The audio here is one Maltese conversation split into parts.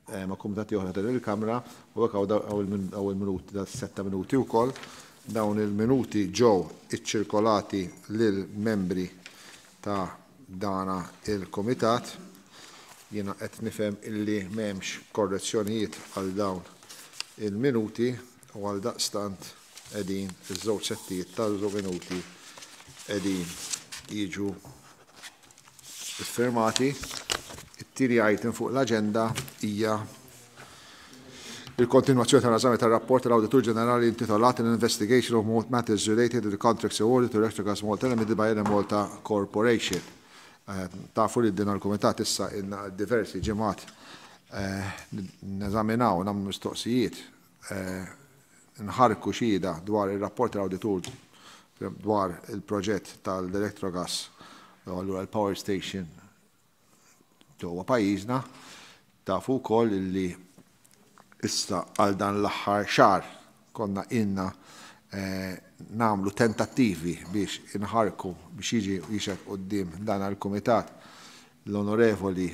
ma' kumitati oħra ta' din il-Kamra u hekk hawn il-minuti ta' setta minuti wkoll. Dawn il-minuti ġew iċċirkolati lill-membri ta' dana il-kumitat. Jiena qed nifhem illi m'hemmx korrezzjonijiet għal dawn il-minuti u għaldaqstant qegħdin iż-żewġ settijiet tal-minuti qegħdin jiġu iffirmati. It-tieni item fuq l-aġenda hija il-kontinwazzjoni tal-eżami tar-rapport tal-Awditur Ġenerali intitolat "An Investigation of Matters Related to the Contracts Awarded to Electrogas Malta Limited by Enemalta Corporation". Tafu li din il-kumitat issa ilna diversi ġimgħat neżaminaw, nagħmlu mistoqsijiet, nħarku xhieda dwar ir-rapport tal-Awditur dwar il-proġett tal-Electrogas, u allura l-Power Station ġewwa pajjiżna. Tafu wkoll li issa għal dan l-aħħar xahar konna ilna nagħmlu tentattivi biex inħarku biex jiġi jixhed quddiem dan il-kumitat l-Onorevoli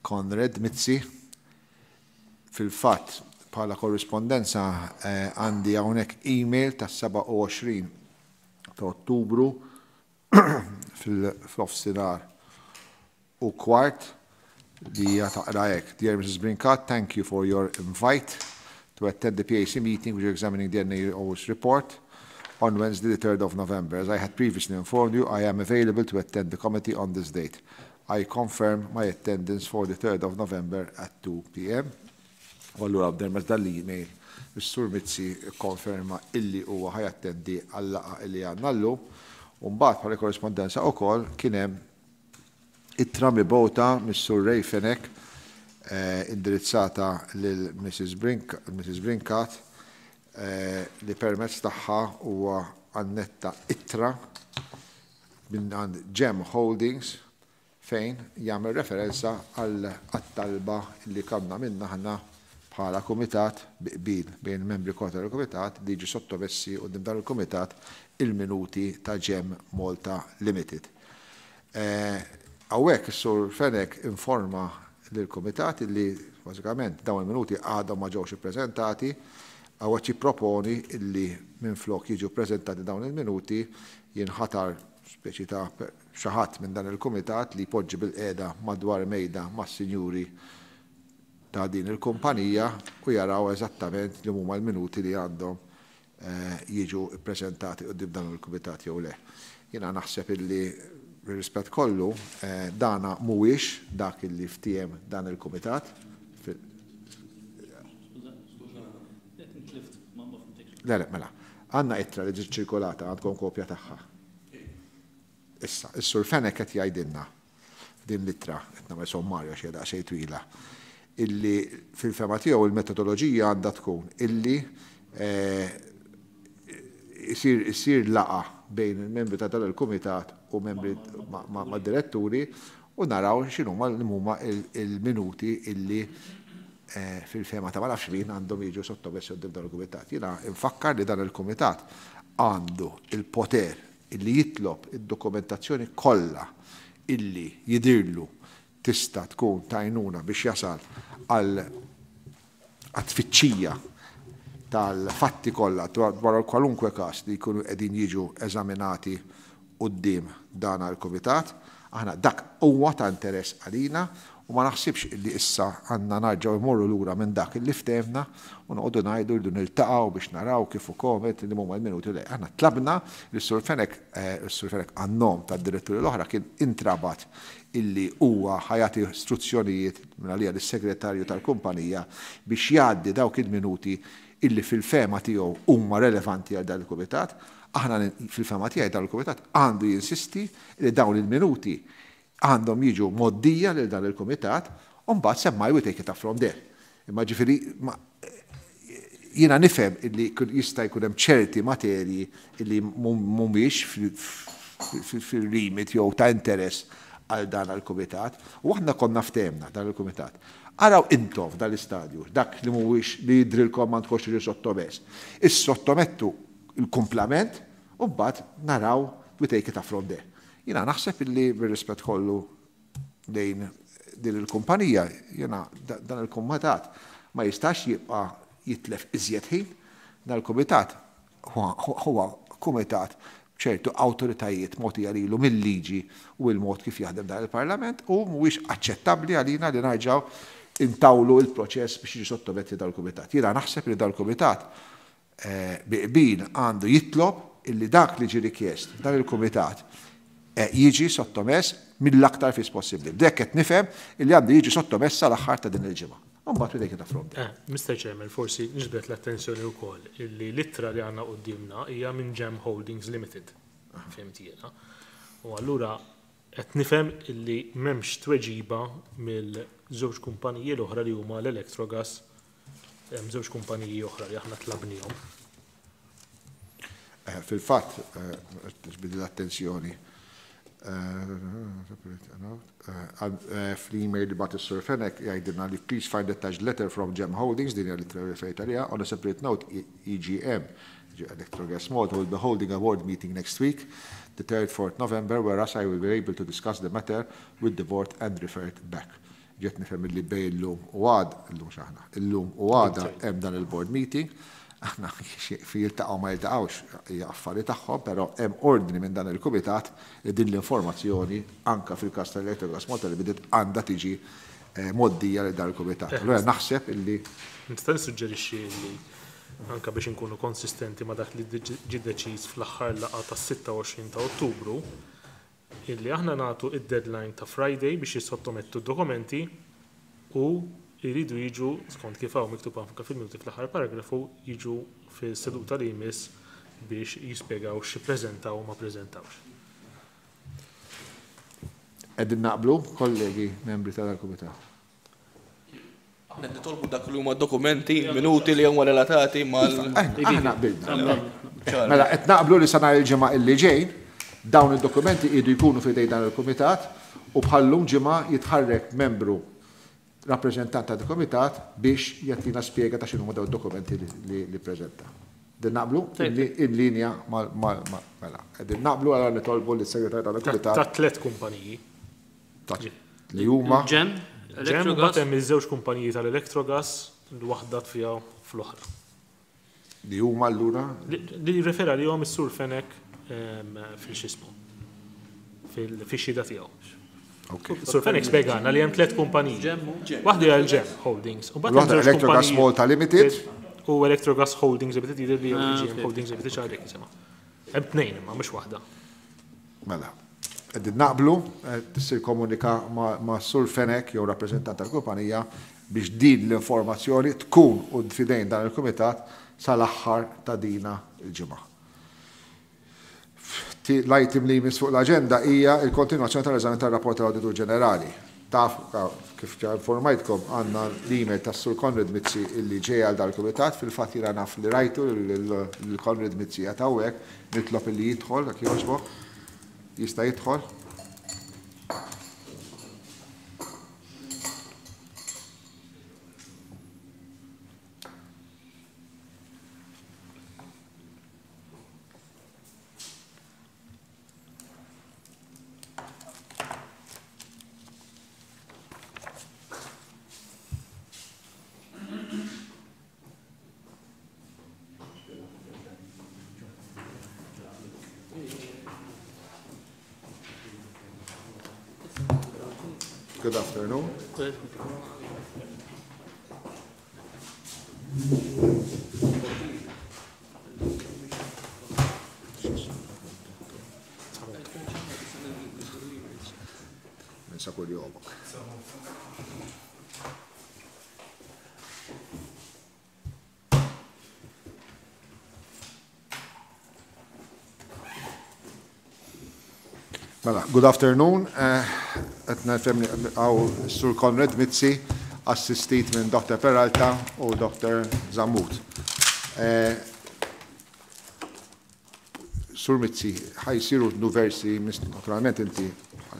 Konrad Mizzi. Fil-fatt, bħala korrispondenza għandi hawnhekk email tas-27 ta' Ottubru fil-nofsinhar u kwart li hija taqra hekk: "Dear Mrs. Brincat, thank you for your invite to attend the PAC meeting which is examining the NAO's report on Wednesday the 3rd of November. As I had previously informed you, I am available to attend the committee on this date. I confirm my attendance for the 3rd of November at 2 p.m." U allura b'dermez dal-email, is-Sur Mizzi konferma illi huwa ħa jattendi għal-laqgħa illi għandna llum. U mbagħad bħala korrispondenza wkoll kien hemm ittra mibgħuta mis-Sur Ray Fenech indirizzata lil Mrs. Brink, Mrs. Brincat, li permezz tagħha huwa annetta ittra minn għand Gem Holdings fejn jagħmel referenza għal talba li konna minna aħna bħala kumitat bi qbil bejn il-membri kollha tal-kumitat li jiġu sottomessi quddiem dan il-kumitat il-minuti ta' Gem Malta Limited. Hawnhekk is-Sur Fenech informa lill-kumitat li bażikament dawn il-minuti għadhom ma ġewx ippreżentati. Hawnhekk jipproponi illi minflok jiġu ppreżentati dawn il-minuti jinħatar speċi ta' xi ħadd minn dan il-kumitat li jpoġġi bilqiegħda madwar mejda mas-sinjuri ta' din il-kumpanija u jaraw eżattament li huma l-minuti li għandhom jiġu ppreżentati quddiem dan il-kumitat jew le. Jiena naħseb illi bir-rispett kollu dana mhuwiex dak illi ftiehem dan il-kumitat. Le, le, mela. Għandna ittra li ġiet ċirkolata, għandkom kopja tagħha. Issa, is-Sur Fenech qed jgħidilna f'din l-ittra, qed nagħmel sommarju għax hija daqsxejn twila, illi fil-fehma tiegħu il-metodoloġija għandha tkun illi isir laqgħa bejn il-membri ta' dan il-kumitat u membri ma' diretturi u naraw x'inhuma huma il-minuti illi fil-fehma ta' ma nafx min għandhom jiġu sottomessi quddiem dan il-kumitat. Jiena nfakkar li dan il-kumitat għandu il-poter illi jitlob id-dokumentazzjoni kollha illi jidirlu tista' tkun t'għajnuna biex jasal għal tfittxija tal-fatti kollha dwar kwalunkwe każ li jkunu qegħdin jiġu eżaminati quddiem dan il-kumitat. Aħna dak huwa ta' interess għalina u ma naħsibx illi issa għandna nerġgħu mmorru lura minn dak illi ftehemna u noqogħdu ngħidu rridu niltaqgħu biex naraw kif ukoll li huma l-minuti le. Aħna tlabna li s-Sur Fenech, is-Sur Fenech għan-nom tad-diretturi l-oħra kien intrabat illi huwa ħa jagħti istruzzjonijiet minn għalija lis-segretarju tal-kumpanija biex jgħaddi dawk il-minuti illi fil-fehma tiegħu huma relevanti għal dan il-kumitat. Aħna fil-fehma tiegħi dan il-kumitat għandu jinsisti li dawn il-minuti għandhom jiġu mgħoddija lil dan il-kumitat u mbagħad semmai we take it up from there. Imma ġifieri jiena nifhem illi jista' jkun hemm ċerti materji illi mhumiex fil-remit jew ta' interess għal dan il-kumitat u aħna konna ftehemna dan il-kumitat. Araw intom f'dan l-istadju, dak li mhuwiex li jidrilkom m'għandkomx tiġi sottomess. Issottomettu il-kumplament u mbagħad naraw we take it up from there. Jiena naħseb illi bir-rispett kollu lejn din il-kumpanija, jiena dan il-kumitat ma jistax jibqa' jitlef iżjed ħin. Dan il-kumitat huwa kumitat b'ċertu awtoritajiet mogħtija lilu mil-liġi u l-mod kif jaħdem dan il-Parlament u mhuwiex aċċettabbli għalina li narġgħu intawlu l-proċess biex jiġi sottometti dal-kumitat. Jiena naħseb li dal-kumitat bi qbil għandu jitlob illi dak li ġie rikjest f'dan il-kumitat jiġi sottomess mill-aktar fis possibbli. B'dekk qed nifhem illi għandu jiġi sottomess sal-aħħar ta' din il-ġimgħa. U mbagħad we take it up from there. Mister Chairman, forsi niġbed l-attenzjoni wkoll illi l-ittra li għandna quddiemna hija minn Gem Holdings Limited, fhimt jiena. U allura qed nifhem illi m'hemmx tweġiba mill-żewġ kumpaniji l-oħra li huma l-Electrogas, hemm żewġ kumpaniji oħra li aħna tlabnihom. Fil-fatt, tiġbid l-attenzjoni fl-email li bagħat is-Sur Fenech jgħidilna li please find attached letter from Gem Holdings, din hija l-ittra li referejt għaliha, on a separate note EGM, Electrogas Malta, will be holding a board meeting next week, the 3rd, 4th November, whereas I will be able to discuss the matter with the board and refer it back. Ġiet nifhem illi bejn illum u għada, illum x'aħna, illum u għada hemm dan il-board meeting, aħna fi jiltaqgħu ma jiltaqgħux hija affari tagħhom, però hemm ordni minn dan il-kumitat li din l-informazzjoni anka fil-każ tal-Electrogas Malta Limited għandha tiġi mgħoddija lil dan il-kumitat. Allura naħseb illi Nista' nissuġġerixxi illi anka biex inkunu konsistenti ma' dak li ġie deċiż fl-aħħar laqgħa tas-26 ta' Ottubru, illi aħna nagħtu id-deadline ta' Friday biex jissottomettu d-dokumenti u jridu jiġu, skont kif hawn miktub anke fil-minuti fl-aħħar paragrafu, jiġu fis-seduta li jmiss biex jispjegaw x'ippreżentaw u ma ppreżentawx. Qegħdin naqblu, kollegi membri tal-Kumitat? Aħna qed nitolbu dak li huma dokumenti, minuti li huma relatati mal. Aħna qbilna. Mela qed naqblu li sa nhar il-ġimgħa illi ġej dawn id-dokumenti jridu jkunu f'idej dan il-kumitat u bħal-lum ġimgħa jitħarrek membru rappreżentant tal-kumitat biex jagħtina spjega ta' x'inhuma dawn id-dokumenti li ppreżenta. Qegħdin naqblu? In linja mal mela. Qegħdin naqblu allura nitolbu lis-segretarju tal-kumitat. Ta' tlett kumpaniji. Li huma? Ġem, Ġem, mbagħad hemm iż-żewġ kumpaniji tal-Electrogas li waħda tfiha fl-oħra. Li huma allura? Li rrefera lihom is-Sur Fenech fil-x'ismu. Fix-xhieda tiegħu. Sur Fenech spjegalna li hemm tlett kumpaniji. Waħda hija l-Ġem Holdings. U mbagħad hemm Electrogas Malta Limited. U Electrogas Holdings Limited jidher li Ġem Holdings Limited xi ħaġa jisimha. Hemm tnejn imma mhux waħda. Mela. Qegħdin naqblu, tissir komunika ma' Sur Fenech jew rappreżentant tal-kumpanija biex din l-informazzjoni tkun u f'idejn dan il-kumitat sal-aħħar ta' dina l-ġimgħa. L-item li jmiss fuq l-aġenda hija l-kontinwazzjoni tal-eżami tar-rapport tal-Awditur Ġenerali. Taf, kif ġa informajtkom, għandna l-email tas-Sur Konrad Mizzi illi ġej għal dal-kumitat. Fil-fatt jiena naf li rajtu lil Konrad Mizzi qiegħed hawnhekk, nitlob illi jidħol jekk jogħġbok. Jista' jidħol? Good afternoon. Ninsa kull jomok. Mela, good afternoon. Qed nifhem hawn Sur Konrad Mizzi, assistit minn Dr. Peralta u Dr. Zammut. Sur Mizzi, ħa jsiru diversi, naturalment inti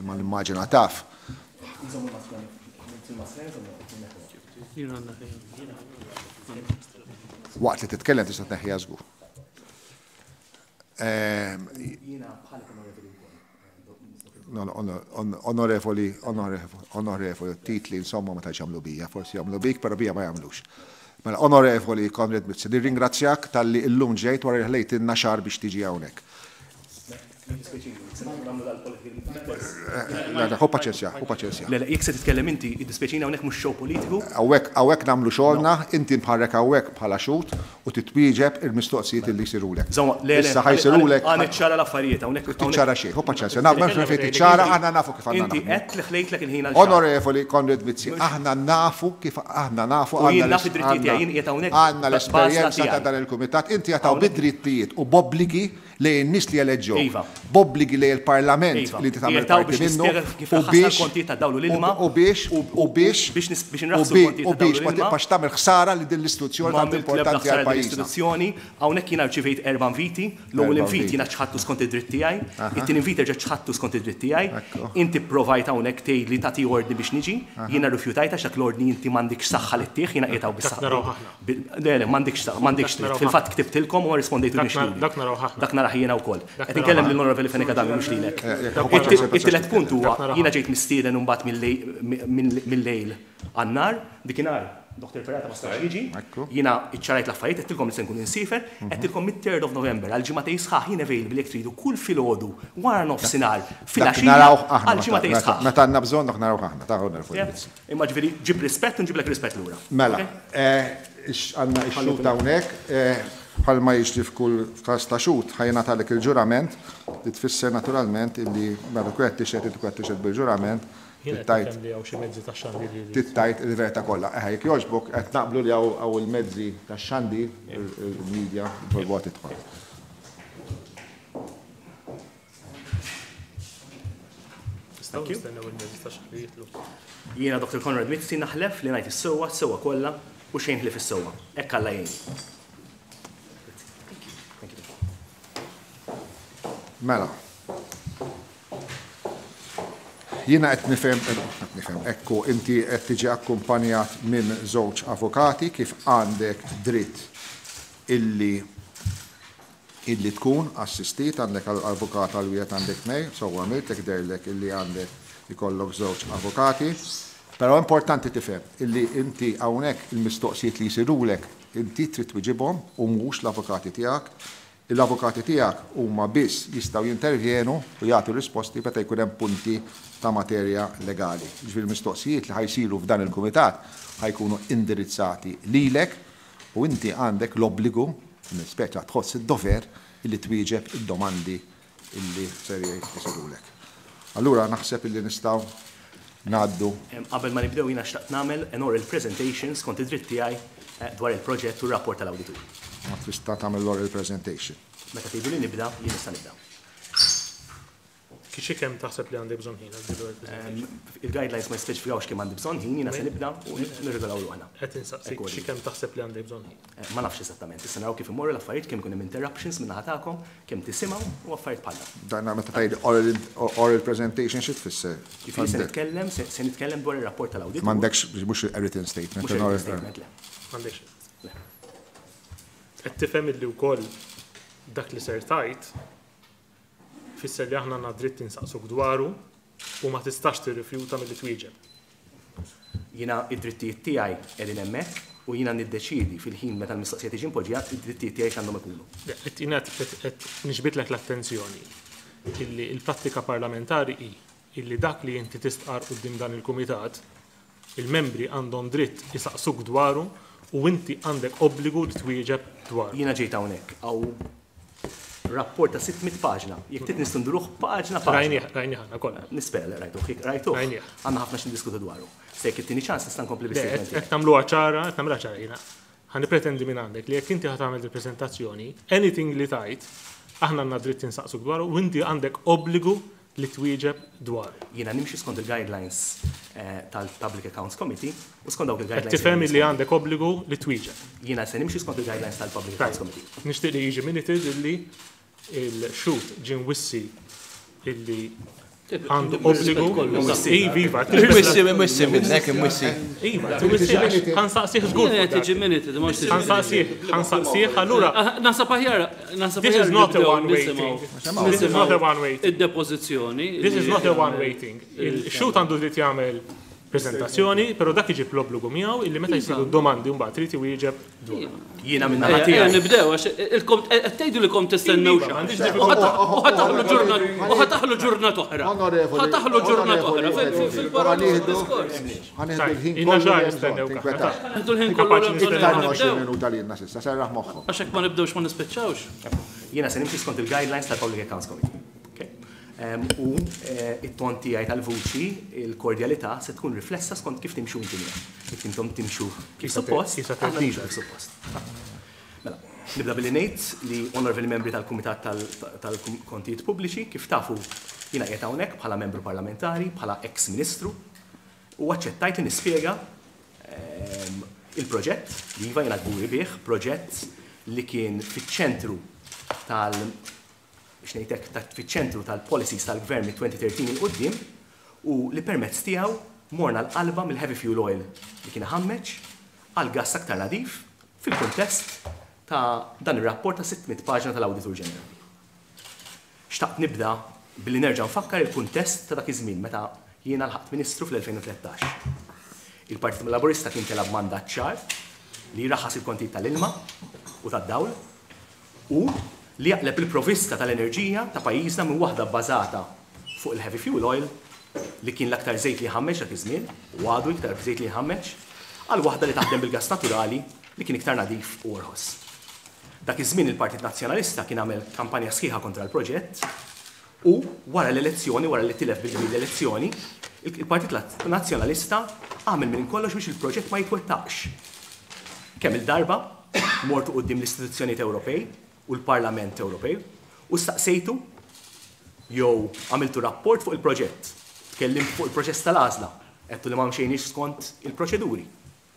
ma nimmaġina taf. Waqt li titkellem tista' tneħħiha żgur. Onorevoli, onorevoli, titli insomma ma tantx jagħmlu bija, forsi jagħmlu bik, però bija ma jagħmlux. Mela, Onorevoli Konrad Mizzi, nirringrazzjak talli illum ġejt wara li ħlejtilna xahar biex tiġi hawnhekk. Ħu paċenzja, ħu paċenzja. Le, le, jekk se titkellem inti, iddispjaċini hawnhekk mhux show politiku. Hawnhekk, hawnhekk nagħmlu xogħolna, inti mħarrek hawnhekk bħala xhud u titwieġeb il-mistoqsijiet li jsirulek. Żomma, le, le. Issa ħa jsirulek. Ħa niċċara l-affarijiet hawnhekk. Tiċċara xejn, ħu paċenzja. Naf m'hemmx fejn tiċċara, aħna nafu kif għandna Inti għedt li ħlejtlek il-ħin għal xahar. Onorevoli Konrad Mizzi, aħna nafu kif aħna nafu U jien naf id-drittijiet tiegħi, jien qiegħed hawnhekk Għandna l-esperjenza ta' dan il-kumitat, inti qiegħed hawn bid-drittijiet u b'obbligi lejn in-nies li eleġġewk, b'obbligi lejn il-Parlament li inti tagħmel parti minnu u biex u biex u biex u biex ma tibqax tagħmel ħsara lil din l-istituzzjoni tant importanti għal pajjiżna. Hawnhekk jiena rċivejt erba' inviti, l-ewwel invit jiena ċħadtu skont id-dritt tiegħi, it-tieni invit erġa' ċħadtu skont id-dritt tiegħi, inti pprovajt hawnhekk tgħidli tagħti ordni biex niġi, jiena rrifjutajt għax dak l-ordni inti m'għandikx saħħa li ttih, jiena qiegħed hawn bis-saħħa. Le, le, m'għandikx ta', m'għandikx dritt. Fil-fatt ktibtilkom u ma rrispondejtunix lili. Dak narawh aħna. Dak narah jiena wkoll. Qed inkellem lill-Onorevoli Fenech Adami mhux lilek. It-tielet punt huwa jiena ġejt mistieden imbagħad mil-lejl għan-nhar, dikinhar Dr. Ferrata ma setax jiġi, jiena iċċarajt l-affarijiet, għedtilkom li se nkun insiefer, għedtilkom mit-third of November għal ġimagħtejn sħaħ jien available jekk tridu kull filgħodu wara nofsinhar filgħaxija għal ġimagħtejn sħaħ. Meta għandna bżonn dak narawh aħna, ta' Onorevoli Mizzi. Imma ġifieri ġib rispett u nġiblek rispett lura. Mela, għandna x-xhud hawnhekk, bħalma jiġri f'kull każ ta' xhud, ħa jingħatalek il-ġurament li tfisser naturalment illi meta tkun qed tixhed inti tkun qed tixhed bil-ġurament, Jien qed nifhem li hawn xi mezzi tax-xandir li jridu. Trid tgħid il-verità kollha. Eħe, jekk jogħġbok, qed naqblu li hawn il-mezzi tax-xandir, il-media, nitolbuha tidħol. Nistgħu nistennew il-mezzi tax-xandir jidħlu. Jiena Dr. Konrad Mizzi naħlef li ngħid is-sewwa, s-sewwa kollha u xejn ħlief is-sewwa. Hekk Alla jgħinni. Mela. Jiena qed nifhem, qed nifhem, ekku inti qed tiġi akkumpanjat minn żewġ avukati kif għandek dritt illi Illi tkun assistit, għandek avukat għal wieħed għandek tnejn, sewwa għamilt jekk dehrlek illi għandek ikollok żewġ avukati. Però importanti tifhem illi inti hawnhekk il-mistoqsijiet li jsirulek inti trid twiġibhom u mhux l-avukati tiegħek. L-avukati tiegħek huma biss jistgħu jintervjenu u jagħtu risposti meta jkun hemm punti ta' materja legali. Jiġifieri l-mistoqsijiet li ħa jsiru f'dan il-kumitat ħa jkunu indirizzati lilek U inti għandek l-obbligu, speċa tħoss id-dover illi twieġeb id-domandi illi ser isirulek. Allura naħseb illi nistgħu ngħaddu. Qabel ma nibdew jiena xtaqt nagħmel an oral presentation skont id-dritt tiegħi dwar il-proġett u r-rapport tal-awditur. Ma tista' tagħmel l-oral presentation. Meta tgħiduli nibda, jien nista' nibda. Xi kemm taħseb li għandek bżonn ħin għal din l-presentation? Il-guidelines ma jispeċifikawx kemm għandi bżonn ħin, jiena se nibda u nirregolaw ruħna. Qed insaqsik xi kemm taħseb li għandek bżonn ħin. Ma nafx eżattament, issa naraw kif imorru l-affarijiet, kemm ikun hemm interruptions min-naħa tagħkom, kemm tisimgħu u affarijiet bħal dawn. Dan meta tgħid oral presentation xi tfisser? Jiġifieri se nitkellem, se nitkellem dwar ir-rapport tal-awditur. M'għandekx mhux a written statement. Mhux a written statement, le. M'għandekx. Le. Qed tifhem illi wkoll dak li ser tgħid Tfisser li aħna għandna dritt insaqsuk dwaru u ma tistax tirrifjuta milli twieġeb. Jiena id-drittijiet tiegħi qegħdin hemmhekk u jiena niddeċiedi fil-ħin meta l-mistoqsija tiġi mpoġġija id-drittijiet tiegħi x'għandhom ikunu. Le, qed jiena qed niġbidlek l-attenzjoni illi l-prattika parlamentari hi illi dak li inti tistqarr quddiem dan il-kumitat Il-membri għandhom dritt isaqsuk dwaru u inti għandek obbligu li twieġeb dwaru. Jiena ġejt hawnhekk, hawn rapport ta' 600 paġna. Jekk trid nistgħu nduruh paġna paġna. Rajnieh, rajnieh aħna kollha. Nispera li rajtuh. Jekk rajtuh, Rajnieh. għandna ħafna x'niddiskutu dwaru. Se jekk ittini ċans nista' nkompli Le, bis-statement qed tiegħi. qed nagħmluha ċara, qed nagħmilha ċara jiena. Ħa nippretendi minn għandek li jekk inti ħa tagħmel il-preżentazzjoni, anything li tgħid, aħna għandna dritt insaqsuk dwaru u inti għandek obbligu li twieġeb dwaru. Jiena nimxi skont il-guidelines tal-Public Accounts Committee u skont dawk il-guidelines. Qed tifhem illi għandek obbligu li twieġeb. Jiena se nimxi skont il-guidelines tal-Public Accounts Committee. Nixtieq li jiġi minuted illi l-xhud ġie mwissi illi Għandu obbligu. Iva, iva. Imwissi, imwissi minnek, imwissi. Iva, imwissi, ħa nsaqsih żgur. Tiġi minute, Ħa nsaqsih, ħa nsaqsih, allura. Naħseb aħjar, naħseb This is not a one-way thing. This is not a one-way thing. Id-depożizzjoni. This is not a one-way thing. Il-xhud għandu dritt jagħmel prezentazzjoni, però dak iġib l-obbligu miegħu illi meta jsiru domandi mbagħad trid iwieġeb dwar. Jiena minn naħa tiegħi. Nibdew għax qed tgħidu li kom tistennew xi. U ħa taħlu ġurnata u ħa taħlu ġurnata oħra. Ħa taħlu ġurnata oħra fil-paroli diskors. Ħa nieħdu l-ħin Ilna kollu xahar li hemm nistennew bżonn, kaħna. tinkwetax. Nieħdu l-ħin kollu Kapaċi li Iktar minn nibdew. 20 minuta li jenna s'issa, serraħ moħħok. Għax hekk ma nibdewx ma nispiċċawx. Jiena se nimxi skont il-guidelines tal-Public Accounts Committee. Okay? U it-ton tiegħi tal-vuċi, il-kordjalità se tkun riflessa skont kif timxu inti miegħi. Jekk intom timxu kif suppost, kif se aħna nimxu kif suppost. Mela, nibda billi ngħid li onorevoli membri tal-Kumitat tal-Kontijiet Pubbliċi, kif tafu jiena qiegħed hawnhekk bħala membru parlamentari, bħala ex-ministru, u aċċettajt li nispjega il-proġett li iva jiena kburi bih, proġett li kien fiċ-ċentru tal biex ngħidlek fiċ-ċentru tal-policies tal-gvern mit-2013 'il quddiem u li permezz tiegħu morna l-qalba mill-heavy fuel oil li kien ħammeġ għal gas aktar nadif fil-kuntest ta' dan ir-rapport ta' 600 paġna tal-Awditur Ġenerali. Xtaqt nibda billi nerġa' nfakkar il-kuntest ta' dak iż-żmien meta jiena lħaqt ministru fl-2013. Il-Partit Laburista kien tela' b'mandat ċar li jraħħas il-kontijiet tal-ilma u tad-dawl u li jaqleb il-provista tal-enerġija ta' pajjiżna minn waħda bbażata fuq il-heavy fuel oil li kien l-aktar żejt li jħammeġ dak iż-żmien u għadu iktar żejt li jħammeġ għal waħda li taħdem bil-gas naturali li kien iktar nadif u orħos. Dak iż-żmien il-Partit Nazzjonalista kien għamel kampanja sħiħa kontra l-proġett u wara l-elezzjoni, wara li tilef bil l-elezzjoni, il-Partit Nazzjonalista għamel minn kollox biex il-proġett ma jitwettaqx. Kemm il-darba mortu quddiem l-istituzzjonijiet Ewropej u l-Parlament Ewropej u staqsejtu jew għamiltu rapport fuq il-proġett. Tkellimt fuq il-proċess tal-għażla, għedtu li ma mxejniex skont il-proċeduri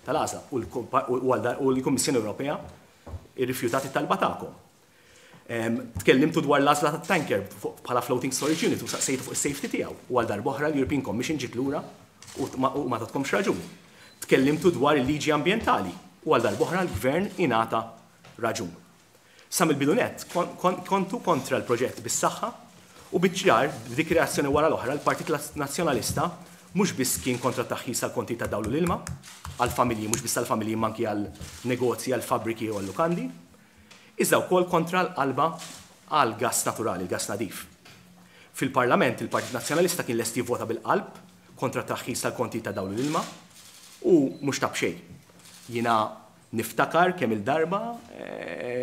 tal-għażla u l-Kummissjoni Ewropea irrifjutat it-talba tagħkom. Tkellimtu dwar l-għażla tat-tanker bħala floating storage unit u saqsejtu fuq is-safety tiegħu u għal darb'oħra l-European Commission ġiet lura u ma tatkomx raġun. Tkellimtu dwar il-liġi ambjentali u għal darb'oħra l-gvern ingħata raġun. Sa mill-bidu nett kontu kontra l-proġett bis-saħħa u biċ-ċar b'dik reazzjoni wara l-oħra l-Partit Nazzjonalista mhux biss kien kontra t-taħħis tal-konti ta' dawl u l-ilma għal-familji, mhux biss għal-familji manki għal-negozji, għal-fabriki u għal-lukandi, iżda wkoll kontra l-qalba għal gas naturali, il-gas nadif. Fil-Parlament il-Partit Nazzjonalista kien lest jivvota bil-qalb kontra t-taħħis tal-konti ta' dawl u l-ilma u mhux ta' b'xejn. Jiena niftakar kemm il-darba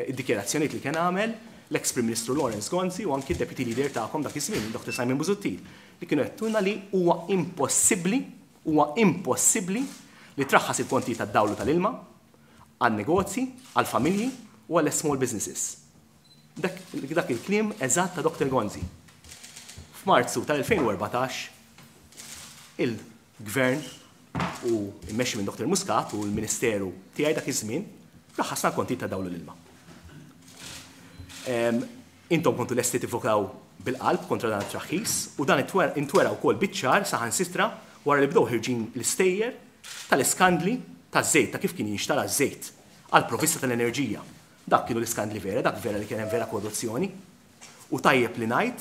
id-dikjerazzjonijiet li kien għamel l-ex Prim Ministru Lawrence Gonzi u anki d-Deputy Leader tagħkom dak iż-żmien, Dr. Simon Busuttil, li kienu għedtulna li huwa impossibbli, huwa impossibbli li traħħas il-konti tad-dawl u tal-ilma għal negozji, għal familji u għal small businesses. Dak il-kliem eżatt ta' Dr. Gonzi. F'Marzu tal-2014 il-Gvern u immexxi minn Dr. Muscat u l-Ministeru tiegħi dak iż-żmien raħasna l-konti ta' dawl u l-ilma. Intom kontu lesti tivvokaw bil-qalb kontra dan it-traħħis u dan intwera wkoll biċ-ċar saħansitra wara li bdew ħirġin l-istejjer tal-iskandli taż-żejt ta' kif kien jinxtara ż-żejt għal provista tal-enerġija. Dak kienu l-iskandli vera, dak vera li kien hemm vera korruzzjoni. U tajjeb li ngħid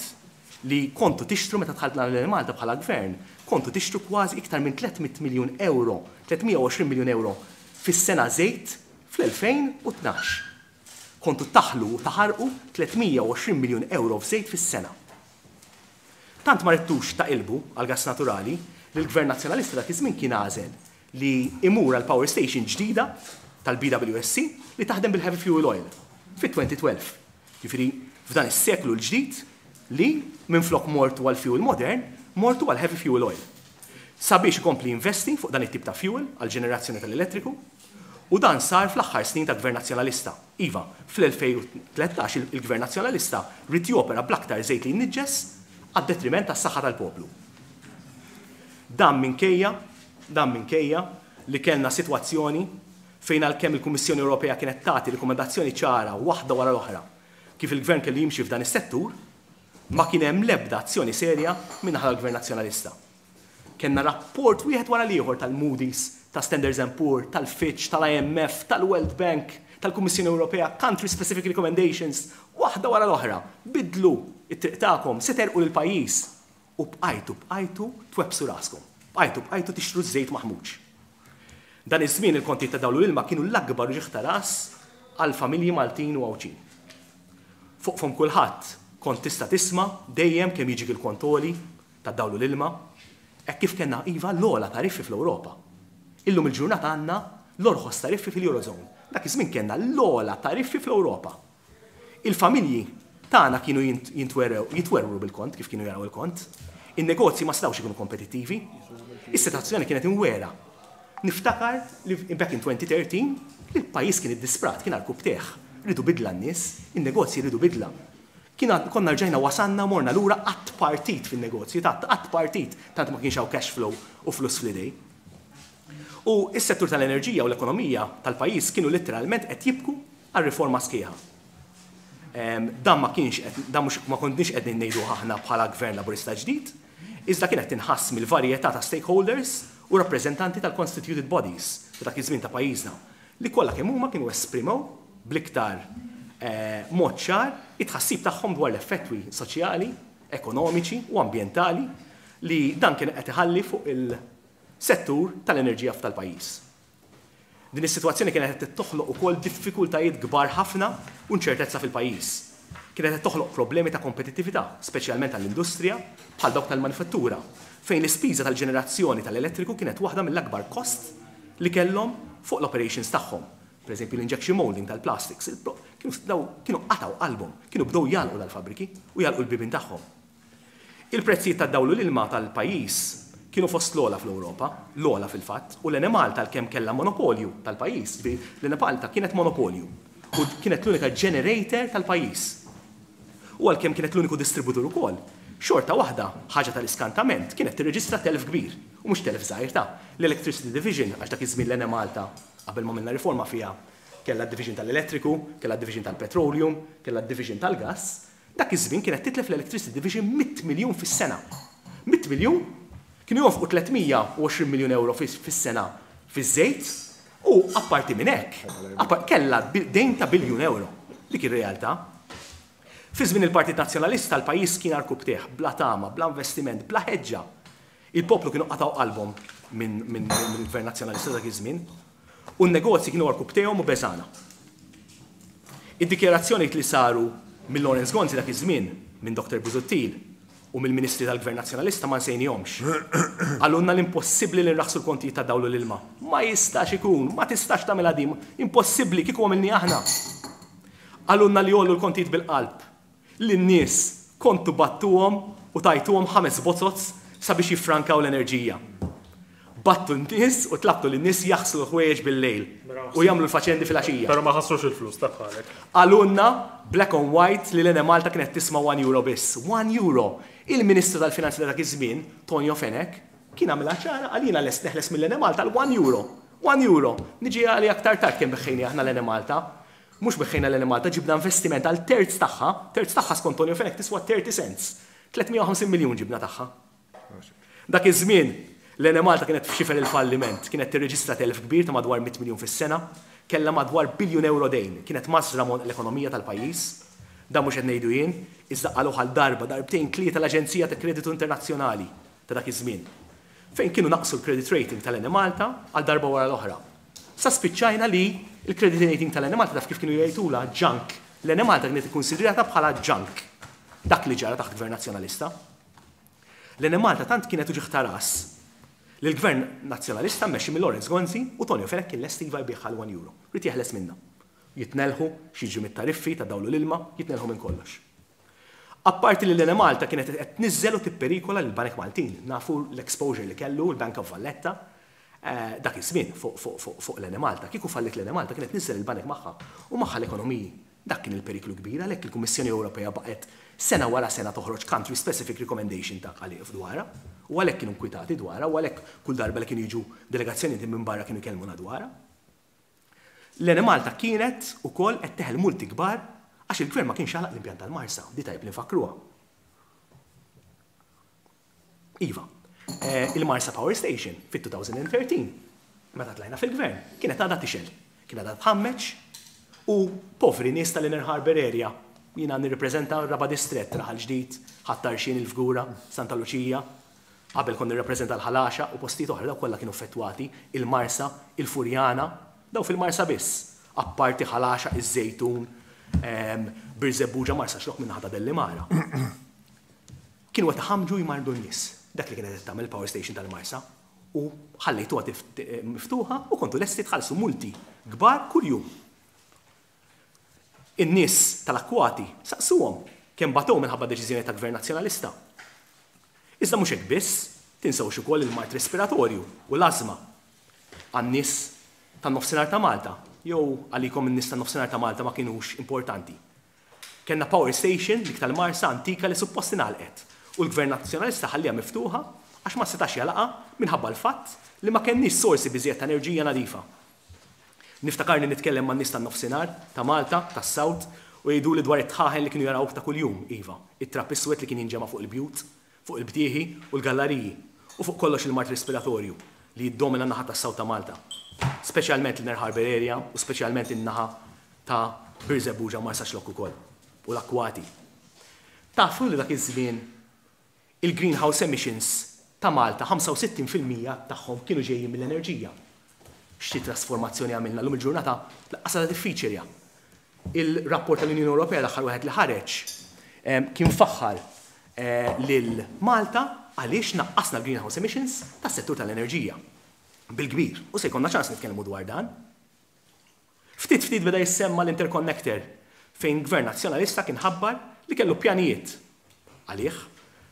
li kontu tixtru meta dħalt l Malta bħala gvern, kontu tixtru kważi iktar minn 300 miljun euro, 320 miljun euro fis-sena żejt fl-2012. Kontu taħlu u taħarqu 320 miljun euro f'żejt fis-sena. Tant ma ridtux taqilbu għal gas naturali li l-Gvern Nazzjonalista dak iż-żmien kien għażel li imur għal power station ġdida tal-BWSC li taħdem bil-heavy fuel oil fit-2012. Jiġifieri f'dan is-seklu l-ġdid li minflok mortu għal fuel modern, mortu għal heavy fuel oil. Sabiex ikompli investi fuq dan it-tip ta' fuel għal ġenerazzjoni tal-elettriku u dan sar fl-aħħar snin ta' Gvern Nazzjonalista. Iva, fl-2013 il-Gvern Nazzjonalista ried jopera bl-aktar żejt li jniġġes għad-detriment tas-saħħa tal-poplu. Dan minkejja li kellna sitwazzjoni fejn għalkemm il-Kummissjoni Ewropea kienet tagħti rikomandazzjoni ċara waħda wara l-oħra kif il-gvern kellu jimxi f'dan is-settur, Ma kien hemm l-ebda azzjoni serja min-naħa tal-Gvern Nazzjonalista. Kellna rapport wieħed wara l-ieħor tal-Moody's, ta' Standards and Poor, tal-Fitch, tal-IMF, tal-World Bank, tal-Kummissjoni Ewropea, country specific recommendations, waħda wara l-oħra. Biddlu t-triq tagħkom, se tgħerrqu lill-pajjiż. U bqajtu bqajtu twebbsu raskom. Bqajtu bqajtu tixtru ż-żejt maħmuġ. Dan iż-żmien il-kontijiet ta' dawl u l-ilma kienu l-akbar uġigħ ta' ras għall-familji Maltin u Għawdxin. Fuq fomm kulħadd kont tista' tisma' dejjem kemm jiġik il-kont għoli tad-dawl u l-ilma, hekk kif kellna iva l-ogħla tariffi fl-Ewropa. Illum il-ġurnata għandna l-orħos tariffi fil-Eurozone. Dak iż-żmien kellna l-ogħla tariffi fl-Ewropa. Il-familji tagħna kienu jintwerew, jitwerwru bil-kont, kif kienu jaraw il-kont. In-negozji ma setgħux ikunu kompetittivi. Is-sitwazzjoni kienet imwiegħra. Niftakar li back in 2013 li l-pajjiż kien iddisprat, kien għarkupptejh. Riedu bidla n-nies, in-negozji riedu bidla. Kien konna rġajna wasalna morna lura għat-tpartit fin-negozji, ta' għat-tpartit, tant ma kienx hawn cash flow u flus fl-idej. U s-settur tal-enerġija u l-ekonomija tal-pajjiż kienu litteralment qed jibku għal riforma sħiħa. Dan ma kienx qed, dan mhux ma konniex qegħdin ngħiduh aħna bħala Gvern Laburista ġdid, iżda kien qed tinħass mill-varjetà ta' stakeholders u rappreżentanti tal-constituted bodies ta' dak iż-żmien ta' pajjiżna, li kollha kemm huma kienu esprimew bl-iktar mod ċar it-tħassib tagħhom dwar l-effettwi soċjali, ekonomiċi u ambjentali li dan kien qed iħalli fuq il-settur tal-enerġija f'tal-pajjiż. Din is-sitwazzjoni kienet qed toħloq ukoll diffikultajiet kbar ħafna u inċertezza fil-pajjiż. Kienet qed toħloq problemi ta' kompetittività, speċjalment għall-industrija, bħal dawk tal-manifattura, fejn l-ispiża tal-ġenerazzjoni tal-elettriku kienet waħda mill-akbar kost li kellhom fuq l-operations tagħhom. Pereżempju l-injection molding tal-plastics, kienu kienu qatgħu qalbhom, kienu bdew jagħlqu dal-fabbriki u jagħlqu l-bibien tagħhom. Il-prezzijiet tad-dawl u l-ilma tal-pajjiż kienu fost l-ogħla fl-Ewropa, l-ogħla fil-fatt, u l-Enemalta għalkemm kellha monopolju tal-pajjiż, jiġifieri l-Enemalta kienet monopolju u kienet l-unika generator tal-pajjiż. U għalkemm kienet l-uniku distributur ukoll, xorta waħda, ħaġa tal-iskantament, kienet tirreġistra telf kbir, u mhux telf żgħir ta', l-Electricity Division, għax dak iż-żmien l-Enemalta, qabel ma għamilna riforma fiha, kellha d-division tal-elettriku, kellha d-division tal-petroleum, kellha d-division tal-gass, Dak iż-żmien kienet titlef l-Electricity Division 100 miljun fis-sena. 100 miljun? Kienu jonfqu 320 miljun ewro fis-sena fiż-żejt u apparti minn hekk, kellha dejn ta' biljun ewro. Dik ir-realtà. Fi żmien il-Partit Nazzjonalista l-pajjiż kien għarkupptejh, bla tama, bla investiment, bla ħeġġa. Il-poplu kienu qatgħu qalbhom mill-Gvern Nazzjonalista dak iż-żmien u n-negozji kienu għarkupptejhom u beżgħana. Id-dikjarazzjonijiet li saru minn Lawrence Gonzi dak iż-żmien, minn Dr Busuttil u mill-Ministri tal-Gvern Nazzjonalista ma nsejnihomx. Qalulna li impossibbli li nraħħsu l-kontijiet tad-dawl u l-ilma. Ma jistax ikun, ma tistax tagħmilha din, impossibbli, kieku għamilniha aħna. Qalulna li jgħollu l-kontijiet bil-qalb. Lin-nies kontu bgħattuhom u tajtuhom ħames bozoz sabiex jiffrankaw l-enerġija. Bgħattu n-nies u tlabtu lin-nies jaħslu l-ħwejjeġ bil-lejl u jagħmlu l-faċendi filgħaxija. Però ma ħassrux il-flus ta' bħalek. Qalulna black on white li l-Enemalta kienet tisma' one euro biss. One euro! Il-Ministru tal-Finanzi ta' dak iż-żmien, Tonio Fenech, kien għamilha ċara qal jiena lest neħles mill-Enemalta għal one euro. One euro! Niġi għaliha aktar tard kemm beħħejniha aħna l-Enemalta. Mhux beħħejna l-Enemalta, ġibna investiment għal terz tagħha, terz tagħha skont Tonio Fenech tiswa 30 cents. 350 miljun ġibna tagħha. Dak iż-żmien, l-Enemalta kienet f'xifer il-falliment, kienet tirreġistra telf kbir ta' madwar 100 miljun fis-sena, kellha madwar biljun ewro dejn, kienet mażżra m'għonq l-ekonomija tal-pajjiż. Dan mhux qed ngħidu jien, iżda qaluh għal darba, darbtejn, tlieta l-Aġenzija ta' Kreditu Internazzjonali ta' dak iż-żmien, fejn kienu naqqsu l-credit rating tal-Enemalta għal darba wara l-oħra. Sa spiċċajna li l-credit rating tal-Enemalta taf kif kienu jgħidulha? Junk. L-Enemalta kienet ikkunsidrata bħala junk. Dak li ġara taħt Gvern Nazzjonalista. L-Enemalta tant kienet uġigħ ta' ras li l-Gvern Nazzjonalista mmexxi minn Lawrence Gonzi u Tonio Fenech kien lest iva jbigħha għal one euro. Ried jeħles minnha. Jitnelħu x'jiġri mit-tariffi tad-dawl u l-ilma, jitnelħu minn kollox. Apparti li l-Enemalta kienet qed tniżżel u tipperikola lill-banek Maltin. Nafu l-exposure li kellu l-Bank of Valletta dak iż-żmien fuq l-Enemalta. Kieku falliet l-Enemalta kienet tniżżel il-banek magħha u magħha l-ekonomiji. Dak kien il-periklu kbir għalhekk il-Kummissjoni Ewropea baqgħet sena wara sena toħroġ country specific recommendation ta' għalih dwarha u għalhekk kienu nkwitati dwarha u għalhekk kull darba li kienu jiġu delegazzjonijiet minn barra kienu jkellmuna dwarha. L-Enemalta kienet ukoll qed teħel multi kbar għax il-Gvern ma kienx għalaq l-impjant tal-Marsa, di tajjeb li nfakkruha. Iva, il-Marsa Power Station fit-2013, meta tlajna fil-gvern, kienet għadha tixgħel, kien għadha tħammeġ u povri nies tal-Inner Harbour Area, jiena nirripreżenta r-Raba' Distrett, Raħal Ġdid, Ħadd Tarxien, il-Fgura, Santa Luċija, qabel kont nirrappreżenta l-Ħal Għaxaq u postijiet oħra, dawk kollha kienu affettwati, il-Marsa, il-Furjana, dawn fil-Marsa biss, apparti Ħal Għaxaq, iż-Żejtun, Birżebbuġa, Marsaxlokk min-naħa ta' Dellimara. Kienu qed iħammġu jmarrdu n-nies. Dak li kienet qed tagħmel il-power station tal-Marsa. U ħallejtuha miftuħa u kontu lesti tħallsu multi kbar kuljum. In-nies tal-akkwati saqsuhom kemm batew minħabba deċiżjoni ta' Gvern Nazzjonalista. Iżda mhux hekk biss, tinsewx ukoll il-mard respiratorju u l-ażma għan-nies tan-Nofsinhar ta' Malta, jew għalikom in-nies tan-Nofsinhar ta' Malta ma kinux importanti. Kellna power station, dik tal-Marsa antika li suppost ingħalqet u l-Gvern Nazzjonalista ħallieha miftuħa għax ma setax jagħlaqha minħabba l-fatt li ma kenniex sorsi biżżejjed ta' enerġija nadifa. Niftakarni nitkellem man-nies tan-Nofsinhar, ta' Malta, tas-South u jgħiduli dwar it-tħaħen li kienu jaraw ta' kuljum, iva, it-trab iswed li kien jinġema' fuq il-bjut, fuq il-btieħi u l-gallariji u fuq kollox il-mard respiratorju li jiddomina n-naħa tas-South ta' Malta, speċjalment l-Inner Harbour Area u speċjalment in-naħa ta' Birżebbuġa u Marsaxlokk ukoll, u l-akkwati. Tafu li dak iż-żmien il-greenhouse emissions ta' Malta 65% tagħhom kienu ġejjin mill-enerġija. Xi trasformazzjoni għamilna llum il-ġurnata lanqas għadha diffiċilja. Il-rapport tal-Unjoni Ewropea l-aħħar wieħed li ħareġ kien faħħar lil Malta għaliex naqqasna l-greenhouse emissions tas-settur tal-enerġija bil-kbir. U se jkollna ċans nitkellmu dwar dan. Ftit ftit beda jissemma l-interconnector fejn Gvern Nazzjonalista kien ħabbar li kellu pjanijiet għalih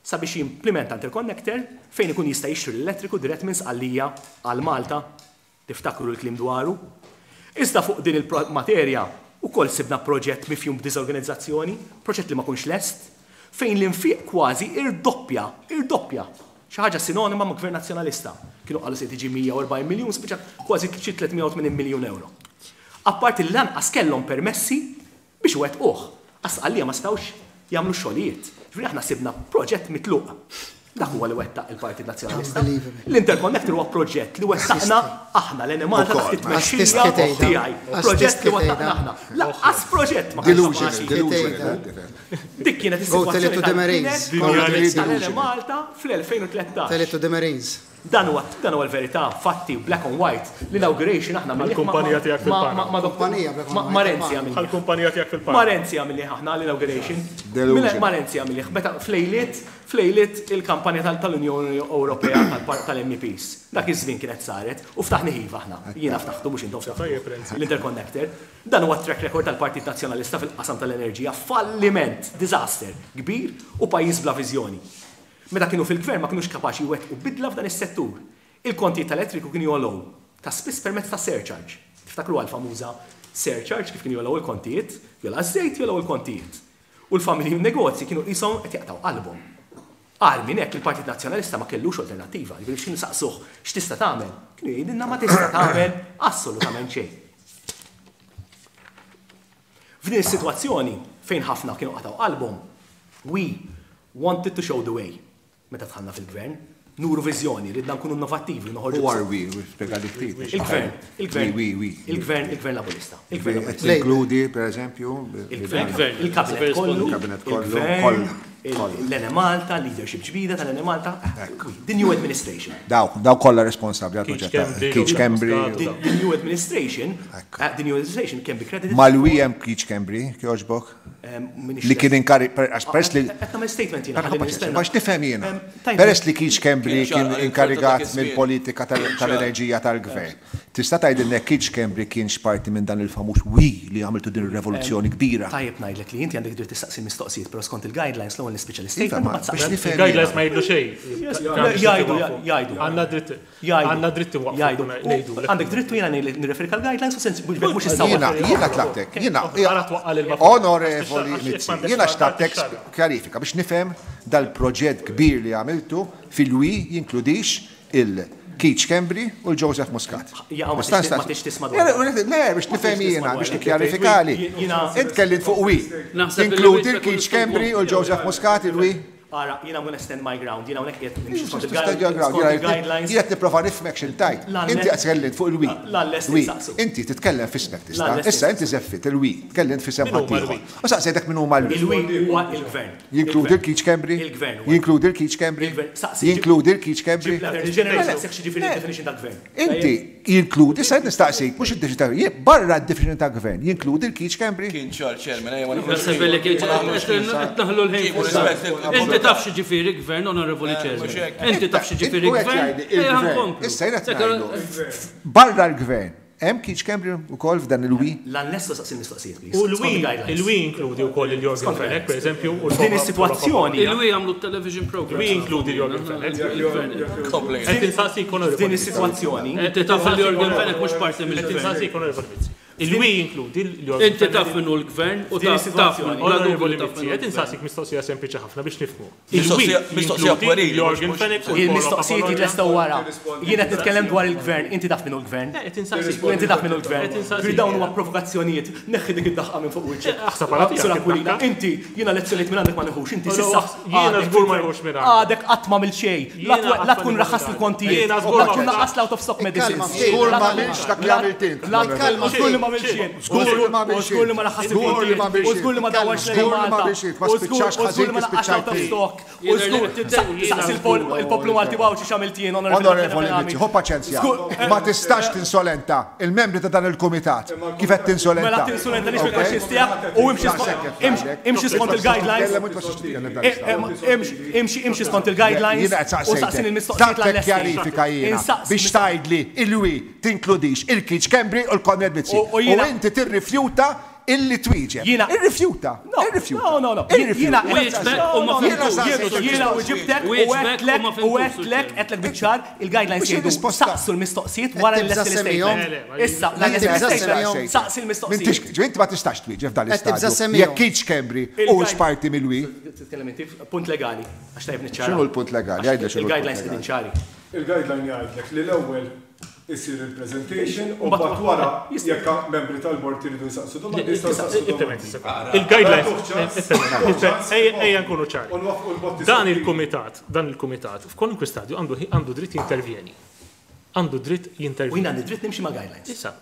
sabiex jimplimenta interconnector fejn ikun jista' jixtri l-elettriku dirett minn Sqallija għal Malta. Tiftakru l-kliem dwaru? Iżda fuq din il-materja wkoll sibna proġett mifjum b'diżorganizzazzjoni, proġett li ma kunx lest, fejn l-infiq kważi irdoppja, irdoppja! Xi ħaġa sinonima ma' Gvern Nazzjonalista. Kienu qalu se tiġi 140 miljun, spiċċat kważi xi 380 miljun ewro. Apparti li lanqas kellhom permessi biex iwettquh. Għax Sqallija ma setgħux jagħmlu x-xogħlijiet. Ġifieri aħna sibna proġett mitluq. Dak huwa li wettaq il-Partit Nazzjonalista. L-Interconnector huwa proġett li wettaqna aħna l-Enemalta taħt it-tmexxija tiegħi. Proġett li wettaqna aħna. Lanqas proġett ma kienx kapaċi. Dik kienet is-sitwazzjoni tal-Marines Malta fl-2013. Tell it to the Marines. Dan huwa dan huwa l-verità, fatti, black on white. L-inauguration aħna Għall-kumpanija tiegħek fil-Panama. Kumpanija black on white. Ma' Renzi għamilnieh. Għall-kumpanija tiegħek fil-Panama. Ma' Renzi għamilnieh aħna l-inauguration. Ma' Renzi għamilnieh. Meta f'lejliet f'lejliet il-kampanja tal-Unjoni Ewropea tal-MEPs. Dak iż-żmien kienet saret u ftaħnih iva aħna. Jiena ftaħtu mhux intom ftaħtu. L-interconnector. Dan huwa t-track record tal-Partit Nazzjonalista fil-qasam tal-enerġija, falliment, disaster, kbir u pajjiż bla viżjoni. Meta kienu fil-Gvern ma kinux kapaċi jwettqu bidla f'dan is-settur. Il-kontijiet tal-elettriku kienu jogħlew ta' spiss permezz ta' surcharge. Tiftakruha l-famuża surcharge kif kienu jogħlew il-kontijiet? Jogħla ż-żejt, jogħlew il-kontijiet. U l-familji u n-negozji kienu qishom qed jaqtgħu qalbhom. Agħar minn hekk, il-Partit Nazzjonalista ma kellux alternattiva, jiġifieri x'ħin saqsuh x'tista' tagħmel, kienu jgħidilna ma tista' tagħmel assolutament xejn. F'din is-sitwazzjoni, fejn ħafna kienu qatgħu qalbhom, we wanted to show the way. Meta dħalna fil-Gvern, nuru viżjoni, ridna nkunu innovattivi, noħorġu. Who are we? Spjegali ftit. Il-Gvern, il-Gvern. We, we, we. Il-Gvern, il-Gvern Laburista. Il-Gvern Laburista. Tinkludi, per eżempju. Il-Gvern, il-Kabinet kollu. Il-Kabinet kollu. Il-Gvern, l-Enemalta, leadership ġdida tal-Enemalta. The new administration. Dawk, dawk kollha responsabbli għall-proġett. Keith Schembri. The new administration, the new administration can be credited. Mal-we hemm Keith Schembri, kjoġbok? Li kien inkari, għax peress li. Qed nagħmel statement jiena. ħalli nistenna. Biex nifhem jiena. Peress li Keith Schembri kien inkarigat mill-politika tal-enerġija tal-gvern. Tista' tgħidilna jekk Keith Schembri kienx parti minn dan il-famuż we li għamiltu din ir-revoluzzjoni kbira? Tajjeb ngħidlek li inti għandek dritt tistaqsi mistoqsijiet, però skont il-guidelines l-ewwel nispiċċa l-istatement u mbagħad Biex saqsi. nifhem Il-guidelines jiena. ma jgħidu xejn. Jgħidu, jgħidu. Għandna dritt. Jgħidu. Għandna dritt inwaqqfu Jgħidu. ngħidu. Għandek dritt u jiena nirreferik għall-guidelines u sens mhux issa Jiena, jiena tlabtek, jiena, Għara twaqqa' l-ilma. onorevoli Mizzi, jiena xtaqtek kjarifika biex nifhem dal-proġett kbir li għamiltu fil-we jinkludix il-Keith Schembri u l-Joseph Muscat. Jaqa' ma tix tisma' dwar. Le, biex nifhem jiena, biex tikkjarifikali. Jiena- Int kellimt fuq we. Naħseb li Tinkludi wieġbek l-Keith u Schembri u l-Joseph Muscat il-we? Ara, jiena I'm gonna stand my ground, jiena hawnhekk qiegħed nimxi skont il-guidelines. Jien qed nipprova nifhmek x'intajt. Inti qed tkellimt fuq il-we. L-lest Inti titkellem f'ismek tista'. Issa inti żeffit il-we, tkellimt f'isem ħaddieħor. U saqsejtek min huma l-we. Il-we huwa il-gvern. Jinkludi l-Keith Schembri? Il-gvern. Jinkludi l-Keith Schembri? Jinkludi l-Keith Schembri? Ġenerali, Inti jinkludi, issa qed nistaqsik, mhux id-definition ta' barra d-definition ta' gvern, jinkludi l-Keith Schembri? Kien ċar chairman, ejja ma Naħseb li kien qed naħlu l-ħin. Inti taf x'jiġifieri gvern, onorevoli chairman. Inti taf x'jiġifieri gvern. Ejja nkomplu. Issa jien qed ngħidu, barra l-gvern, hemm Keith Schembri wkoll f'dan il-we? L-annesso saqsi l-mistoqsijiet, please. U l-we, il-we inkludi wkoll il-Yorgen Fenech, per eżempju. u F'din is-sitwazzjoni. Il-we għamlu television program. We inkludi l-Yorgen Fenech. Qed insaqsik onorevoli. F'din is-sitwazzjoni. Inti taf li Yorgen Fenech mhux parti Qed mill-gvern. insaqsik onorevoli Mizzi. Il-we jinkludi l-Yorgen Inti taf minnu l-gvern u Din taf taf is-sitwazzjoni. minnu bla dubju Onorevoli taf Mizzi, minnu qed l-gvern. insaqsik mistoqsija sempliċi ħafna biex nifhmu. Mistoqsija- Il-we mistoqsija jinkludi puerili, Yorgen mhux- Fenech u l-Paolo Il-mistoqsijiet Apollonia. jitlestew wara. Jien qed nitkellem dwar il-gvern, inti taf minnu l-gvern. Qed insaqsik. Inti taf minnu l-gvern. Qed insaqsik. Ġifieri dawn huma provokazzjonijiet. Neħħi dik id-daħqa minn fuq wiċċek. Aħseb għala tiegħek Sur Aquilina, id-daħqa. inti jiena lezzjonijiet minn għandek ma nieħux, inti Allora, s'issa. jiena għadek żgur ma fil-gvern. nieħux minn għandek. Għadek qatt ma xejn. La Jiena tkun qatt ma raħas nieħu il-kontijiet. Jiena żgur La ma tkun nieħux. naqqas l-out of stock medicines. Żgur ma għamilx dak li għamilt int. La żgur li ma għamilx jien. Żgur li ma għamilx Żgur li ma raħas Żgur li ma il-kontijiet. għamilx U żgur li ma dawwarx Żgur li ma Malta. għamilx Ma U żgur- spiċċax u żgur ħażin li ma kif naqqax out of spiċċajt int. stock. U żgur saqs il-poplu Malti Għawdxi x'għamilt jien, Onorevoli Mizzi, ħu paċenzja. Ma tistax tinsolenta il-membri ta' dan il-kumitat. Kif qed tinsolenta? Mela tinsolenta nix Ok? mill-kaxxis tiegħek u imxi skont- Daqshekk qed imxi- ngħidlek. imxi skont il-guidelines. Titkellem u inti ma tistax titkellem dan Eh, l-istadju. eh, Imxi imxi imxi skont il-guidelines Jiena qed u saqsejtek. saqsini l-mistoqsijiet Saqsek l-lesti. kjarifika jiena Insaqsi biex tgħidli il-we tinkludix il-Keith Schembri u l-Konrad Mizzi. U U jiena- inti tirrifjuta illi twieġeb. Jiena- Irrifjuta. No, Irrifjuta. no, no, no. Irrifjuta. Jiena Wieġbek u ma Jiena fimtux. saqsejtek Jiena u ġibtek u Wieġbek u għedtlek ma u fimtux, għedtlek Sur għedtlek biċ-ċar il-guidelines Mhux jgħidu il-risposta. saqsu l-mistoqsijiet wara Qed l-lesti tibża' semmihom. l-statement. Issa, Qed l-lesti tibża' l-statement. semmihom. Saqsi l-mistoqsijiet. M'intix, inti ma tistax twieġeb f'dan Qed tibża' l-istadju. semmihom. Jekk Keith Schembri u x'parti mill-we. Titkellem inti punt legali, għax tajb niċċara. X'inhu l-punt legali? Għidli x'inhu l-punt Il-guidelines legali. qegħdin ċari. Il-guideline jgħidlek li l-ewwel isir il-presentation u mbagħad wara jekk membri tal-bord iridu jsaqsu domandi jistgħu jsaqsu domandi. Il-guidelines. Ejja nkunu ċari. U nwaffqu l-botti Dan il-kumitat, dan il-kumitat, f'kwalunkwe stadju għandu għandu dritt jintervjeni. Għandu dritt U jien jintervjeni. għandi dritt nimxi ma' guidelines. Issa,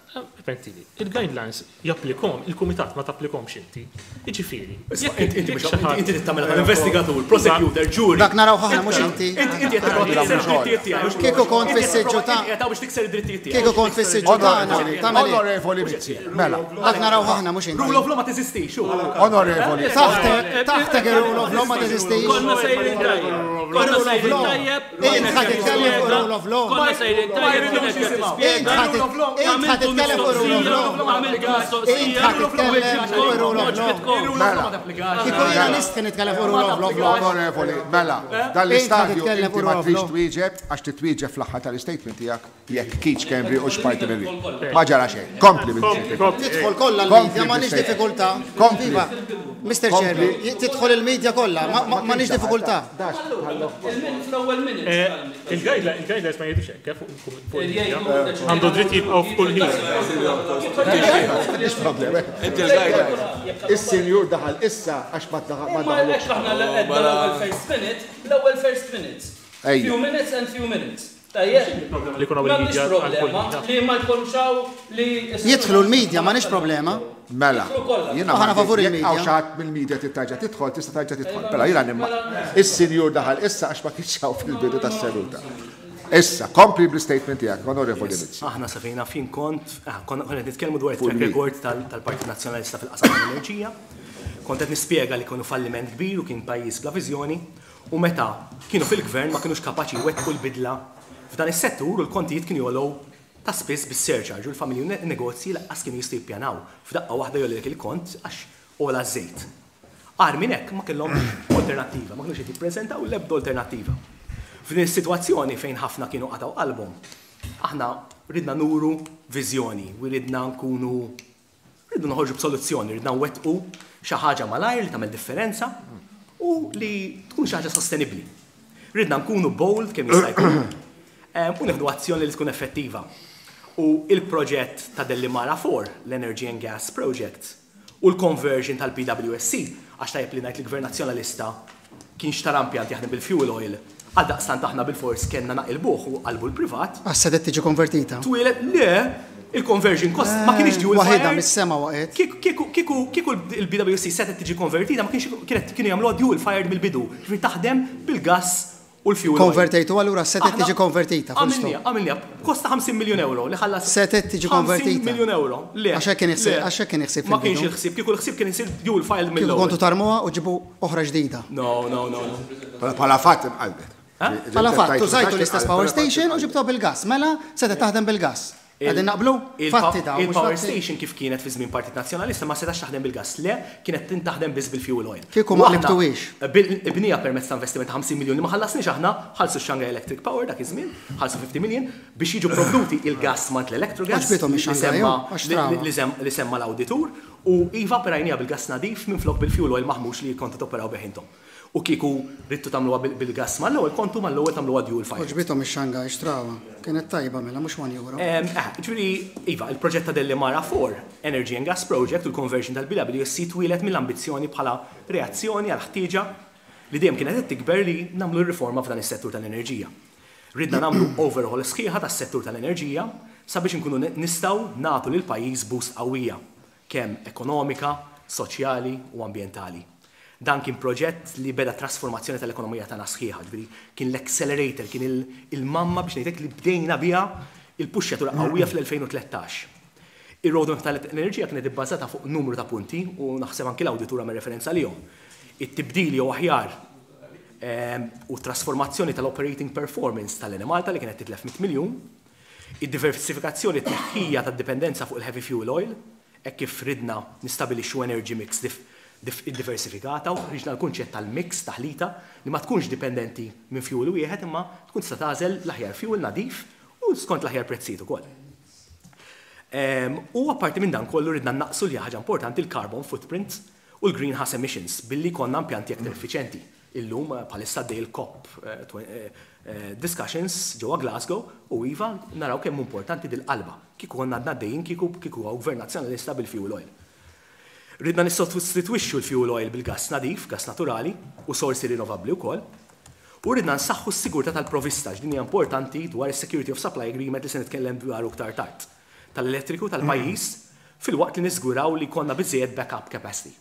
permettili, il-guidelines japplikom, il-kumitat ma tapplikomx inti. Jiġifieri, jekk Inti inti jekk mhux- xi ħadd- inti trid tagħmilha tal-investigatur, prosecutor, jury. Dak naraw ħafna mhux inti. Inti inti qed tipprova tikser id-drittijiet tiegħi. Kieku kont Inti qed fis-siġġu tipprova- ta' inti qed biex tikser id-drittijiet tiegħi. Kieku kont fis-siġġu tagħna, tagħmel hekk. Onorevoli Mizzi, mela. Dak naraw ħafna mhux Rule inti. of law ma teżistix. hu. Onorevoli. Taħtek, taħtek ir-rule of law ma teżistix. Konna sejrin tajjeb. Konna sejrin tajjeb. Int ħa titkellem fuq rule of law. Konna sejrin tajjeb. Kienet qed Int tispjega. ħa int ħa titkellem fuq rule of law. Għamiltu mistoqsija. Int ħa titkellem fuq rule of law. Rule of law ma tapplikax. Kieku jiena nistħi nitkellem fuq rule of law. Onorevoli, mela, dan l-istadju titkellem inti fuq ma rule of trix law. twieġeb għax titwieġeb fl-aħħar tal-statement tiegħek jekk Keith Schembri u x'parti mill Ma ġara xejn. Kompli Mizzi. Tidħol kollha l-media, ma nix diffikultà. Kompli. Iva, Mr. Chairman, tidħol il-media kollha, ma nix diffikultà. Fl-ewwel minutes. Il-guidelines ma jgħidux hekk fuq il-media. Għandu dritt jibqgħu f'kull ħin. M'għandix problema. Inti l-guidelines. Is-sinjur daħal issa għax ma daħal ma Ma daħal. għalhekk aħna l-għedna l-ewwel first minute, l-ewwel first minutes. Ejja. Few minutes and few minutes. Tajjeb. Li jkun hawn M'għandix il-media għal kull problema ħin. li ma jkunx hawn li Jidħlu l-media, ma nix problema. Mela, jiena Aħna favur jekk il-media. hawn xi ħadd mill-media tittarġa' tidħol, tista' tarġa' tidħol. Mela jiena nimma. Is-sinjur daħal issa għax ma kienx hawn fil-bidu tas-seduta. Issa, kompli bl-statement tiegħek, Onorevoli Mizzi. Aħna sa fejna fin kont, konna qed nitkellmu dwar Fuq track il-media. record tal-Partit Nazzjonalista fil-qasam tal-enerġija. Kont qed nispjega li kienu falliment kbir u kien pajjiż bla viżjoni u meta kienu fil-gvern ma kinux kapaċi jwettqu l-bidla f'dan is-settur u l-kontijiet kienu jogħlew ta' spiss bis-surcharge u l-familji u negozji laqqas kienu jistgħu jippjanaw. F'daqqa waħda jogħlilek il-kont għax ogħla ż-żejt. Agħar minn hekk ma kellhomx alternattiva, ma kinux qed jippreżentaw l-ebda alternattiva. F'din is-sitwazzjoni fejn ħafna kienu qatgħu qalbhom, aħna ridna nuru viżjoni u ridna nkunu ridna noħorġu b'soluzzjoni, ridna nwettqu xi ħaġa malajr li tagħmel differenza u li tkun xi ħaġa sostenibbli. Ridna nkunu bold kemm jista' jkun u nieħdu azzjoni li tkun effettiva. U il-proġett ta' Delimara 4, l-Energy and Gas Project, u l-conversion tal-PWSC, għax tajjeb li ngħid li gvern nazzjonalista kien xtara impjant jaħdem bil-fuel oil, għaldaqstant aħna bilfors kellna naqilbuh u qalbu l-privat. Għax setgħet tiġi konvertita. Twieled, le, il-conversion cost ma kienx dual fired. Waħidha mis-sema waqgħet. Kieku, kieku, kieku l-BWC setgħet tiġi konvertita ma kienx, kienet, kienu jagħmluha dual fired mill-bidu, jiġifieri taħdem bil-gass u l-fuel oil. Konvertejtu allura setgħet tiġi konvertita, full stop. Għamilniha, għamilniha, b'kost ta' 50 miljun ewro li ħallas. Setgħet tiġi konvertita. 50 miljun ewro, le. Għax hekk kien il-ħsieb, għax hekk kien il-ħsieb Ma kienx il-ħsieb, kieku l-ħsieb kien isir dual fired mill-ewwel. Kieku kontu tarmuha u ġibu oħra ġdida. No, no, no, no. Bħala fatt inqalbet. Bħala fatt, użajtu l-istess power station u ġibtuha bil-gass, mela setgħet taħdem bil-gass. Qegħdin naqblu? Fatti dawn, mhux Il-power fatti? station kif kienet fi żmien Partit Nazzjonalista ma setax taħdem bil-gass, le, kienet tintaħdem biss bil-fuel oil. Kieku ma U aħna qlibtuhiex. Ibnija permezz ta' investiment ta' 50 miljun li ma ħallasniex aħna, ħallsu x-Shanghai Electric Power dak iż-żmien, ħallsu 50 million biex jiġu provduti il-gass mant l-Electrogas Għoġbithom li ix-Shanghai, semma hu, għax trawha. li semma l-awditur u iva operajniha bil-gass nadif minflok bil-fuel oil maħmux li kontu toperaw bih intom. U kieku ridtu tagħmluha bil-gass mal-ewwel, kontu mal-ewwel tagħmluha dual fired. Għoġbithom ix-Shanghai, xtrawha. Kienet tajba mela, mhux one euro. Ġifieri, iva, il-proġett ta' Delimara 4, Energy and Gas Project u l-conversion tal-BWSC twieled mill-ambizzjoni bħala reazzjoni għall-ħtieġa li dejjem kienet qed tikber li nagħmlu r-riforma f'dan is-settur tal-enerġija. Ridna nagħmlu overhaul sħiħa tas-settur tal-enerġija sabiex inkunu nistgħu nagħtu lill-pajjiż boost qawwija, kemm ekonomika, soċjali u ambjentali. Dan kien proġett li beda trasformazzjoni tal-ekonomija tagħna sħiħa, ġifieri kien l-accelerator, kien il-mamma biex ngħidlek li bdejna biha il-puxxjatura qawwija fl-2013. Ir-roadmap tal-enerġija kienet ibbażata fuq numru ta' punti u naħseb anki l-awditur għamel referenza lihom. It-tibdil jew aħjar u trasformazzjoni tal-operating performance tal-Enemalta li kienet titlef 100 miljun, id-diversifikazzjoni t-tneħħija tad-dipendenza fuq il-heavy fuel oil, hekk kif ridna nistabilixxu energy mix diversifikata u ħriġna l-kunċett tal-mix taħlita li ma tkunx dipendenti minn fuel wieħed imma tkun tista' tagħżel l-aħjar fuel nadif u skont l-aħjar prezzijiet ukoll. U apparti minn dan kollu ridna naqsu li ħaġa importanti l-carbon footprint u l-greenhouse emissions billi konna impjanti aktar effiċjenti. Illum bħalissa għaddej il-COP discussions ġewwa Glasgow u iva naraw kemm importanti dil-qalba. Kieku konna għadna għaddejjin kieku hawn gvern nazzjonalista bil-fuel oil. Ridna nissostitwixxu l-fuel oil bil-gas nadif, gas naturali u sorsi rinnovabbli wkoll. U ridna nsaħħu s-sigurtà tal-provista, x'din hija importanti dwar is-Security of Supply Agreement li se nitkellem dwaru iktar tard, tal-elettriku tal-pajjiż filwaqt li niżguraw li jkollna biżżejjed backup capacity.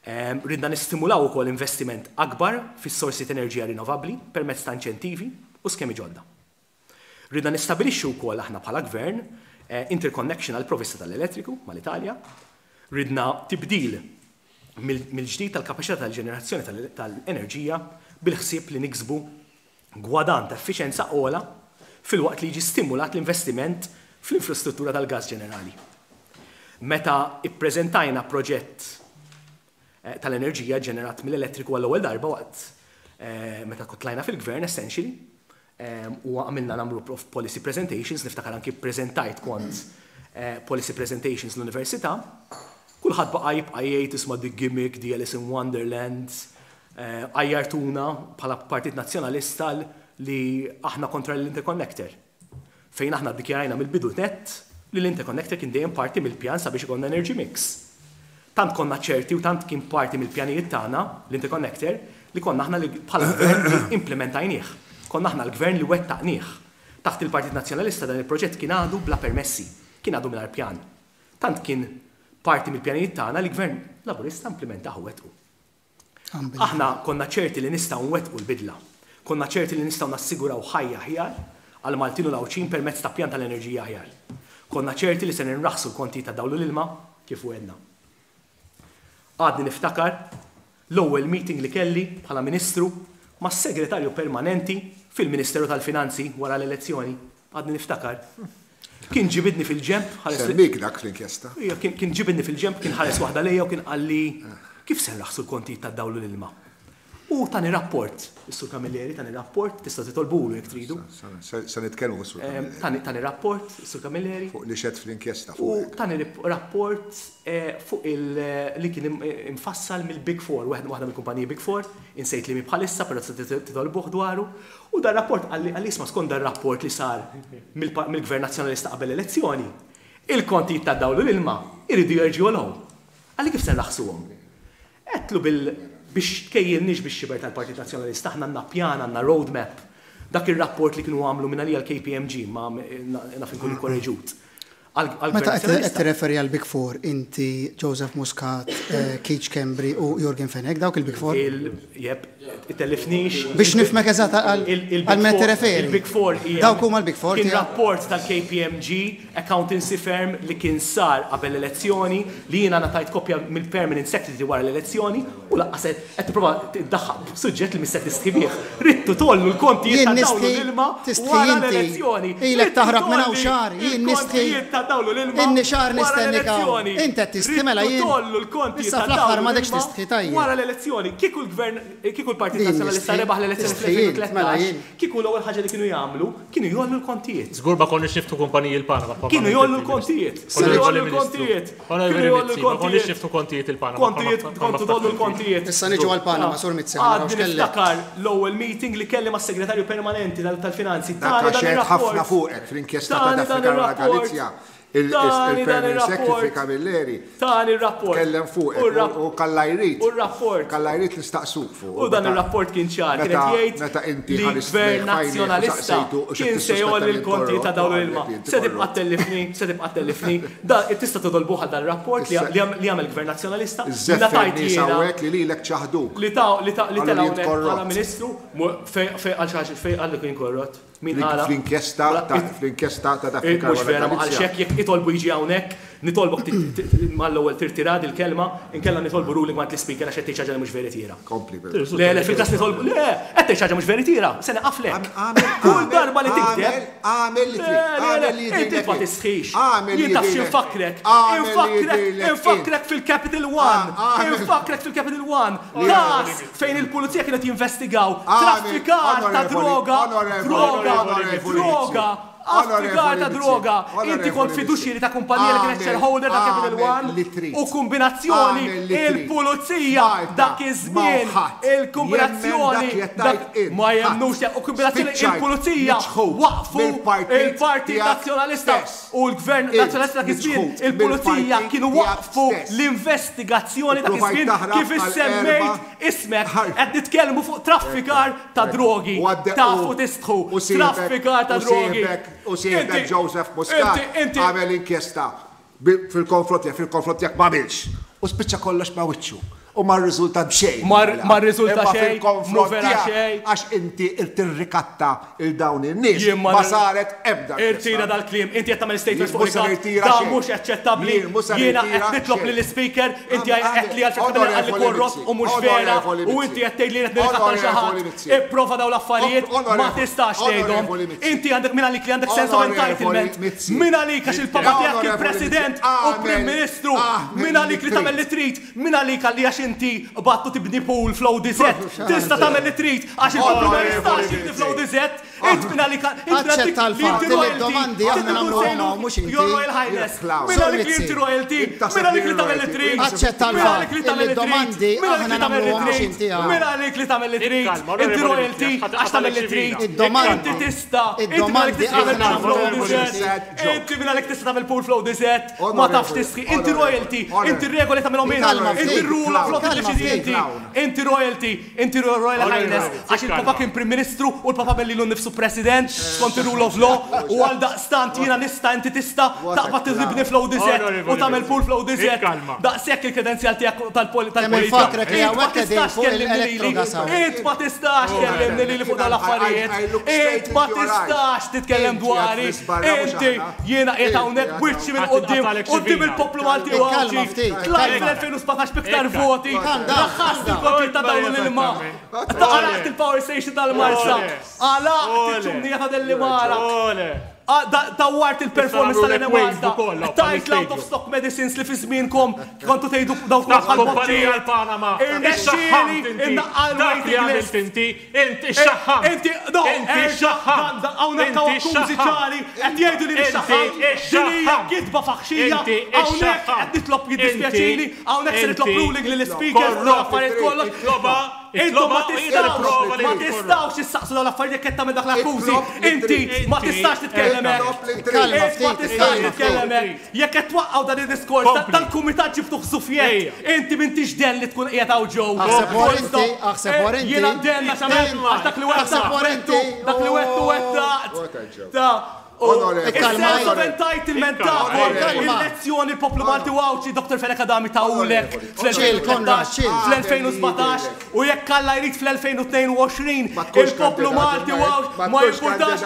Ridna nistimulaw ukoll investiment akbar fis-sorsi ta' enerġija rinnovabbli permezz ta' inċentivi u skemi ġodda. Ridna nistabilixxu wkoll aħna bħala gvern interconnection għal provista tal-elettriku mal-Italja. Ridna tibdil mill-ġdid tal-kapaċità tal-ġenerazzjoni tal-enerġija bil-ħsieb li niksbu gwadann ta' effiċenza ogħla filwaqt li jiġi stimulat l-investiment fl-infrastruttura tal-gas ġenerali. Meta ippreżentajna proġett tal-enerġija ġenerat mill-elettriku għall-ewwel darba waqt meta tlajna fil-gvern essentially, u għamilna numru of policy presentations, niftakar anki prezentajt kont policy presentations l-università, kulħadd baqa' jibqa' jgħid isma' the gimmick, the Alice in Wonderland, għajjartuna bħala Partit Nazzjonalista li aħna kontra l-interconnector. Fejn aħna ddikjarajna mill-bidu nett li l-interconnector kien dejjem parti mill-pjan sabiex ikollna energy mix. Tant konna ċerti u tant kien parti mill-pjanijiet tagħna l-interconnector li konna aħna li bħala gvern li implementajnieh. Konna aħna l-gvern li wettaqnieh. Taħt il-Partit Nazzjonalista dan il-proġett kien għadu bla permessi, kien għadu mingħajr pjan. Tant kien parti mill-pjanijiet tagħna li gvern Laburista implementaħ u wettqu. Aħna konna ċerti li nistgħu nwettqu l-bidla. Konna ċerti li nistgħu nassiguraw ħajja aħjar għal Maltin u l-Għawdxin permezz ta' pjan tal-enerġija aħjar. Konna ċerti li se ninraħsu l-konti ta' dawl u l-ilma kif wegħedna. Għadni niftakar l-ewwel meeting li kelli bħala Ministru mas-Segretarju Permanenti fil-Ministeru tal-Finanzi wara l-elezzjoni. Għadni niftakar. Kien ġibidni fil-ġemp, ħares li- Semmik dak fl-inkjesta. Ija, kien ġibidni fil-ġemp, kien ħares waħda lejja u kien qalli kif se nraħsu l-kontijiet tad-dawl u l-ilma. U tani rapport, is-Sur Camilleri tani rapport, tista' titolbulu jekk tridu. Se nitkellmu fuq is-Sur Camilleri. Tani rapport, is-Sur Camilleri. Fuq li xed fl-inkjesta U fuq. tani rapport fuq li kien imfassal mill-Big Four, waħda mill-kumpaniji Big Four, insejt li mi bħalissa, però tista' titolbuh dwaru. U dar rapport qalli isma' skont dar rapport li sar mill-Gvern Nazzjonalista qabel l-elezzjoni, il-kontijiet tad-dawl u l-ilma iridu jerġgħu jogħlew. Qalli kif se nraħsuhom? Għedtlu bil Biex tkejjilniex bix-xiber tal-Partit Nazzjonalista, aħna għandna pjan, għandna roadmap. Dak ir-rapport li kienu għamlu mingħalija l-KPMG, ma naf inkun ikkoreġut. Meta qed tirreferi għall-Big Four, inti, Joseph Muscat, Keith Schembri u Yorgen Fenech, dawk il-Big Four? Jep, tellifnix. Biex nifhmek eżatt għal min qed tirreferi. Il-Big Four hija. Dawk huma l-Big Four tiegħek. Kien rapport tal-KPMG, accountancy firm, li kien sar qabel l-elezzjoni, li jiena ngħatajt kopja mill-Permanent Secretary wara l-elezzjoni, u lanqas qed tipprova tiddaħħaq b'suġġett li mhix se tistħi bih. Ridtu tgħollu l-kontijiet ta' dawl u l-ilma wara l-elezzjoni. Ilek taħrab minn hawn xahar, jien nistħi. Inni xahar nistennik hawn. Int qed tistħi mela jien. Issa fl-aħħar m'għadekx tistħi tajjeb. Wara l-elezzjoni, kieku l-gvern, kieku l-Partit Nazzjonalista rebaħ l-elezzjoni fl-2013, kieku l-ewwel ħaġa li kienu jagħmlu, kienu jgħollu l-kontijiet. Żgur ma konniex niftħu kumpaniji l-Panama. Kienu jgħollu l-kontijiet. Kienu jgħollu l-kontijiet. Onorevoli Mizzi, ma konniex niftħu kontijiet il-Panama. Kontijiet, kontu tgħollu l-kontijiet. Issa niġu għall-Panama, Sur Mizzi, ħa naraw x'kellek. Għadni niftakar l-ewwel meeting li kelli mas-Segretarju Permanenti tal-Finanzi. Dak għax għedt ħafna fuqek fl-inkjesta ta' Daphne Caruana Galizia. Il-Permanent Secretary Camilleri tkellem fuqek u kalla jrid. U r-rapport. Kalla jrid nistaqsuk fuq. U dan ir-rapport kien ċar, kien qed jgħid li l-Gvern Nazzjonalista kien se jgħolli l-kontijiet ta' dawl u l-ilma. Se tibqa' ttellifni, se tibqa' ttellifni. Da, tista' titolbuh għal dan ir-rapport li għamel il-Gvern Nazzjonalista. Iżżeffer nies hawnhekk li lilek ċaħduk. Li ta' li tela' hawnhekk bħala Ministru, fejn qal xi ħaġa, fejn qal li kien korrott? Min qala? Fl-inkjesta ta' fl-inkjesta ta' Daphne Mhux Caruana vera, ma qalx Galizia. hekk, jekk itolbu jiġi hawnhekk, nitolbok mal-ewwel tirtira dil-kelma, inkella nitolbu ruling mingħand l-Ispeaker għax qed tgħid xi ħaġa li mhux veritiera. Kompli però. Le, le, fil-każ nitolbu, le, qed tgħid xi ħaġa mhux veritiera, se nieqaflek. Kull darba li tigdeb. Agħmel li trid, agħmel li jidhirlek. Inti ma tistħix. Agħmel li Jien taf jidhirlek. x'infakkrek. Agħmel li Infakkrek, jidhirlek int. infakkrek fil-Capital One. Infakkrek fil-Capital One. Każ fejn il-pulizija kienet jinvestigaw traffikar ta' droga, droga, droga, traffikar ta' droga. Inti kont fiduċjeri ta' kumpanija li kienet shareholder ta' Capital One u kombinazzjoni il-pulizija dak iż-żmien il-kombinazzjoni ma jemmnux u kombinazzjoni il-pulizija waqfu il-Partit Nazzjonalista u l-Gvern Nazzjonalista dak iż-żmien il-pulizija kienu waqfu l-investigazzjoni dak iż-żmien kif issemmejt ismek qed nitkellmu fuq traffikar ta' drogi. Tafu tistħu. Traffikar ta' drogi. U sieħbek Joseph Muscat għamel inkjesta fil-konfront tiegħek, fil-konfront tiegħek m'għamilx. U spiċċa kollox ma' wiċċu. U ma rriżulta b'xejn. Ma rriżulta xejn, mhu vera xejn. Għax inti tirrikatta 'l dawn in-nies ma saret ebda inkjesta. Irtira dal-kliem, inti qed tagħmel statements fuq ritratt, dan mhux aċċettabbli, jiena qed nitlob lill-Ispeaker, inti għedt li għalfejn qed tagħmel qalli korrott u mhux vera u inti qed tgħid li jien qed nirrikatta 'l xi ħadd. Ipprova dawn l-affarijiet ma tistax tgħidhom. Inti għandek min għalik li għandek sense of entitlement, min għalik għax il-papa tiegħek kien President u Prim Ministru, min għalik li tagħmel li trid. Min għalik għalli għax inti qbadt u tibni pool fl-ODZ tista' tagħmel li trid għax il-poplu ma jistax jibni fl-ODZ int min għalik int min għalik Aċċetta li l-fatt inti li royalty d-domandi trid aħna tkun nagħmluhom sejlu hawn mhux inti. Your Royal Highness Clown. min għalik li inti royalty min għalik li tagħmel li trid Aċċetta min għalik l-fatt li li tagħmel li trid d-domandi min għalik aħna li tagħmel li nagħmluhom mhux trid inti hawn. min għalik li tagħmel li trid Ikkalma, inti Onorevoli royalty Mizzi, għax tagħmel li trid Id-domandi inti tista' inti min għalik id-domandi tista' tagħmel aħna pool nagħmluhom mhux fl-ODZ inti. inti min għalik tista' tagħmel pool fl-ODZ ma tafx tistħi inti royalty inti r-regoli tagħmilhom int Kalma inti ftit. r-rule of law Kalma tiddeċidi ftit. inti inti royalty inti Royal Highness għax il-papa kien Prim Ministru u l-papa belli lilu nnifsu President skont ir-rule of law u għaldaqstant jiena nista' inti tista' taqbad tibni fl-ODZ u tagħmel pool fl-ODZ daqshekk il-kredenzjal tiegħek tal-politika. Kemm infakrek li Int ma hawnhekk qegħdin tistax fuq tkellimni lili il-electrogas hawn. int ma tistax tkellimni lili fuq dawn l-affarijiet int ma tistax titkellem dwari inti jiena qiegħed hawnhekk b'wiċċi minn quddiem quddiem il-poplu Malti u Għawdxi. Tlajt fl-2017 b'iktar voti, raħħast il-kontijiet ta' dawl u l-ilma, għalaqt il-power station tal-Marsa, għalaqt iċ-ċumnija ta' Dellimara, dawwart il-performance tal-Enemalta, tajt l-out of stock medicines li fi żmienkom kontu tgħidu dawk huma bħal Kumpanija l-Panama. Irnexxieli innaqqal Dak li waiting għamilt list. inti, inti xaħħamt. Inti, no, Inti erġa' xaħħamt. hawnhekk hawn Inti akkużi xaħħamt. ċari qed jgħidu li Inti nixxaħħamt. Din hija xaħħamt. gidba faħxija. Inti Hawnhekk xaħħamt. qed nitlob jiddispjaċini, Inti hawnhekk se nitlob inti ruling lill-ispeaker fuq korrott. l-affarijiet kollox. Itloba Intom ma tistgħux, ma tistgħux issaqsu dawn l-affarijiet jekk qed tagħmel dak l-akkużi. Inti ma tistax titkellem hekk. Int ma tistax titkellem hekk. Jekk qed twaqqgħu dan id-diskors, dal-kumitat ġibtuh żufjett. Inti m'intix den li tkun qiegħed hawn ġew. Aħseb wara inti, aħseb wara inti. Jiena den għax għamilt għax dak li wettaqt wettu, dak li wettu wettaqt. Is-sense of entitlement tagħkom, il-lezzjoni l-poplu Malti u Għawdxi Dr. Fenech Adami tahulek fl-2013, fl-2017 u jekk Alla jrid fl-2022 il-poplu Malti u Għawdxi ma jimpurtax.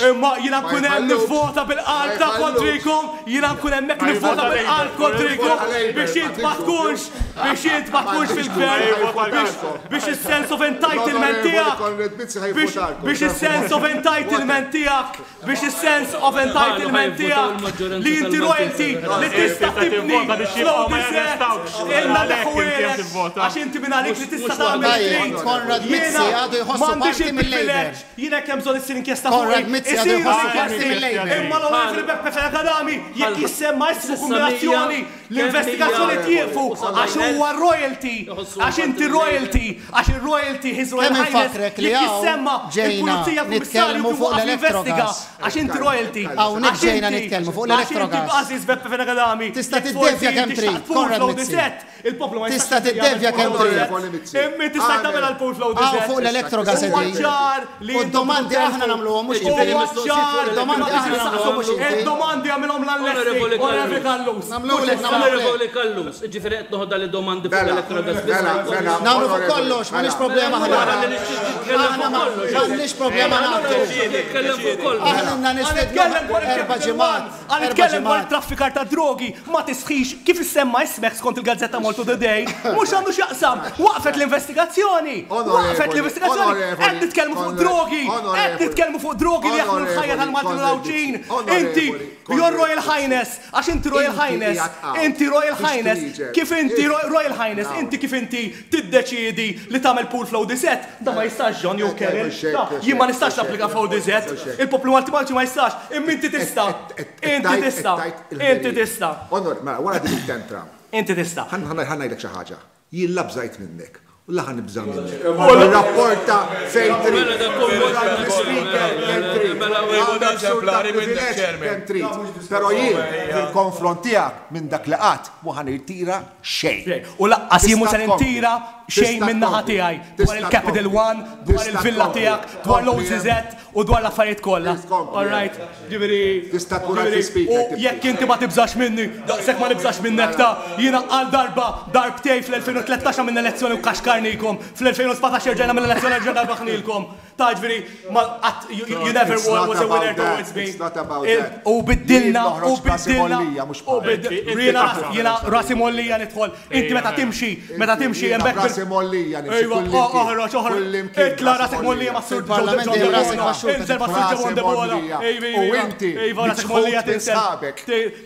Imma jiena nkun hemm nivvota bil-qalb ta' kontrikom, jiena nkun hemmhekk nivvota bil-qalb kontrikom biex int ma tkunx, biex int ma tkunx fil-gvern, biex is-sense of entitlement tiegħek, biex is-sense of entitlement tiegħek, biex is-sense of entitlement tiegħek li inti royalty li tista' tibni fl-ODZ ilna neħħuhielek għax inti minn għalik li tista' tagħmel li trid. Konrad Mizzi għadu jħossu M'għandix parti mill-Labour. il-privileġġ, jien hekk hemm bżonn issir inkjesta fuqi, Konrad Mizzi għadu isiru jħossu parti l-inkjesti, mill-Labour. imma l-Onorevoli Beppe Fenech Adami jekk jissemma ismu kombinazzjoni L-investigazzjoni tieqfu għax huwa royalty, għax inti royalty, għax ir-royalty His Royal Kemm Highness infakrek li jekk hawn jissemma ġejna il-pulizija l-kummissarju nitkellmu kif fuq waqaf jinvestiga l-Electrogas. għax inti royalty, Hawnhekk għax ġejna inti, nitkellmu fuq għax inti l-Electrogas. Aziz Beppe Fenech Adami, Tista' jekk tiddevja forsi kemm inti trid, xtaqt pool Konrad flow Mizzi. dizett, il-poplu ma jistax Tista' tiddevja kemm trid. Imma inti stajt tagħmel għal pool flow Hawn dizett. fuq l-Electrogas Huwa qegħdin. ċar li U intom d-domandi tridu aħna nagħmluhom mhux Huwa inti. ċar li Id-domandi ma aħna nagħmluhom mhux inti. Id-domandi għamilhom l-Onorevoli Onorevoli Callus. Nagħmluhulek, nagħmluhulek. Onorevoli Callus, jiġifieri qed noħodha li domandi fuq l-Electrogas biss. Nagħmlu fuq kollox, m'għandniex problema aħna. Nitkellem Aħna fuq kollox. m'għandniex problema nagħtu. Nitkellem fuq kollox. Aħna ilna nistiednu erba' ġimgħat. Għan Erba' nitkellem dwar ġimgħat. traffikar ta' drogi, ma tisħix kif issemma ismek skont il-gazzetta Malta Today, mhux għandu x'jaqsam. Waqfet l-investigazzjoni. Waqfet l-investigazzjoni. Qed nitkellmu fuq drogi, qed nitkellmu fuq drogi li jaħlu l-ħajja tal-Maltin u l-Għawdxin. Inti, Your Royal Highness, għax inti Royal Highness, inti Royal Highness, kif inti Royal Highness, inti kif inti tiddeċiedi li tagħmel pool fl-ODZ, da ma jistax John jew Karen, jien ma nistax napplika f'ODZ, il-poplu Malti Malti ma jistax, imma inti tista'. Inti tista'. Inti tista'. Onor, mela, wara din it-tentra. Inti tista'. Ħa ngħidlek xi ħaġa. Jien la bżajt minnek u la ħa nibża' minnek. Irrapporta fejn trid. Speaker kemm trid. Għandek sur ta' privileġġ kemm trid. Però jien fil-konfront tiegħek minn dak li qatt mhu ħa nirtira xejn. U laqqas jien mhu se nirtira xejn min-naħa tiegħi dwar il-Capital One, dwar il-villa tiegħek, dwar l-OCZ u dwar l-affarijiet kollha. All right? Ġifieri. Tista' tkun għal speaker. U jekk inti ma tibżax minni, daqshekk ma nibżax minnek ta' jiena għal darba darbtej fl-2013 għamilna elezzjoni u kaxkarnikom, fl-2017 erġajna għamilna elezzjoni erġajna rbaħnilkom. Ta' ġifieri ma qatt you never was a winner towards me. U biddilna u biddilna u biddilna jiena rasi mollija nidħol. Inti meta timxi, meta timxi hemmhekk. Rasi mollija nimxi. Ejwa, oħroġ, oħroġ. Itla' rasek mollija mas-Sur Fil-Parlament dejjem rasek baxxuta. Inżel mas-Sur John Debono. U inti Iva, rasek mollija tinżel.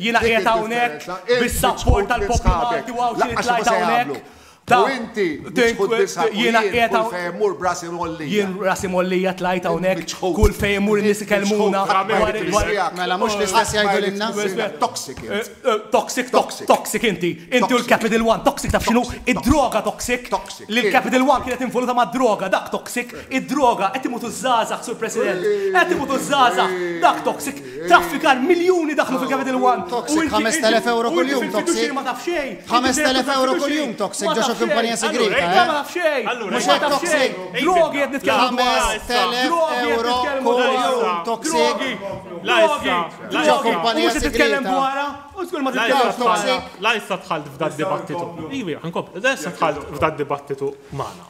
Jiena qiegħed hawnhekk bis-sapport tal-poplu Malti u Għawdxi li tlajt hawnhekk. U inti miċħud bi sħabek. Jiena qiegħed Kull fejn immur b'rasi mgħollija. Jien rasi mgħollija tlajt hawnhekk, kull fejn immur in-nies ikellmuna. Mela mhux l-istess jgħidu lilna? Toxic int. Toxic, toxic inti. Inti u l-Capital One, toxic taf x'inhu? Id-droga toxic. Li l-Capital One kienet involuta mad-droga, dak toxic. Id-droga, qed imutu ż-żgħażagħ, Sur President. Qed imutu ż-żgħażagħ, dak toxic. Traffikar miljuni daħlu fil-Capital One. Toxic, 5,000 euro kuljum toxic. Ma taf xejn. 5,000 euro kuljum toxic ġo xi kumpanija segreta, eh? Ma taf xejn. Mhux hekk toxic. Drogi qed nitkellmu dwar. 5,000 euro kuljum toxic. Drogi. Ġo kumpanija Mhux qed titkellem segreta. dwarha. U żgur ma titkellem dwarha. La issa dħalt f'dad dibattitu. Iva, ħankompli. La issa dħalt f'dad dibattitu magħna.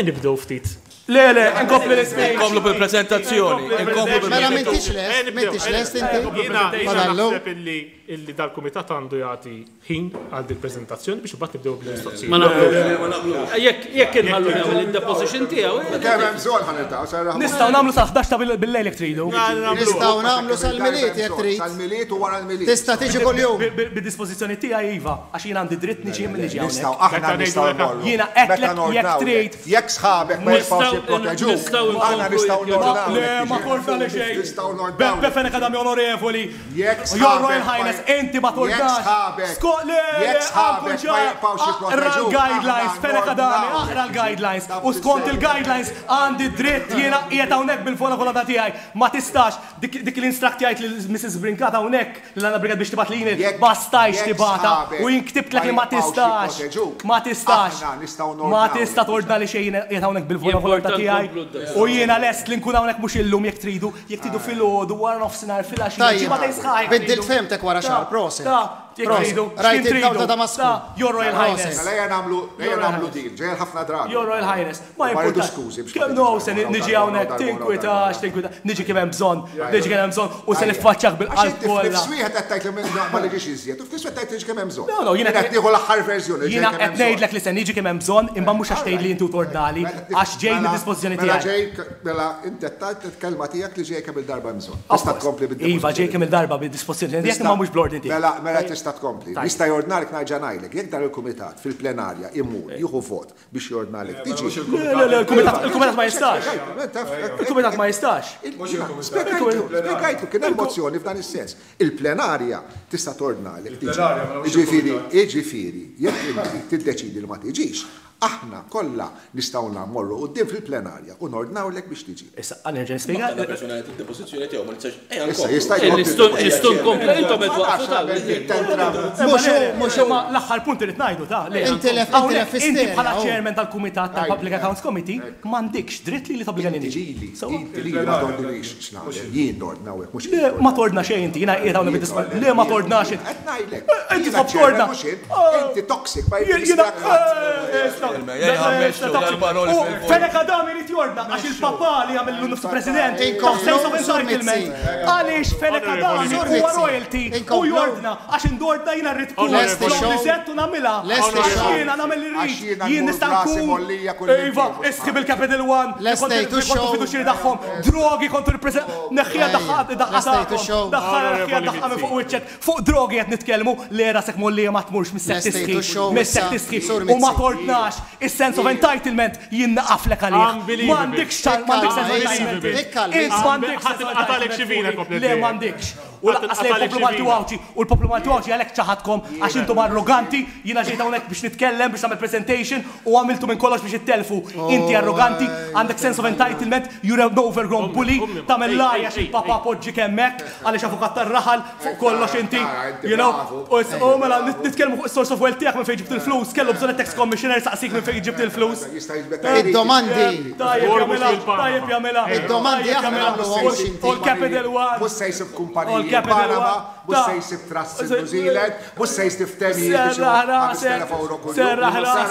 Nibdew ftit. Le, le, inkompli l-ispeech. Inkomplu bil-prezentazzjoni. Inkomplu bil Mela m'intix lest, m'intix lest inti. Jiena Fadallu. naħseb illi illi dal-kumitat għandu jagħti ħin għal dil preżentazzjoni biex imbagħad nibdew bil-mistoqsijiet. Ma naqblux. Jekk jekk inħallu jagħmel id-deposition tiegħu. Kemm hemm bżonn ħa niltaqgħu, serraħ. Nistgħu nagħmlu sal-11 ta' bil-lejl jekk tridu. Nistgħu nagħmlu sal-Milied jekk trid. Sal-Milied u wara l-Milied. Tista' tiġi kuljum. Bid-dispożizzjoni tiegħi iva, għax jien għandi dritt niġi minn niġi Nistgħu hawnhekk. aħna nistgħu mmorru. Jiena għedtlek Meta jekk nordnawlek. trid. Jekk sħabek ma jibqgħux jipproteġuk, aħna nistgħu nordnawlek. Le, ma korta li xejn. Nistgħu nordnawlek. Beppe Fenech Adami onorevoli. Jekk Your Royal sħabek ma Highness. Inti ma tordnax. Jekk Le, jekk sħabek ma jibqgħux Aqra jipproteġuk. l-guidelines, Fenech Adami, aqra l-guidelines. U skont il-guidelines għandi dritt jiena qiegħed hawnhekk bil-vola volontà tiegħi. Ma tistax dik dik li instructjajt lil Mrs. Brincat hawnhekk, lil Anna Brincat biex tibgħat l-email, Jekk ma stajtx jekk tibgħatha sħabek u jien ma ktibtlek li ma jibqgħux tistax. jipproteġuk, Ma tistax. aħna nistgħu Ma nordnawlek tista' biex tordna li xejn jiena qiegħed hawnhekk bil-vola volontà Jimporta tiegħi nkomplu d-dars. u jiena lest li nkun hawnhekk mhux illum jekk tridu, jekk tridu filgħodu, wara nofsinhar, filgħaxija, Tajjeb, ġimgħatejn sħaħ jekk biddilt tridu. fehmtek wara Ta, xahar, proset. ta, jekk Proset. tridu, Rajt x'kien id-dawl tridu. ta' Damasku. Ta, Your Royal Proset. Highness. Mela ejja nagħmlu ejja Your Royal nagħmlu Highness. deal, ġejja ħafna drabi. Your Royal Highness, ma Ma rridu jimpurtax. skużi biex Kemm ma no tiġix se darba wara niġi darba hawnhekk wara darba wara tinkwitax, darba. tinkwitax, niġi kemm hemm bżonn, niġi kemm hemm bżonn u se niffaċċjak Għax bil-qalb inti kollha. f'nifs wieħed qed tgħid li ma niġix iżjed, u f'nifs wieħed tgħid li kemm hemm bżonn. No, no, jiena qed nieħu l-aħħar verżjoni li Jiena ġej kemm qed hemm bżonn. ngħidlek li se niġi kemm hemm bżonn, imma mhux għax tgħidli inti u tordnali, għax ġej mid-dispożizzjoni Mela tiegħi. ġej, mela inti qed tgħid il-kelma tiegħek li ġej kemm il-darba hemm bżonn. Of Tista' course. tkompli Iva, ġej kemm il-darba bid-dispożizzjoni tiegħek imma mhux bl-ordni tiegħek. Mela, mela tista' tkompli. Tajjeb. Nista' jordnalek nerġa' ngħidlek, jekk dan il-kumitat fil-plenarja imur jieħu vot biex jordnalek tiġi. Le, le, le, il-kumitat il-kumitat ma jistax. Il-kumitat ma jistax. Spjegajtlu, spjegajtlu, kien hemm mozzjoni f'dan is-sens. Il-plenarja tista' tordnalek tiġi. Il-plenarja, mela mhux Jiġifieri, il-kumitat. jiġifieri, jekk inti tiddeċidi li ma tiġix, aħna kollha nistgħu mmorru quddiem fil-plenarja u nordnawlek biex tiġi. Issa, għan nerġa' nispjega. Għandna persuna qed id-depożizzjoni tiegħu ma nistax. Ejja Issa nkomplu. jista' jkompli. Nistgħu nkomplu intom qed waqfu tal. Mhux hu, mhux hu. Ma l-aħħar punt irid ngħidu ta' le. Intilef- Hawnhekk intilef Inti bħala isterja, oh. chairman tal-kumitat tal-Public Accounts Committee m'għandikx dritt li li tobbliga Inti niġi. ġili, So, inti li ma tordnilix x'nagħmel, jien nordnawek mhux Le, ma tordna xejn inti, jiena qiegħed hawnhekk bid-dispożizzjoni. Le, ma tordnax inti. Qed ngħidlek. Inti Jiena tħobb chairman torna. mhux int. Oh. Inti toxic ma Jiena. jirristak ħadd. Ejja, U Fenech Adami irid jordna għax il-papà li għamillu nifsu president ta' Inkomplu, sense of Sur entitlement. Mizzi. Għaliex Fenech Adami Sur huwa Mizzi. royalty u Inkomplu. jordna għax indordna jiena rrid tkun Lesti flok li show. sett u nagħmilha. Lesti Għax show. jiena nagħmel li Għax rrid. jiena Jien nmur nista' brasi nkun. mollija kull Iva, imkien. isħi bil-Capital One. li kont- Lestejtu li kontu show. fiduċjari tagħhom. Drogi kontu rippreżent. Neħħija Ejja. daqqa Lestejtu tagħkom. show. Daħħa neħħija daqqa minn fuq wiċċek. Fuq drogi qed nitkellmu li rasek mollija ma tmurx mis-sek Lestejtu tisħi. show Mis-sek issa. tisħi. Sur U ma Mizzi. tordnax is-sense of entitlement jien naqaflek għalih. Unbelievable. M'għandikx ċan, m'għandikx sense of Ikkalma, entitlement. ikkalma. Int m'għandikx sense of Għatalek entitlement xi vina fuqi. komplet Le dejjem. m'għandikx. U lanqas lejn Għatalek il-poplu xi Malti u vina. Għawdxi u l-poplu Malti u Għawdxi għalhekk ċaħadkom għax intom arroganti, jiena ġejt hawnhekk biex nitkellem biex nagħmel presentation u għamiltu minn kollox biex ittelfu. Inti arroganti, għandek sense of entitlement, you're an overgrown bully, tagħmel ej, lajja ej, xi ej, papa ej. poġġi kemmek għaliex avukat tar-raħal fuq kollox inti, Ara, inti you know. bravu. U u mela nitkellmu fuq is-source of wealth tiegħek minn fejn ġibt il-flus, kellu bżonn tax commissioner saqsik minn fejn ġibt il-flus. Jista' jiġbed Id-domandi. Tajjeb Żgur mhux jagħmilha, fil-Panama. tajjeb jagħmilha. Id-domandi tajjeb aħna jagħmilha. nagħmluhom mhux inti. U l-Capital One. Mhux se jsib U kumpaniji l-Capital Panama, One. mhux se jsib trust in New Zealand, mhux se jsib ftehimiet biex Serraħ rasek, 5000 euro kuljum. serraħ rasek,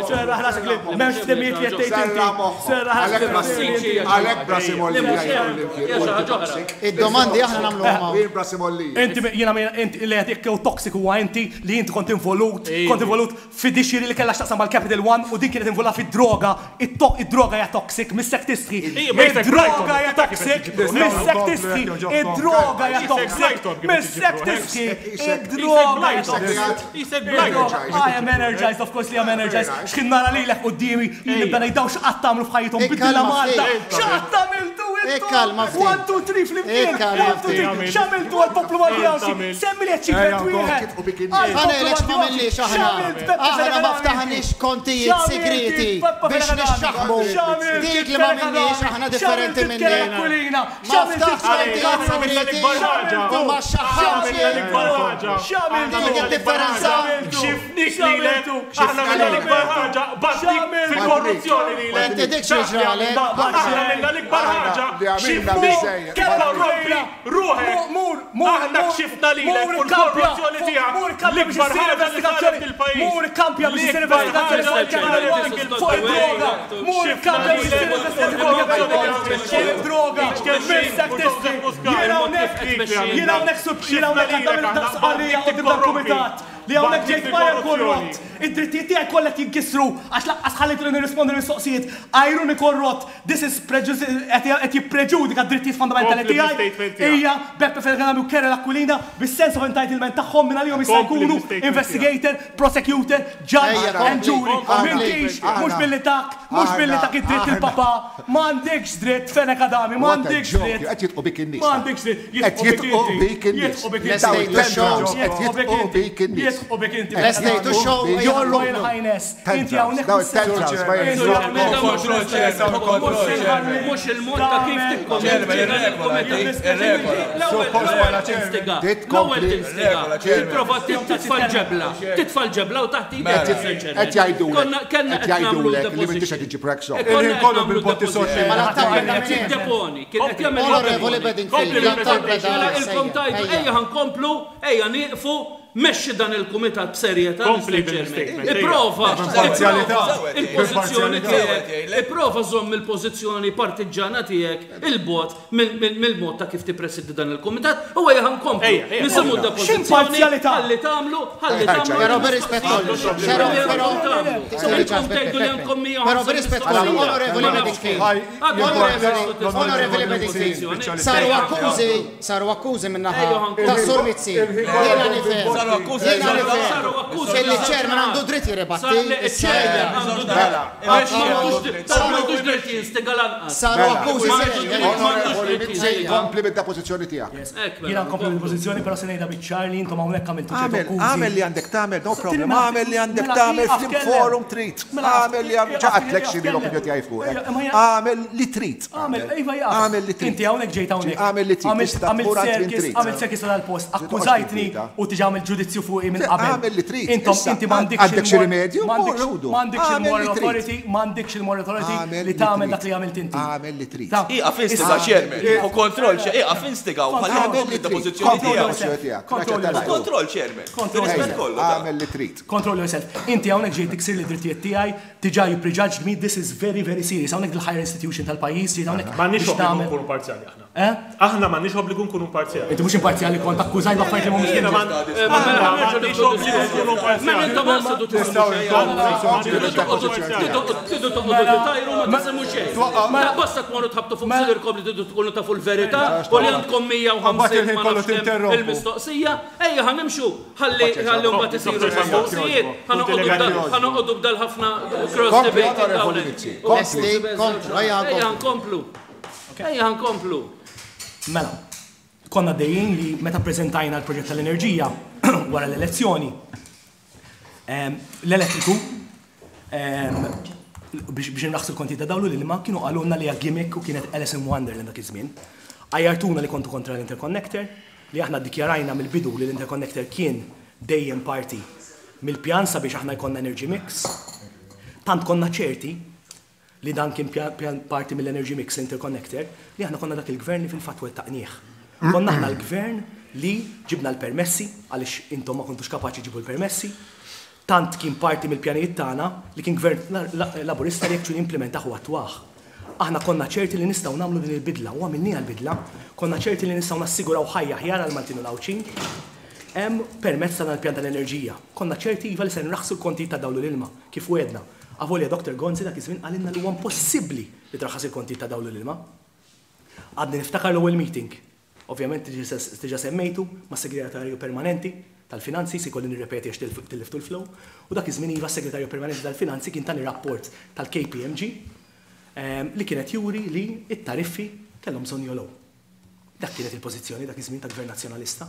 serraħ rasek li m'hemmx ftehimiet li qed tgħid inti. Serraħ moħħok. Serraħ rasek li Għalhekk m'hemmx ftehimiet li qed Għalhekk brasi mollija jkun l-imkien. Hija xi ħaġa oħra. Id-domandi aħna nagħmluhom hawn. Jien brasi mollija. Inti jiena inti li qed jekk toxic huwa inti li inti kont involut, kont involut fidixiri li kellha x'taqsam mal-Capital One u din kienet involuta fid-droga. Id-droga hija toxic, missek tistħi. Ija, ma jisek Id-droga Brighton, hija toxic, missek tistħi. Id-droga hija toxic, missek tistħi. Id-droga hija toxic. Isek Brighton. I am energized, of course li I'm energized. X'kien nara lilek quddiemi, jien nibda ngħidaw x'qatt tagħmlu f'ħajjithom biddilha Ikkalma Malta. ftit. X'qatt għamiltu intom? Ikkalma ftit. 1, 2, 3 flimkien. Ikkalma 1, 2, 3. ftit. X'għamiltu għall-poplu Malti Għawdxi? Semmi li achievement wieħed. Ħa ngħidlek x'ma m'għamilniex aħna. Aħna ma ftaħniex kontijiet segreti biex nixxaħmu. Dik li ma m'għamilniex aħna differenti minni. Ma ftaħx kontijiet segreti u ma xaħħamx. Dik id-differenza. Xifnik lilek, aħna minna l-ikbar ħaġa, batnik fil-korruzzjoni lilek. Inti dik xi ġralek. Aħna minna l-ikbar ħaġa, Li għamilna xifnik, biżejjed. korrompi ruħek. Mur, mur, Aħna kxifna lilek u l-korruzzjoni tiegħek. Mur kampja biex L-ikbar issir ħaġa li saret investigazzjoni. fil-pajjiż. Mur kampja biex issir L-ikbar investigazzjoni ħaġa fuq li il-Capital saret One, fil-pajjiż. fuq id-droga. Mur kampja biex issir investigazzjoni fuq id-droga. Missek tistħi. Jiena hawnhekk, jiena hawnhekk, jiena hawnhekk għandam il-sqarrija quddiem dal-kumitat. Li hawnhekk ġejt major korrott. Id-drittijiet tiegħi kollha qed jinkisru għax lanqas ħallejtuni nirrispondi l-mistoqsijiet. Għajruni korrott. This is qed jippreġudika d-drittijiet fundamentali tiegħi. Hija Beppe Fenech Adami u Karol Aquilina bis-sense of entitlement tagħhom minn għalihom jista' jkunu investigator, prosecutor, judge and jury. M'intix, mhux billi tak, mhux billi tak id-dritt il-papà. M'għandekx dritt, Fenech Adami, m'għandekx dritt. Qed jidqu bik in-nies. M'għandekx dritt. Qed jidqu bik in-nies. Jidqu bik in-nies. Qed jidqu bik in-nies. Jidqu bik inti. Lestejtu x-show. Your Royal Highness. Inti hawnhekk. Daw it-tantrums ma Mhux il-mod ta' kif L-ewwel tinstiga. Tipprova titfa' l-ġebla. Titfa' l-ġebla u taħt idek. Qed jgħidulek. Qed jgħidulek li m'intix qed iġġib rack soft. Il-ħin kollu bil-botti sotti. Deponi. Kien qed jagħmel Onorevoli Bedingfield, l-attakk beda. Mela ilkom tgħidu ejja ħa nkomplu, ejja nieqfu, mexxi dan il-kumitat b'serjetà. Kompli Mr. Chairman. bil-statement, ejja. Ipprova, B'imparzialità. ipprova il-pożizzjoni B'imparzialità. tiegħek, ipprova żomm il-pożizzjoni partiġġana tiegħek 'il bogħod mill-mod ta' kif tippresidi dan il-kumitat u ejja ħa nkomplu. Ejja, ejja. Nisimgħu d-depożizzjoni, X'imparzialità? ħalli tagħmlu, ħalli tagħmlu. Però b'rispett kollu, però, però, Tgħidu li għandkom 150 Però b'rispett kollu, mistoqsija. onorevoli Ma nafx Bedingfield. kif. Onorevoli, onorevoli Bedingfield, saru akkużi, saru akkużi min-naħa ta' Sur Mizzi. Jiena nifhem, Saru akkużi, jiena saru- nifhem. saru akkużi. Illi ċ-chairman għandu dritt jirribatti, issa ejja. M'għandux dritt jinstiga lanqas. Saru akkużi serji. Onorevoli Mizzi, kompli bid-depożizzjoni tiegħek. Hekk mela. Jiena nkompli bil-pożizzjoni però se ngħidha biċ-ċar li intom hawnhekk għamiltu ċertu Għamel, akkużi. għamel li għandek tagħmel, no problem. Mela, Għamel li għandek mela, tagħmel ieqaf flim kellem. forum trid. Mela, Għamel li għandek ieqaf ċaqatlek x'inhi kellem. l-opinjoni tiegħi fuqek. Ejja, ma jien- Għamel li trid. Għamel, iva jaqaf. Għamel li trid. Inti hawnhekk ġejt hawnhekk. Għamel li trid. Għamilt Tista' għamilt tmur għand min circus, trid. għamilt circus tal-post. Trid toqgħodx Akkużajtni tinkwieta. u tiġi għamilt ġudizzju fuqi minn Le, qabel. għamel li trid. Intom Issa, inti m'għandekx għandek xi il-mor- rimedju? m'għandekx- Mur, ħudu. M'għandekx Għamel il-moral li trid. authority, m'għandekx il-moral authority Għamel li li tagħmel trid. dak li għamilt inti. Għamel li trid. Ta' Ieqaf instiga, chairman. Hu kontroll, ieqaf instiga u ħalli Għamel kompli li trid. d-depożizzjoni Kompli tiegħek. d-depożizzjoni tiegħek. Control Naċċetta yourself. Kontroll, chairman. Control Rispett yourself. kollu. ta' Għamel li trid. Control yourself. Inti hawnhekk ġejt tiksir li drittijiet tiegħi, diġà you prejudged me, this is very very serious. Hawnhekk il-higher institution tal-pajjiż ġejt hawnhekk M'għandniex biex obbligu tagħmel. nkunu parzjali aħna. Eh? Aħna m'għandniex obbligu nkunu parzjali. Inti mhux imparzjali kont akkużajt b'affarijiet li mhumiex Jiena minni. ma- aħna m'għandniex obbligu nkunu Mela parzjali. intom għal sedu Nistgħu Tridu toqgħodu titajru ma tisimgħu xejn. La basta tmorru tħabtu fuq sidirkom li tridu tkunu tafu l-verità u li għandkom 150 il-ħin ma kollu nafx kemm tinterrompu. il-mistoqsija. Ejja ħa nimxu ħalli ħalli mbagħad isiru l-mistoqsijiet. Ħa noqogħdu b'dal ħafna cross Kompli, debating onorevoli hawnhekk. Mizzi. Kompli. Lesti, komplu, ejja Ejja nkomplu. nkomplu. Ejja nkomplu. Mela, konna dejjin li meta prezentajna l-proġett tal-enerġija wara l-elezzjoni, em, l-elettriku em, biex biex nraħsu l-konti ta' dawlu l-ilma kienu qalulna li hija gimmick u kienet Alice in Wonderland dak iż-żmien. Għajjartuna li kontu kontra l-interconnector, li aħna ddikjarajna mill-bidu li l-interconnector kien dejjem parti mill-pjan sabiex aħna jkollna energy mix. Tant konna ċerti li dan kien pjan parti mill-Energy Mix Interconnector li aħna konna dak il-gvern li fil-fatt wettaqnieh. Konna aħna l-gvern li ġibna l-permessi għaliex intom ma kontux kapaċi ġibu l-permessi. Tant kien parti mill-pjanijiet tagħna li kien gvern laburista li actually implementaħ u attwah. Aħna konna ċerti li nistgħu nagħmlu din il-bidla u għamilniha l-bidla, konna ċerti li nistgħu nassiguraw ħajja aħjar għal Maltin u l-Għawdxin. Hemm permezz ta' dan il-pjan tal-enerġija. Konna ċerti iva li se nraħsu l-kontijiet ta' dawl u l-ilma, kif wegħdna. Avolja Dr. Gonzi dak iż-żmien qalilna li huwa impossibbli li traħħas il-kontijiet ta' dawl u l-ilma. Għadni niftakar l-ewwel meeting. Ovvjament diġà semmejtu ma' segretarju permanenti tal-finanzi, se jkolli nirrepeti għax tilliftu l-flow. U dak iż-żmien iva s-segretarju permanenti tal-finanzi kien tani rapport tal-KPMG li kienet juri li it-tariffi kellhom bżonn jogħlew. Dak kienet il-pożizzjoni dak iż-żmien ta' Gvern Nazzjonalista.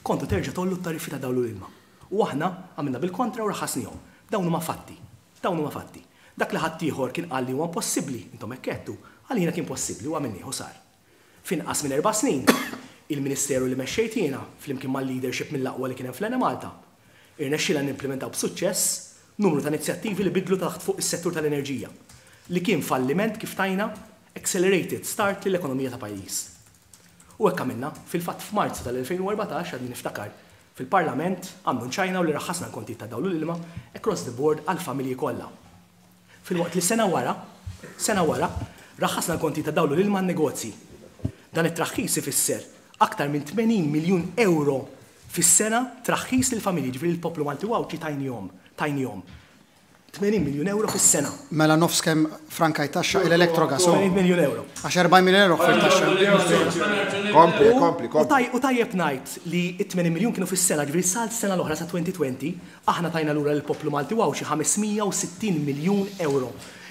Kontu terġa' tgħollu t-tariffi ta' dawl u l-ilma. U aħna għamilna bil-kontra u raħasnihom. Dawn huma fatti. Dawn huma fatti. Dak li ħaddieħor kien qal li huwa impossibbli, intom hekk għedtu, għalina kien possibbli u għamilnieh u sar. F'inqas minn 4 snin, il-Ministeru li mexxejt jiena flimkien mal-leadership mill-aqwa li kien hemm fl-Enemalta, irnexxielna nimplementaw b'suċċess numru ta' inizjattivi li bidlu taħt fuq is-settur tal-enerġija, li kien falliment kif tajna accelerated start lill-ekonomija ta' pajjiż. U hekk għamilna, fil-fatt f'Marzu tal-2014 għadni niftakar fil-Parlament annunċajna u li raħħasna l-kontijiet ta' dawl u l-ilma across the board għall-familji kollha. Filwaqt li sena wara, sena wara, raħħasna l-kontijiet ta' dawl u l-ilma għan-negozji. Dan it-traħħis ifisser aktar minn 80 miljun euro fis-sena traħħis lill-familji, jiġifieri lill-poplu Malti u Għawdxi tajnihom, tajnihom 80 miljun ewro fis-sena. Mela nofs kemm frankajt taxxa il-Electrogas hu? 80 miljun ewro. Għax 40 miljun ewro ħfirt taxxa. Kompli, kompli, kompli. U tajjeb ngħid li t-80 miljun kienu fis-sena, ġifieri sal-sena l-oħra sa 2020, aħna tajna lura lill-poplu Malti u Għawdxi 560 miljun ewro.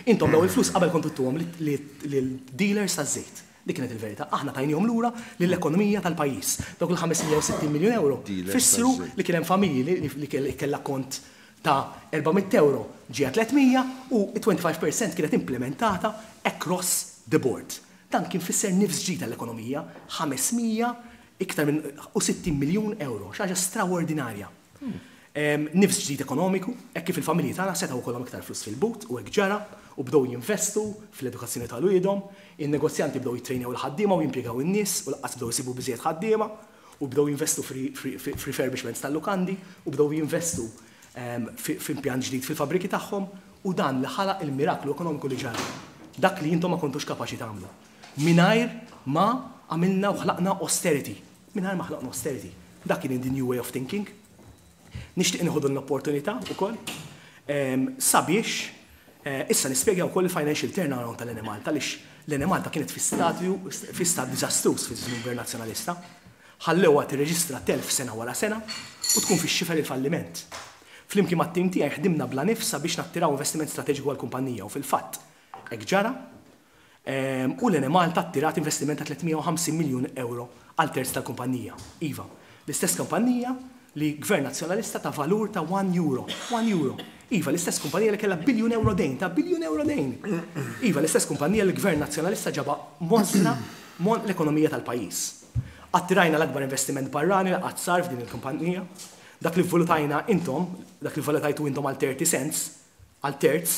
Intom dawn il-flus qabel kontu ttuhom lil-dealers taż-żejt. Dik kienet il-verità. Aħna tajniehom lura lill-ekonomija tal-pajjiż. Dawk il-560 miljun ewro fissru li kien hemm familji li kellha kont ta' 400 ewro ġie 300 u t-25 per cent kienet implementata across the board. Dan kien fisser nifs ġdid għall-ekonomija, 500 iktar minn u 60 miljun ewro, xi ħaġa straordinarja. Nifs ġdid ekonomiku, hekk kif il-familji tagħna setgħu jkollhom iktar flus fil-but u hekk ġara u bdew jinvestu fl-edukazzjoni ta' wliedhom, in-negozjanti bdew jittrejnjaw il-ħaddiema u jimpjegaw in-nies u lanqas bdew isibu biżżejjed ħaddiema u bdew jinvestu f'refurbishments tal-lukandi u bdew jinvestu f'impjant ġdid fil-fabbriki tagħhom u dan li ħalaq il-miraklu ekonomiku li ġara. Dak li intom ma kontux kapaċi tagħmlu. Mingħajr ma għamilna u ħlaqna austerity. Mingħajr ma ħlaqna austerity. Dak kien the new way of thinking. Nixtieq nieħu din l-opportunità wkoll sabiex issa nispjega wkoll il-financial turnaround tal-Enemalta għaliex l-Enemalta kienet fi stadju fi stat diżastruż fi żmien Gvern Nazzjonalista. Ħallewha tirreġistra telf sena wara sena u tkun fix-xifer il-falliment. Flimkien mat-tim tiegħi ħdimna bla nifs sabiex nattiraw investiment strateġiku għall-kumpanija u fil-fatt hekk ġara u l-Enemalta attirat investiment ta' 350 miljun ewro għal terz tal-kumpanija. Iva, l-istess kumpanija li Gvern Nazzjonalista ta valur ta' €1. €1. Iva, l-istess kumpanija li kellha biljun ewro dejn, ta' biljun ewro dejn. Iva, l-istess kumpanija li Gvern Nazzjonalista ġaba mosra mon l-ekonomija tal-pajjiż. Attirajna l-akbar investiment barrani li qatt sar f'din il-kumpanija. Dak li vvalutajna intom, dak li vvalutajtu intom għal 30 cents, għal terz,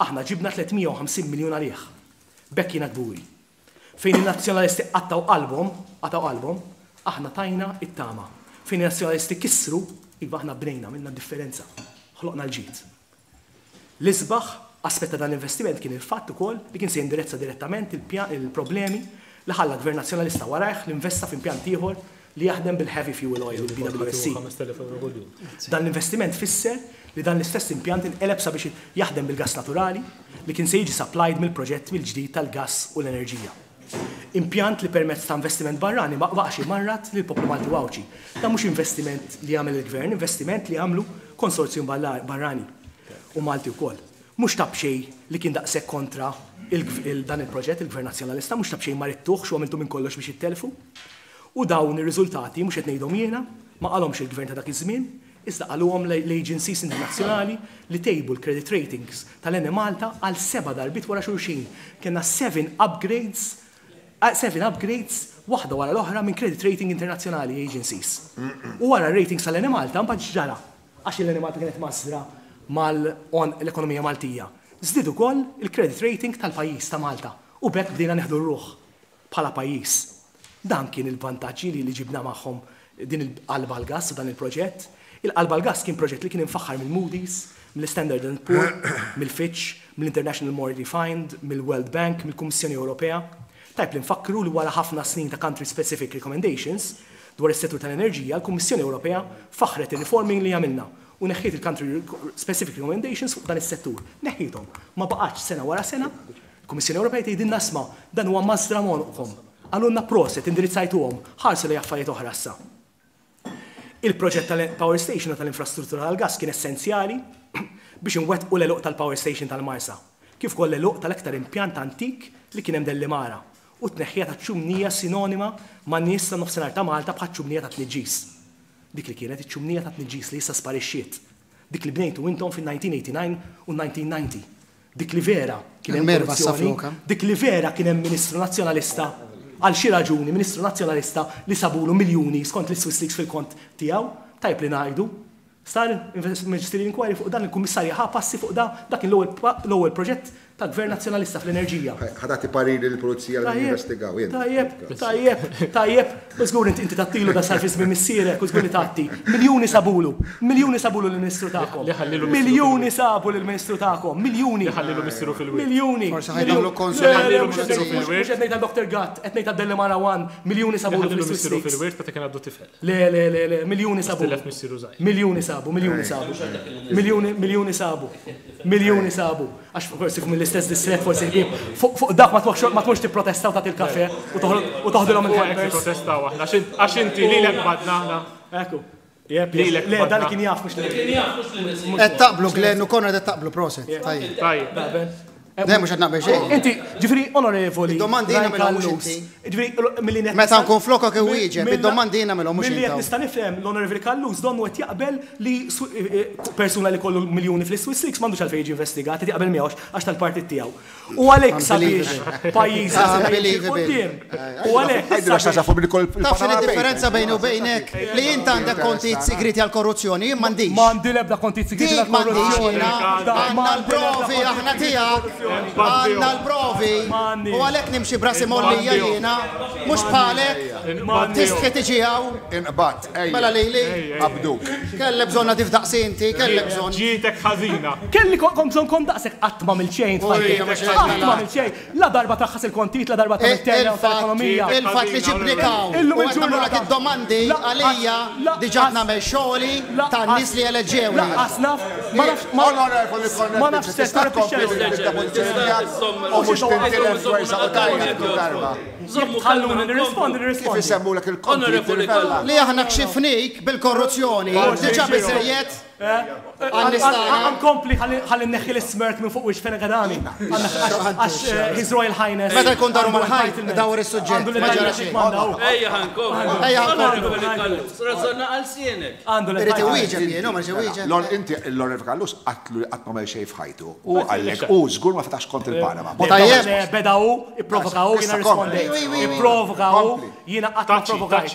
aħna ġibna 350 miljun għalih. B'hekk jiena kburi. Fejn in-Nazzjonalisti qattgħu qalbhom, qatgħu qalbhom, aħna tajna t-tama. Fejn in-Nazzjonalisti kissru, iva aħna bnejna, għamilna d-differenza. Ħloqna l-ġid. L-isbaħ aspett ta' dan l-investiment kien il-fatt ukoll li kien se jindirezza direttament il-problemi li ħalla Gvern Nazzjonalista warajh li investa f'impjant ieħor li jaħdem bil-heavy fuel oil, il-BWSC. Dan l-investiment fisser li dan l-istess impjant inqeleb sabiex jaħdem bil-gass naturali li kien se jiġi supplied mill-proġett mill-ġdid tal-gass u l-enerġija. Impjant li permezz ta' investiment barrani ma baqax imarrad lill-poplu Malti u Għawdxi. Dan mhux investiment li għamel il-Gvern, investiment li għamlu konsorzjum barrani u Malti wkoll. Mhux ta' b'xejn li kien daqshekk kontra dan il-proġett il-Gvern Nazzjonalista, mhux ta' b'xejn ma ridtuhx u għamiltu minn kollox biex ittellfu. U dawn ir-riżultati mhux qed ngħidhom jiena, ma qalhomx il-Gvern ta' dak iż-żmien, iżda qaluhom l-agencies internazzjonali li tejbu l-credit ratings tal-Enemalta għal seba' darbiet wara xulxin. Kellna seven upgrades, seven upgrades waħda wara l-oħra minn credit rating internazzjonali agencies. U wara r-ratings tal-Enemalta mbagħad x'ġara? Għax l-Enemalta kienet mażra mal-għonq l-ekonomija Maltija. Żdied ukoll il-credit rating tal-pajjiż ta' Malta u b'hekk bdejna nieħdu r-ruħ bħala pajjiż. Dan kien il-vantaġġi li li ġibna magħhom din il-qalba għall-gass u dan il-proġett. Il-qalba għall-gass kien proġett li kien imfaħħar mill-Moody's, mill-Standard and Poor, mill-Fitch, mill-International Monetary Fund, mill-World Bank, mill-Kummissjoni Ewropea. Tajjeb li nfakkru li wara ħafna snin ta' country specific recommendations dwar is-settur tal-enerġija, l-Kummissjoni Ewropea faħħret ir-reforming li għamilna u neħħiet il-country specific recommendations fuq dan is-settur. Neħħiethom. Ma baqgħetx sena wara sena. Il-Kummissjoni Ewropea tgħidilna isma' dan huwa mażra m'għonqkom. Qalulna proset indirizzajtuhom, ħarsu lejn affarijiet oħra issa. Il-proġett tal-power station u tal-infrastruttura tal-gass kien essenzjali biex inwettqu l-għeluq tal-power station tal-Marsa, kif ukoll l-għeluq tal-aktar impjant antik li kien hemm Dellimara u t-tneħħija taċ-ċumnija sinonima man-nies tan-nofsinhar ta' Malta bħaċ-ċumnija tat-tniġġis. Dik li kienet iċ-ċumnija tat-tniġġis li issa sparixxiet. Dik li bnejtu intom fin-1989 u 1990. Dik li vera kien hemm korruzzjoni, dik li vera kien hemm Ministru Nazzjonalista, għal xi raġuni Ministru Nazzjonalista li sabulu miljuni skont l-Swiss Leaks fil-kont tiegħu, tajjeb li ngħidu. Sar magisterial inquiry fuq dan, il-Kummissarju ħa passi fuq dan, dak kien l-ewwel proġett ta' Gvern Nazzjonalista fl-enerġija. Ħa tagħti pariri lill-pulizija li jinvestigaw jien. Tajjeb, tajjeb, tajjeb, u żgur inti inti tagħtilu da sar fi żmien missierek u żgur li tagħti. Miljuni sabulu, miljuni sabulu lill-Ministru tagħkom. Miljuni sabu lill-Ministru tagħkom, miljuni. Ħallilu missieru fil-wied. Miljuni. Forsi ħa jdaħħlu konsulent. Le, le, mhux qed ngħid għal Dr. Gatt, qed ngħid għal Delimara One, miljuni sabulu fl-Swiss Ħallilu missieru fil-wied meta kien għadu tifel. Le, le, le, le, miljuni sabu. Tilef missieru żgħir. Miljuni sabu, miljuni sabu. Miljuni, miljuni sabu. Miljuni sabu. Għax forsi mill-istess distret forsi ħbieb. Fuq dak ma tmurx ma tmurx tipprotesta u tagħti l-kafe u toħroġ u toħdilhom Fuq hekk il-hampers. nipprotestaw aħna għax inti lilek badna aħna. Ekku. Jep, Lilek Le, dan badna. kien jaf mhux li. Kien jaf mhux li nisib. Qed taqblu Glenn u Konrad qed taqblu proset. Tajjeb. Tajjeb. Naqbel. Le mhux qed naqbel xejn. Inti, ġifieri onorevoli. Id-domandi jiena Ryan nagħmilhom mhux Callus. inti. Ġifieri milli qed Meta nista' nkun flokok iwieġeb, id-domandi jiena nagħmilhom mhux Milli qed intom. nista' nifhem l-Onorevoli Callus donnu qed jaqbel li persuna li kollu miljuni fl-Swiss Leaks m'għandux għalfejn jiġi investigat, qed jaqbel miegħu għax tal-partit tiegħu. U għalhekk sabiex pajjiżna seta' jimxi 'l quddiem. U għalhekk Għidilha x'taġa fuq billi kol Taf x'inhi d-differenza bejni u bejnek? Li int għandek kontijiet sigriti għall-korruzzjoni, jien m'għandix. M'għandi l-ebda kontijiet sigriti Dik m'għandix għall-korruzzjoni. jiena. Għandna l-provi aħna tiegħek. Għandna l-provi. U għalhekk nimxi b'rasi mgħollija jiena. Mhux bħalek. Tistħi tiġi hawn. Inqbadt, ejja. Mela lili. Qabduk. Kellek bżonn nadif daqsi inti, kellek bżonn. Ġietek ħażina. Kelli kont bżonn kont daqshekk qatt m'għamilt xejn f'ħajti. Qatt m'għamilt xejn. La darba traħħas il-kontijiet, la darba tagħmel turnaround tal-ekonomija. Il-fatt li ġibnik hawn u qed nagħmlulek id-domandi għalija diġà qed nagħmel xogħli tan-nies li eleġġewni. Lanqas naf, ma nafx, ma nafx se Tista' tkompli bil-depożizzjoni tiegħek u mhux tintilef dwersa u tgħajjat kull darba. Jekk tħalluni nirrispondi, Kif nirrispondi. isemmulek il-kontijiet tirrivella. Li aħna kxifnik bil-korruzzjoni, diġà biżżejjed. Għan-nies tagħna. Nkompli ħalli nneħħi l-ismirk minn fuq wiċċ Fenech Adami. Għax His Royal Highness. Meta jkun daru mal-ħajt, dawar is-suġġett, ma ġara xejn. Ejja ħa nkomplu. Ejja ħa nkomplu. Onorevoli Callus, razzonna għal sienek. Għandu Irid iwieġeb jien, hu ma rridx iwieġeb. Lon, inti l-Onorevoli Callus qatlu li qatt ma għamel xejn f'ħajtu. U qallek, u żgur ma fetax kont il-Panama. Tajjeb. Beda hu, ipprovoka hu, jiena rispondejt. Ipprovoka hu, jiena qatt ma provokajt.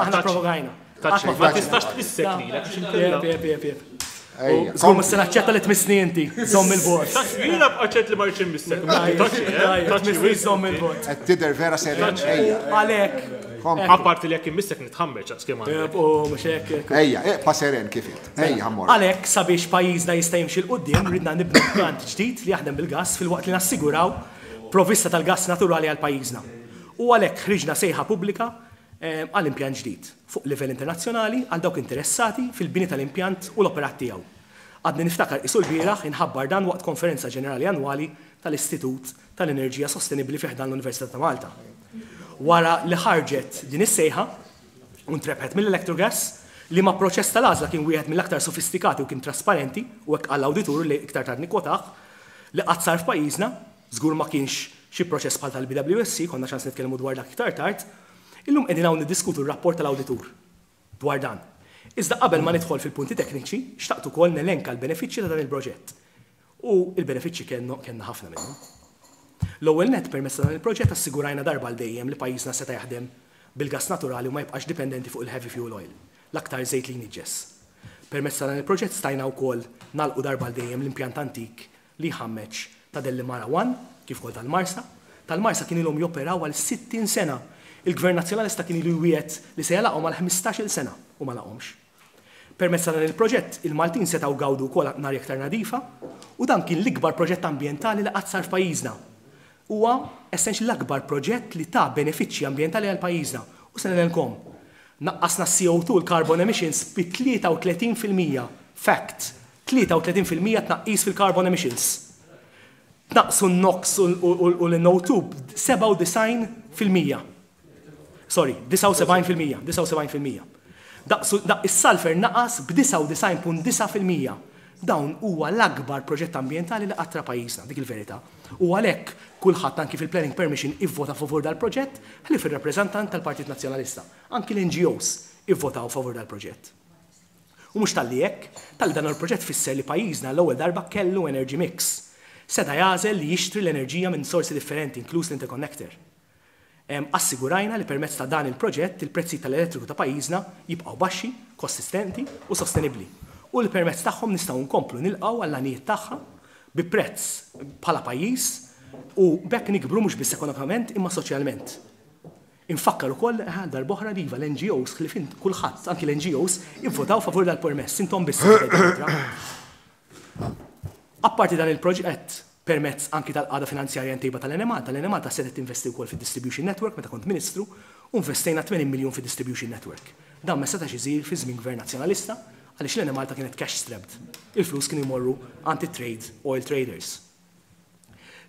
Aħna provokajna. Ma tistax tmissek lilek biex inkella. Jep, jep, jep. Żgur mhux se naċċetta li tmissni inti, żomm il-bord. Jiena bqa' li ma rridx immissek. Tmissni żomm il-bord. Qed tidher vera serjen. Ejja. Għalhekk. Apparti li jekk immissek nitħammeġ għax kemm għandek. U mhux hekk. Ejja, eqpa' seren kif int. Ejja ħa mmorru. Għalhekk sabiex pajjiżna jista' jimxi 'l quddiem ridna nibnu pjant ġdid li jaħdem bil-gass filwaqt li nassiguraw provvista tal-gass naturali għal pajjiżna. U għalhekk ħriġna sejħa pubblika għal impjant ġdid, fuq livell internazzjonali għal dawk interessati fil-bini tal-impjant u l-operat tiegħu. Għadni niftakar qisu lbieraħ inħabbar dan waqt konferenza ġenerali annwali tal-Istitut tal-Enerġija Sostenibbli fi ħdan l-Università ta' Malta. Wara li ħarġet din is-sejħa u ntrebħet mill-Electrogas, liema proċess tal-għażla kien wieħed mill-aktar sofistikati u kien trasparenti, u hekk qal l-awditur li iktar tard nikkwotah, li qatt sar f'pajjiżna, żgur ma kienx xi proċess bħal tal-BWSC, konna ċans nitkellmu dwar dak iktar tard, illum qegħdin hawn niddiskutu r-rapport tal-awditur dwar dan. Iżda qabel ma nidħol fil-punti tekniċi, xtaqt ukoll nelenka l-benefiċċji ta' dan il-proġett. U l-benefiċċji kellna ħafna minnhom. L-ewwel nett permezz ta' dan il-proġett assigurajna darba għal dejjem li pajjiżna seta' jaħdem bil-gass naturali u ma jibqax dipendenti fuq il-heavy fuel oil, l-aktar żejt li jniġġes. Permezz ta' dan il-proġett stajna wkoll nagħlqu darba għal dejjem l-impjant antik li jħammeġ ta' Dellimara 1, kif ukoll tal-Marsa. Tal-Marsa kien ilhom joperaw għal 60 sena. Il-Gvern Nazzjonalista kien ilu jwiegħed li se jagħlaqhom għal 15-il sena u ma laqhomx. Permezz ta' dan il-proġett, il-Maltin setgħu gawdu wkoll arja iktar nadifa u dan kien l-ikbar proġett ambjentali li qatt sar f'pajjiżna. Huwa essentially l-akbar proġett li ta benefiċċji ambjentali għal pajjiżna. U se ngħidilkom, naqqasna s-CO2, l-carbon emissions, bi 33%. Fact, 33% tnaqqis fil-carbon emissions. Tnaqqsu n-NOx u l-NO2 b'97%. Sorry, 79%, 79%. Is-sulfur naqas b'99.9%. Dawn huwa l-akbar proġett ambjentali li qatt ra pajjiżna, dik il-verità. U għalhekk kulħadd anki fil-planning permission ivvota favur dal-proġett, ħlief ir-rappreżentant tal-Partit Nazzjonalista. Anki l-NGOs ivvotaw favur dal-proġett. U mhux talli hekk, talli dan il-proġett fisser li pajjiżna l-ewwel darba kellu energy mix. Seta' jagħżel li jixtri l-enerġija minn sorsi differenti, inkluż l-interconnector. Assigurajna li permezz ta' dan il-proġett il-prezzi tal-elettriku ta' pajjiżna jibqgħu baxxi, konsistenti u sostenibbli. U li permezz tagħhom nistgħu nkomplu nilqgħu għall-għanijiet tagħha bi prezz bħala pajjiż u b'hekk nikbru mhux biss ekonomikament imma soċjalment. Infakkar ukoll għal darb'oħra li iva l-NGOs ħlief int kulħadd, anki l-NGOs, ivvotaw favur dal-permess, intom biss ivvotajtu kontra. Apparti dan il-proġett, permezz anki tal-qagħda finanzjarja mtejba tal-Enemalta, l-Enemalta setgħet tinvesti wkoll fid-distribution network meta kont Ministru u nvestejna 80 miljun fid-distribution network. Dan ma setax isir fi żmien Gvern Nazzjonalista għaliex l-Enemalta kienet cash strapped. Il-flus kienu jmorru għand it-trade oil traders.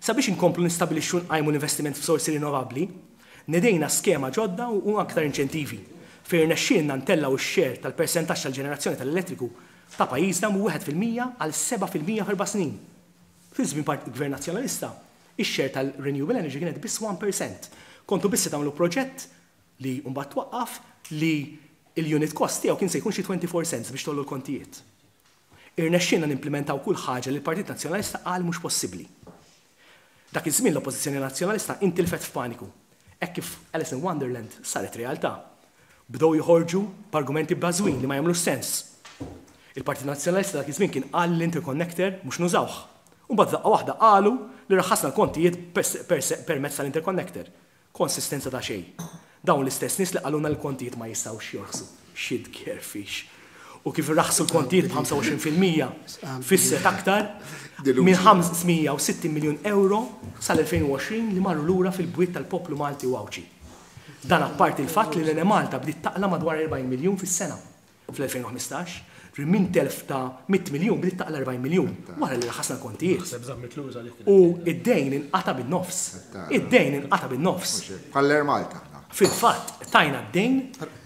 Sabiex inkomplu nistabilixxu u nqajmu l-investiment f'sorsi rinnovabbli, nedejna skema ġodda u aktar inċentivi, fejn irnexxielna ntellgħu x-share tal-persentaġġ tal-ġenerazzjoni tal-elettriku ta' pajjiżna minn 1% għal 7% f'erba' snin. Fi żmien Gvern Nazzjonalista, ix-share tal-renewable energy kienet biss 1%. Kontu biss se tagħmlu proġett li mbagħad twaqqaf li l-unit cost tiegħu kien se jkun xi 24 cents biex tgħollu l-kontijiet. Irnexxielna nimplimentaw kull ħaġa li l-Partit Nazzjonalista qal mhux possibbli. Dak iż-żmien l-Oppożizzjoni Nazzjonalista intilfet f'paniku, hekk kif Alice in Wonderland saret realtà. Bdew joħorġu b'argumenti bbażwin li ma jagħmlux sens. Il-Partit Nazzjonalista dak iż-żmien kien qal li l-interconnector mhux nużawh. U mbagħad f'daqqa waħda qalu li raħħasna l-kontijiet permezz tal-interconnector. Konsistenza ta' xejn. Dawn l-istess nies li qalulna li l-kontijiet ma jistgħux jorħsu. Xi tgerfix. U kif irraħħsu l-kontijiet b'25% fissret aktar minn 560 miljun ewro sal-2020 li marru lura fil-bwiet tal-poplu Malti u Għawdxi. Dan apparti l-fatt li l-Enemalta bdiet taqla' madwar 40 miljun fis-sena. Fl-2015, ġifieri minn telf ta' 100 miljun bdiet taqla' 40 miljun wara li raħasna l-kontijiet. U d-dejn inqata' bin-nofs. Id-dejn inqata' bin-nofs. Bħall-Air Malta. Fil-fatt, tajna d-dejn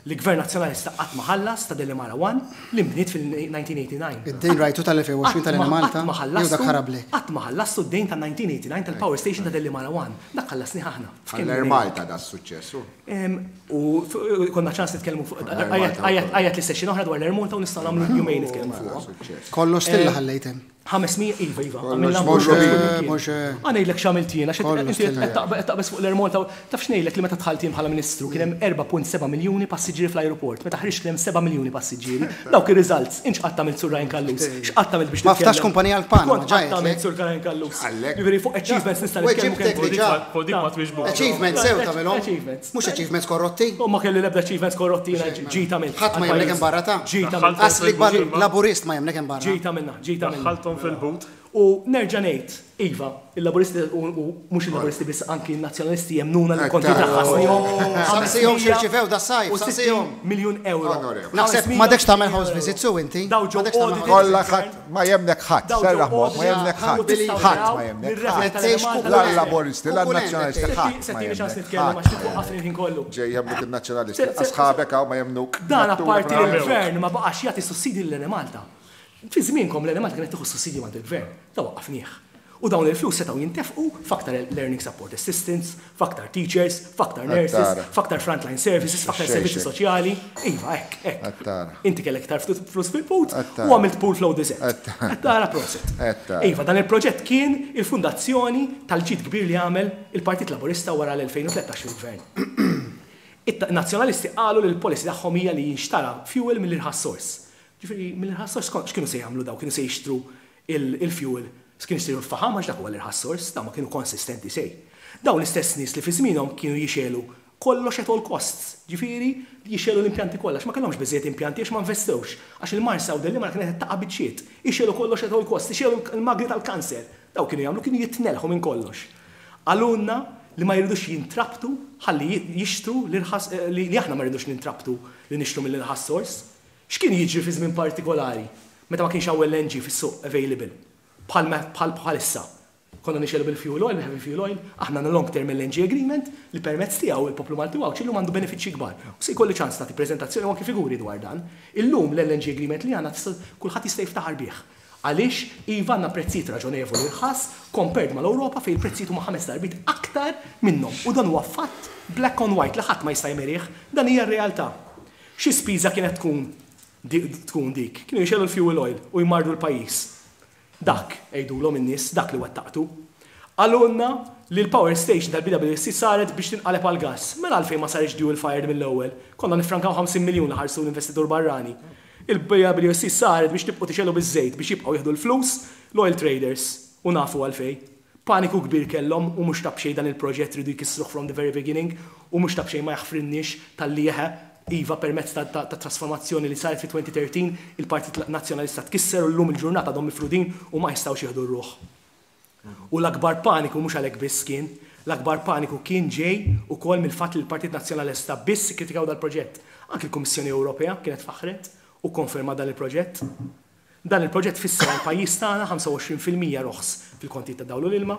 li Gvern Nazzjonalista qatt ma ħallas ta' Delimara One li nbniet fil-1989. Id-dejn rajtu tal-2020 tal-Enemalta? Jew dak ħarablek? Qatt ma ħallastu d-dejn tan-1989 tal-power station ta' Delimara One. Dak ħallasnih aħna. Bħall-Air Malta da s-suċċess. U konna ċans nitkellmu fuq għajat li session oħra dwar l-Air Malta u nistgħu nagħmlu jumejn nitkellmu fuqha. Kollox stilla ħallejt hemm. 500, iva, iva. Għamilna mhux Ħa ngħidlek x'għamilt jien, għax inti qed taqbeż fuq l-Air Malta. Taf x'ngħidlek li meta dħalt jien bħala Ministru kien hemm 4.7 miljuni passiġġieri fl-ajruport, meta ħriġt kien hemm 7 miljuni passiġġieri. Dawk ir-results, int x'qatt għamilt Sur Ryan Callus? X'qatt għamilt biex Ma ftax kumpanija għall-Panama, ġa għedtlek. X'kont qatt għamilt Sur Ryan Callus? Jiġifieri fuq achievements nista' nitkellmu kemm trid. Fuq dik ma twiġbux. Achievements sew tagħmilhom. Achievements. Mhux achievements korrotti. U ma kelli l-ebda achievements korrotti jiena ġid għamilt. Ħadd ma jemmnek hemm barra ta. Ġid għamilt. Qas l-ikbar Laburist ma jemmnek hemm barra. Ġid għamilna, ġid għamilna. Daħħalthom fil-but. U nerġa' ngħid, iva, il-Laburisti u mhux il-Laburisti biss anki n-Nazzjonalisti jemmnuna li l-kontijiet raħħasnihom. Saqsihom x'irċivew das-sajf, saqsihom. Miljun ewro. Naħseb m'għadekx tagħmel house visits su inti. Daw ġew audited. Kollha ħadd ma jemmnek ħadd, serraħ moħħok, ma jemmnek ħadd. Ħadd ma jemmnek ħadd. La l-Laburisti, la n-Nazzjonalisti, ħadd ma jemmnek ħadd. Ġej jemmnuk in-Nazzjonalisti, sħabek hawn ma jemmnuk. Dan apparti li l-Gvern ma baqax jagħti sussidji lill-Enemalta. Fi żmienkom l-Enemalta kienet tieħu s-sussidji m'għand il-Gvern. Da waqqafnieh. U dawn il-flus setgħu jintefqu f'aktar learning support assistants, f'aktar teachers, f'aktar nurses, f'aktar frontline services, f'aktar servizzi soċjali. Iva, hekk, hekk. Inti kellek iktar flus fil-put u għamilt pool flow desert. Qed tara proset. Iva, dan il-proġett kien il-fundazzjoni tal-ġid kbir li għamel il-Partit Laburista wara l-2013 fil-Gvern. In-Nazzjonalisti qalu li l-policy tagħhom hija li jinxtara fuel mill-irħas source. Ġifieri mill-irħas sors x'kienu se jagħmlu dawn? Kienu se jixtru l-fuel, kienu jixtru l-faħam għax dak huwa l-irħas sors, dawn ma kienu konsistenti xejn. Dawn l-istess nies li fi żmienhom kienu jixegħlu kollox at all costs, ġifieri jixegħlu l-impjanti kollha għax ma kellhomx biżżejjed impjanti għax ma investewx, għax il-Marsa u Dellimara kienet qed taqa' biċċiet, ixegħlu kollox at all costs, ixegħlu l-magni tal-kanser. Dawn kienu jagħmlu, kienu jitnelħu minn kollox. Qalulna li ma jridux jintrabtu ħalli jixtru l-irħas, li aħna ma rridux nintrabtu li nixtru mill-irħas sors. X'kien jiġri fi żmien partikolari meta ma kienx hawn LNG fis-suq available bħal bħal bħalissa? Konna nixegħlu bil-fuel oil, bil-heavy fuel oil, aħna għandna long term LNG agreement li permezz tiegħu il-poplu Malti u Għawdxi llum għandu benefiċċji kbar. U se jkolli ċans nagħti preżentazzjoni u anki figuri dwar dan. Illum l-LNG agreement li għandna tista' kulħadd jista' jiftaħar bih. Għaliex, iva għandna prezzijiet raġonevoli rħas compared mal-Ewropa fejn il-prezzijiet huma ħames darbiet aktar minnhom. U dan huwa fatt black on white li ħadd ma jista' jmerih. Dan hija r-realtà. Xi spiża kienet tkun tkun dik? Kienu jixegħlu l-fuel oil u jmarrdu l-pajjiż. Dak, għidulhom in-nies, dak li wettaqtu. Qalulna li l-power station tal-BWSC saret biex tinqaleb għall-gass. Mela għalfejn ma saritx dual fired mill-ewwel? Konna niffrankaw 50 miljun li ħarsu l-investitur barrani. Il-BWSC saret biex tibqgħu tixegħlu biż-żejt biex jibqgħu jieħdu l-flus l-oil traders. U nafu għalfejn. Paniku kbir kellhom u mhux ta' b'xejn dan il-proġett riedu jkissruh from the very beginning u mhux ta' b'xejn ma jaħfrilniex talli eħe, iva permezz ta' ta' trasformazzjoni li saret fi 2013 il-Partit Nazzjonalista tkisser u llum il-ġurnata għadhom mifrudin u ma jistgħux jieħdu r-ruħ. U l-akbar paniku mhux għalhekk biss kien, l-akbar paniku kien ġej ukoll mill-fatt li l-Partit Nazzjonalista biss ikkritikaw dal-proġett. Anki l-Kummissjoni Ewropea kienet faħħret u kkonfermat dan il-proġett. Dan il-proġett fisser għall-pajjiż tagħna 25% roħs fil-kontijiet tad-dawl u l-ilma,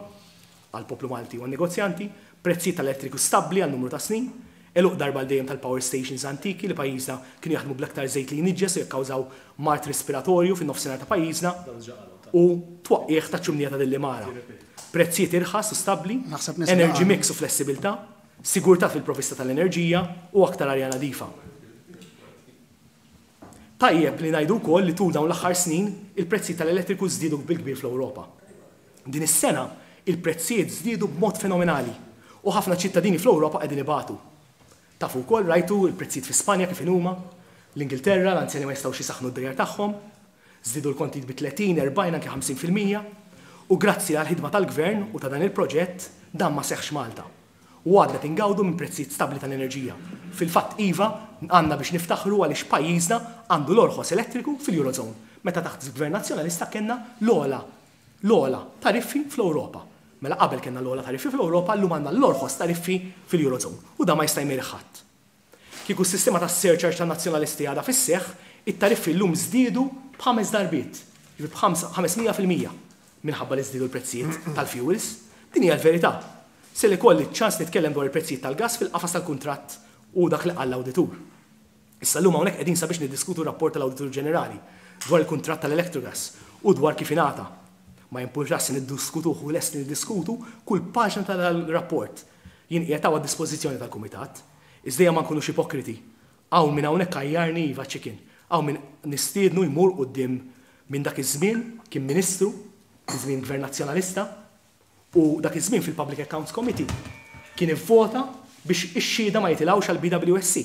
għall-poplu Malti u għan-negozjanti, prezzijiet tal-elettriku stabbli għal numru ta' snin, għeluq darba għal dejjem tal-power stations antiki li pajjiżna kienu jaħdmu bl-aktar żejt li jniġġes u jikkawżaw mard respiratorju fin-nofsinhar ta' pajjiżna u twaqqigħ taċ-ċumnija ta' Dillimara. Prezzijiet irħas u stabbli, energy mix u flessibilità, sigurtà fil-provvista tal-enerġija u aktar arja nadifa. Tajjeb li ngħidu wkoll li tul dawn l-aħħar snin, il-prezzijiet tal-elettriku żdiedu bil-kbir fl-Ewropa. Din is-sena, il-prezzijiet żdiedu b'mod fenomenali u ħafna ċittadini fl-Ewropa qegħdin ibatu. Tafu wkoll, rajtu l-prezzijiet fi Spanja kif inhuma, l-Ingilterra, l-anzjani ma jistgħux isaħħnu d-djar tagħhom, żdiedu l-kontijiet bi 30, 40, anke 50%. U grazzi għall-ħidma tal-Gvern u ta' dan il-proġett, dan ma seħħx Malta. U għadna qed ingawdu minn prezzijiet stabbli tal-enerġija. Fil-fatt iva, għandna biex niftaħru għaliex pajjiżna għandu l-orħos elettriku fil-Eurozone, meta taħt Gvern Nazzjonalista kellna l-ogħla, l-ogħla tariffi fl-Ewropa. Mela qabel kellna l-ogħla tariffi fl-Ewropa, llum għandna l-orħos tariffi fil-Eurozone. U dan ma jista' jmerih ħadd. Kieku s-sistema tas-surcharge tan-Nazzjonalisti għadha fis-seħħ, it-tariffi llum żdiedu b'ħames darbiet, jiġifieri b'500 fil-mija, minħabba li żdiedu l-prezzijiet tal-fuels. Din hija l-verità. Se li kolli ċans nitkellem dwar il-prezzijiet tal-gas fil-qafas tal-kuntratt u dak li qal l-awditur. Issa llum hawnhekk qegħdin sabiex niddiskutu r-rapport tal-Awditur Ġenerali dwar il-kuntratt tal-Electrogas u dwar kif ingħata. Ma jimpurtax se niddiskutuh u lest niddiskutu kull paġna tal-rapport. Jien qiegħed hawn għad-dispożizzjoni tal-Kumitat. Iżda ejja ma nkunux ipokriti. Hawn min hawnhekk għajjarni iva chicken. Hawn min nistiednu jmur quddiem minn dak iż-żmien kien Ministru, fi żmien Gvern Nazzjonalista, u dak iż-żmien fil-Public Accounts Committee kien ivvota biex ix-xhieda ma jitilgħux għall-BWSC.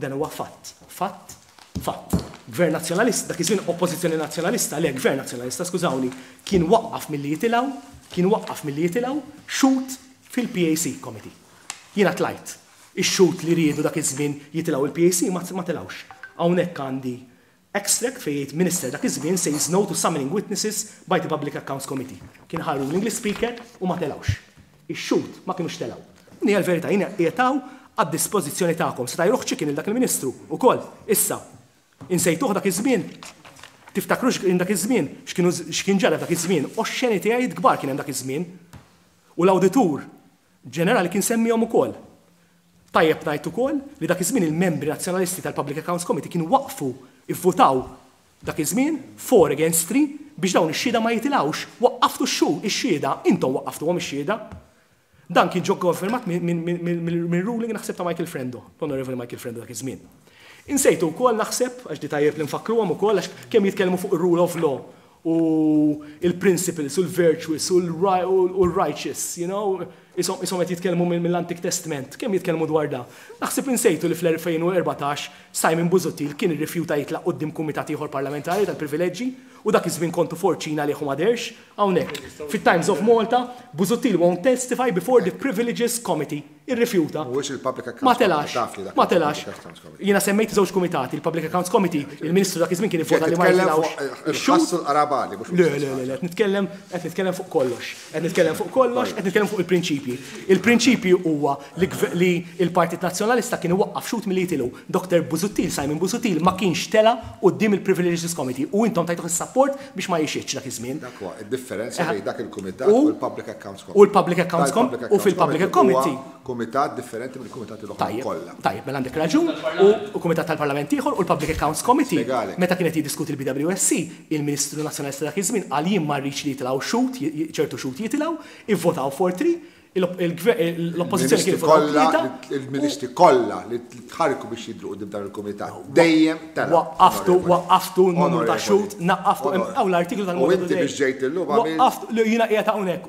Dan huwa fatt. Fatt. Fatt. Gvern Nazzjonalista, dak iż-żmien Oppożizzjoni Nazzjonalista, le Gvern Nazzjonalista, skużawni, kien waqqaf milli jitilgħu, kien waqqaf milli jitilgħu xhud fil-PAC Committee. Jiena tlajt. Ix-xhud li riedu dak iż-żmien jitilgħu il-PAC ma telgħux. Hawnhekk għandi extract fejn jgħid Minister dak iż-żmien says no to summoning witnesses by the Public Accounts Committee. Kien ħa ruling l-Speaker u ma telgħux. Ix-xhud ma kinux telgħu. Din hija l-verità, jiena qiegħed hawn għad-dispożizzjoni tagħkom. Seta' jruħ chicken lil dak il-Ministru ukoll. Issa, insejtuh dak iż-żmien? Tiftakru x'kien dak iż-żmien? X'kienu x'kien ġara dak iż-żmien? Oxxenitajiet kbar kien hemm dak iż-żmien. U l-Awditur Ġenerali kien semmihom ukoll. Tajjeb ngħid ukoll li dak iż-żmien il-membri Nazzjonalisti tal-Public Accounts Committee kienu waqfu ivvutaw dak iż-żmien 4 against 3 biex dawn ix-xhieda ma jitilgħux. Waqqaftu x-xhud, ix-xhieda, intom waqqaftuhom ix-xhieda. Dan kien ġo konfermat minn ruling naħseb ta' Michael Frendo, l-Onorevoli Michael Frendo dak iż-żmien. Insejtu wkoll naħseb, għax di tajjeb li nfakkruhom ukoll għax kemm jitkellmu fuq ir-rule of law u il-principles u l-virtuous u l-righteous, ishom qed jitkellmu mill-Antik Testament, kemm jitkellmu dwar da. Naħseb insejtu li fl-2014 Simon Busuttil kien irrifjuta jitlaq quddiem kumitat ieħor parlamentari tal-privileġġi u dak iż-żmien kontu forċina li ma derx hawnhekk. Fit-Times of Malta, Busuttil won't testify before the Privileges Committee. Irrifjuta. Mhuwiex il-Public Accounts Ma telax. Ma telax. Jiena semmejt żewġ kumitati, il-Public Accounts Committee, il-Ministru dak iż-żmien kien ivvota li ma jitilgħux. Il-ħassu l-qarabali, mhux Le, le, le, le, qed nitkellem qed nitkellem fuq kollox. Qed nitkellem fuq kollox, qed nitkellem fuq il-prinċipji. Il-prinċipji huwa li il-Partit Nazzjonalista kien iwaqqaf xhud milli jitilgħu. Dr. Busuttil, Simon Busuttil, ma kienx tela quddiem il-Privileges Committee u intom tajtuh is-support biex ma jixhidx dak iż-żmien. Dak huwa id-differenza bejn dak il-kumitat u l-Public Accounts Committee. U l-Public Accounts Committee u fil-Public Committee. Kumitat differenti mill-kumitati l-oħra kollha. Tajjeb, mela għandek raġun, u Kumitat tal-Parlament ieħor u l-Public Accounts Committee. Meta kienet jiddiskuti l-BWSC, il-Ministru Nazzjonalista dak iż-żmien qal jien ma rridx li jitilgħu xhud, ċertu xhud jitilgħu, ivvotaw 4-3. L-oppożizzjoni kien kollha il-ministri kollha li tħarrku biex jidhru quddiem dan il-kumitat dejjem telgħu. Waqqaftu, waqqaftu numru ta' xhud, naqqaftu, hawn l-artiklu tal-Malta Today. U inti biex ġejt illum għamilt. Waqqaft, jiena qiegħed hawnhekk.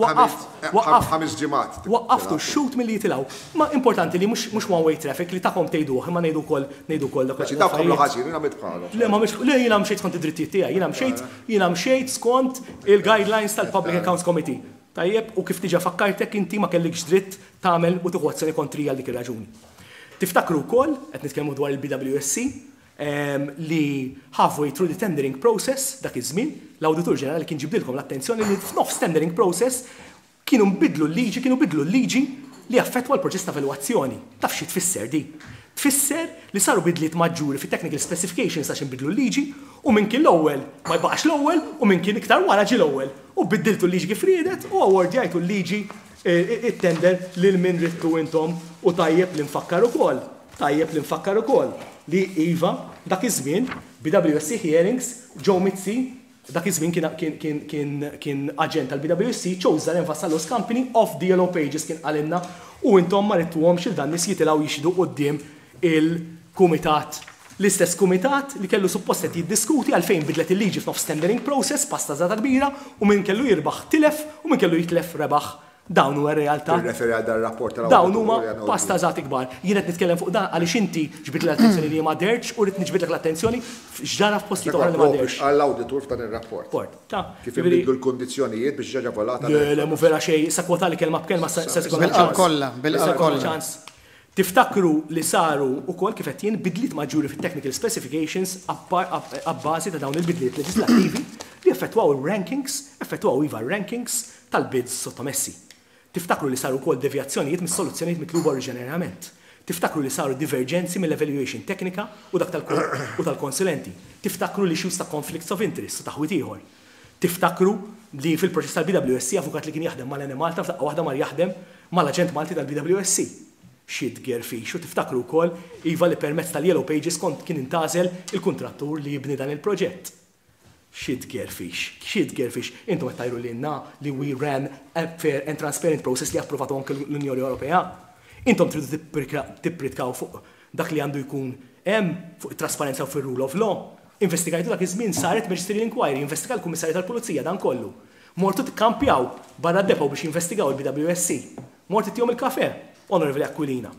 Waqqaft, waqqaft. Ħames ġimgħat. Waqqaftu x-xhud milli jitilgħu. Ma importanti li mhux one way traffic li tagħkom tgħiduh imma ngħidu wkoll ngħidu wkoll dak. Dawk għamlu ħażin, jiena għamilt bħalhom. Le ma għamiltx, le jiena mxejt skont id-drittijiet tiegħi, jiena mxejt, jiena mxejt skont il-guidelines tal-Public Accounts Committee. Tajjeb, u kif diġà fakkartek inti ma kellikx dritt tagħmel u tieħu azzjoni kontrija għal dik ir-raġuni. Tiftakru wkoll, qed nitkellmu dwar il-BWSC, li halfway through the tendering process dak iż-żmien, l-Awditur Ġenerali kien ġibdilkom l-attenzjoni li f'nofs tendering process kienu nbidlu l-liġi, kienu bidlu l-liġi li affettwa l-proċess ta' evalwazzjoni. Taf xi tfisser di? Tfisser li saru bidliet maġġuri fit-technical specifications għax inbidlu l-liġi u min kien l-ewwel ma jbaqax l-ewwel u min kien iktar wara ġie l-ewwel. U biddiltu l-liġi kif riedet u awardjajtu l-liġi it-tender lil min ridtu intom u tajjeb li nfakkar ukoll, tajjeb li nfakkar ukoll li iva dak iż-żmien BWSC Hearings Joe Mizzi dak iż-żmien kien kien kien kien kien aġent tal-BWSC chose Zaren Vassallo's company off the yellow pages kien qalilna u intom ma ridtuhomx lil dan nies jitilgħu jixhdu quddiem il-kumitat L-istess kumitat li kellu suppost qed jiddiskuti għalfejn bidlet il-liġi f'nofs tendering process, pastażata kbira, u min kellu jirbaħ tilef u min kellu jitlef rebaħ. Dawn huwa r-realtà. Tirreferi għal dan ir-rapport tal-Awditur Dawn huma pastażati kbar. Jien qed nitkellem fuq dan għaliex inti ġbidtli l-attenzjoni li jien ma dhertx u rrid niġbidlek l-attenzjoni f'x'ġara f'postijiet oħra li ma dherx. Dak huwa proprju x'qal l-Awditur f'dan ir-rapport. Rapport, ta'. Kif inbidlu l-kundizzjonijiet biex ġa ġavolata. Le, le, mhu vera xejn. Issa kwotali kelma b'kelma se jkollna ċans. Bil-qalb kollha, bil-qalb kollha. Ċans. Tiftakru li saru wkoll, kif għedt jien, bidliet maġġuri fit-technical specifications abbażi ta' dawn il-bidliet leġiżlattivi li effettwaw ir-rankings, effettwaw iva r-rankings, tal-bids sottomessi. Tiftakru li saru wkoll devjazzjonijiet mis-soluzzjonijiet mitluba oriġinarjament. Tiftakru li saru diverġenzi mill-evaluation teknika u dak u tal-konsulenti. Tiftakru l-issues ta' conflicts of interest u taħwid ieħor. Tiftakru li fil-proċess tal-BWSC avukat li kien jaħdem mal-Enemalta f'daqqa waħda mar jaħdem mal-aġent Malti tal-BWSC. Xi tgerfix u tiftakru wkoll iva li permezz tal-Yellow Pages kont kien intgħażel il-kuntrattur li jibni dan il-proġett. Xi tgerfix. Xi tgerfix. Intom qed tgħidu lilna li we ran a fair and transparent process li approvatu anke l-Unjoni Ewropea. Intom tridu tippritkaw fuq dak li għandu jkun hemm, fuq it-trasparenza u fir-rule of law. Investigajtu dak iż-żmien saret magisterial inquiry, investiga l-Kummissarju tal-Pulizija dan kollu. Mortu tikkampjaw barra d-depot biex jinvestigaw il-BWSC. Mort ittihom il-kafè, Onorevoli Aquilina.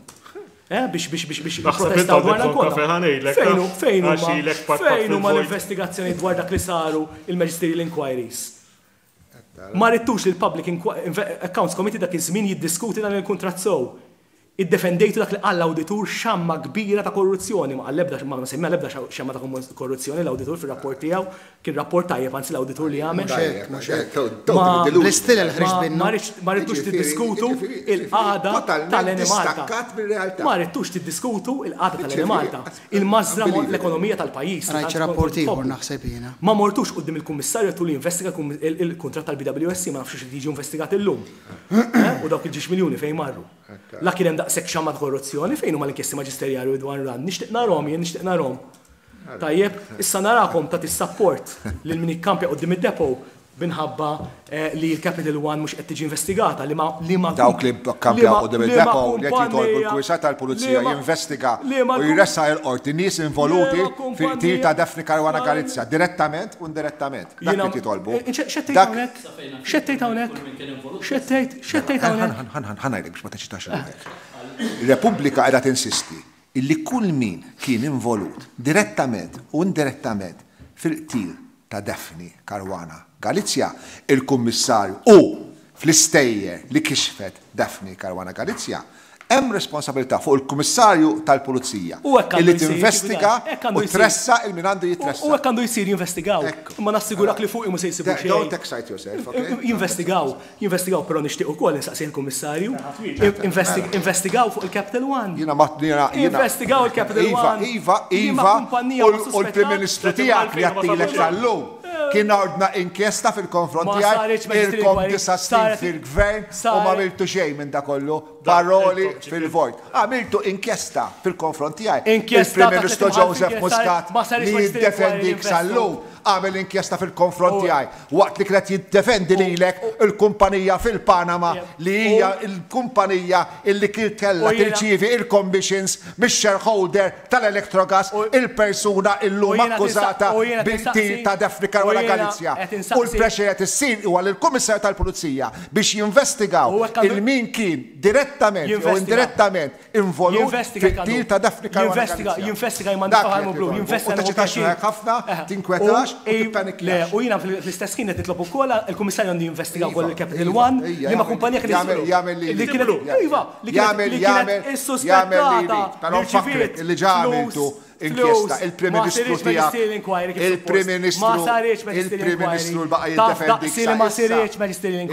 Eh, biex biex biex biex jipprotestaw dwar dan kollu. Fejn hu fejn huma fejn huma l-investigazzjonijiet dwar dak li saru il-magisterial inquiries? Ma ridtux li l-Public Accounts Committee dak iż-żmien jiddiskuti dan il-kuntratt sew. Iddefendejtu dak li qal l-awditur xamma kbira ta' korruzzjoni, ma qal l-ebda, ma semma l-ebda xamma ta' korruzzjoni l-awditur fir-rapport tiegħu, kien rapport tajjeb anzi l-awditur li għamel. Mhux hekk, mhux hekk. Bl-istilel ħriġt minnu. Ma ridtux tiddiskutu il-qagħda tal-Enemalta. Ma ridtux tiddiskutu il-qagħda tal-Enemalta. Il-mażżra l-ekonomija tal-pajjiż. Rajt xi rapport ieħor naħseb jiena. Ma mortux quddiem il-Kummissarju għedtulu jinvestiga l-kuntratt tal-BWSC, ma nafx hux qed jiġi investigat illum. U dawk il-ġiex miljuni fejn marru. La kien hemm daqshekk xamma ta' korruzzjoni, fejn huma l-inkjesti maġisterjali u dwar dan? Nixtieq narhom jien, nixtieq narhom. Tajjeb, issa narakom tagħti s-sapport lil min jikkampja quddiem id-depot minħabba li l-Capital One mhux qed tiġi investigata, liema liema Dawk li kkampjaw quddiem id-depot li qed jitolbu l-Kummissarju tal-Pulizija jinvestiga u jressaq il-Qorti nies involuti fil-qtil ta' Daphne Caruana Galizia, direttament u indirettament. Dak li qed jitolbu. X'qed tgħid hawnhekk? X'qed tgħid hawnhekk? X'qed tgħid? X'qed tgħid hawnhekk? Ħa ngħidlek biex ma teċitax ruħek. Repubblika qiegħda tinsisti illi kull min kien involut direttament u indirettament fil-qtil ta' Daphne Caruana Galizia, il-Kummissarju u fl-istejjer li kixfet Daphne Caruana Galizia, Hemm responsabilità fuq il-Kummissarju tal-Pulizija illi tinvestiga u tressaq il min għandu jitressaq. U hekk għandu jsir, jinvestigaw. Imma nassigurak li fuqi mhu se jsibu xejn. Don't excite yourself, okay? Jinvestigaw, jinvestigaw, però nixtieq ukoll insaqsih il-Kummissarju. Investigaw fuq il-Capital One. Jiena ma jiena. Investigaw il-Capital One. Iva, iva, iva. U l-Prim Ministru tiegħek li għattilek sal-lum. Kien ordna inkjesta fil-konfront tiegħi, ilkom disa' snin fil-gvern u m'għamiltu xejn minn dak kollu, paroli fil-vojt. Għamiltu inkjesta fil-konfront tiegħi. Il-Prim Ministru Joseph Muscat li jiddefendik sal-lum għamel inkjesta fil-konfront tiegħi waqt li kien qed jiddefendi lilek il-kumpanija fil-Panama li hija l-kumpanija illi kien kellha tirċievi il-commissions mix-shareholder tal-Electrogas, il-persuna illum akkużata bil-qtil ta' Daphne Caruana Galizia. U l-pressure qed issir huwa lill-Kummissarju tal-Pulizija biex jinvestigaw il min kien direttament jew indirettament involut fil-qtil ta' Daphne Caruana Galizia. Dak li qed nitolbu. U teċitax ruħek ħafna, tinkwetax u tippanikjax. U jiena fl-istess ħin qed nitlob ukoll il-Kummissarju għandu jinvestiga wkoll il-Capital One, liema kumpanija kienet li kienet iva, li kienet jagħmel li jrid, però nfakkrek li ġa għamiltu inkjesta, il-Prim Ministru tiegħek, il-Prim Ministru, il-Prim Ministru li baqa' jiddefendik sa issa,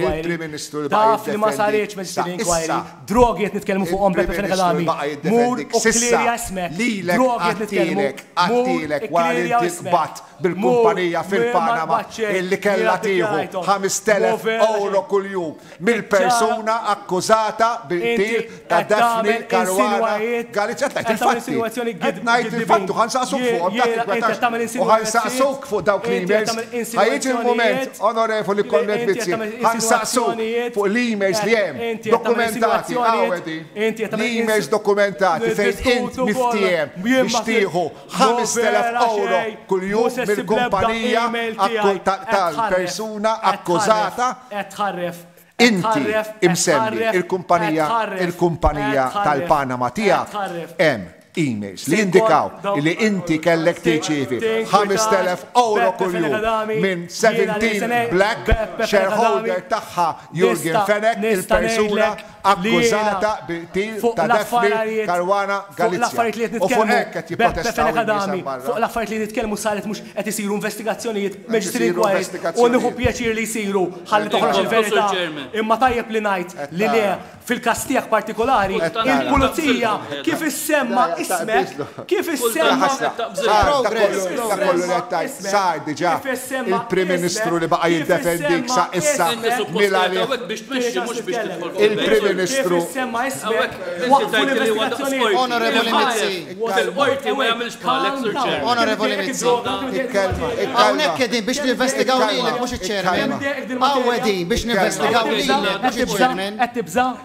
il-Prim Ministru li baqa' Taf li ma saritx magisterial inquiry, drogi qed nitkellmu fuqhom Beppe Fenech Adami, mur u klirja ismek, drogi qed nitkellmu, mur ikklerja ismek. bil-kumpanija fil-Panama illi kellha tieħu 5,000 ewro kuljum mill-persuna akkużata bil-qtil ta' Daphne Caruana Galizia. Qed ngħid il-fatti. Qed ngħid il-fatti u ħa nsaqsuk fuqhom, ta' tinkwetax. U ħa nsaqsuk fuq dawk l-emails. Ħa jiġi l-mument, Onorevoli Konrad Mizzi, ħa nsaqsuk fuq l-emails li hemm dokumentati, hawn qegħdin, l-emails dokumentati fejn int miftiehem biex tieħu 5,000 ewro kuljum mill-kumpanija tal-persuna akkużata. Inti imsemmi il-kumpanija il-kumpanija tal-Panama tiegħek hemm emails li jindikaw li inti kellek tirċievi 5,000 ewro kuljum minn 17 Black shareholder tagħha Yorgen Fenech il-persuna akkużata bil-qtil ta' Daphne Caruana Galizia. U fuq hekk qed jipprotestaw in-nies hemm barra. Fuq l-affarijiet li nitkellmu saret mhux qed isiru investigazzjonijiet, magisterial inquiries, u nieħu pjaċir li jsiru ħalli toħroġ il-verità. Imma tajjeb li ngħid li le, fil-każ tiegħek partikolari, il-pulizija kif issemma ismek, kif issemma. Sar dak kollu li qed tgħid, sar diġà. Il-Prim Ministru li baqa' jiddefendik sa issa mil-għalih. Il-Prim Ministru. Onorevoli Mizzi. Onorevoli Mizzi. Hawnhekk qegħdin biex ninvestigaw lilek mhux iċ-chairman. Hawn qegħdin biex ninvestigaw lilek mhux iċ-chairman.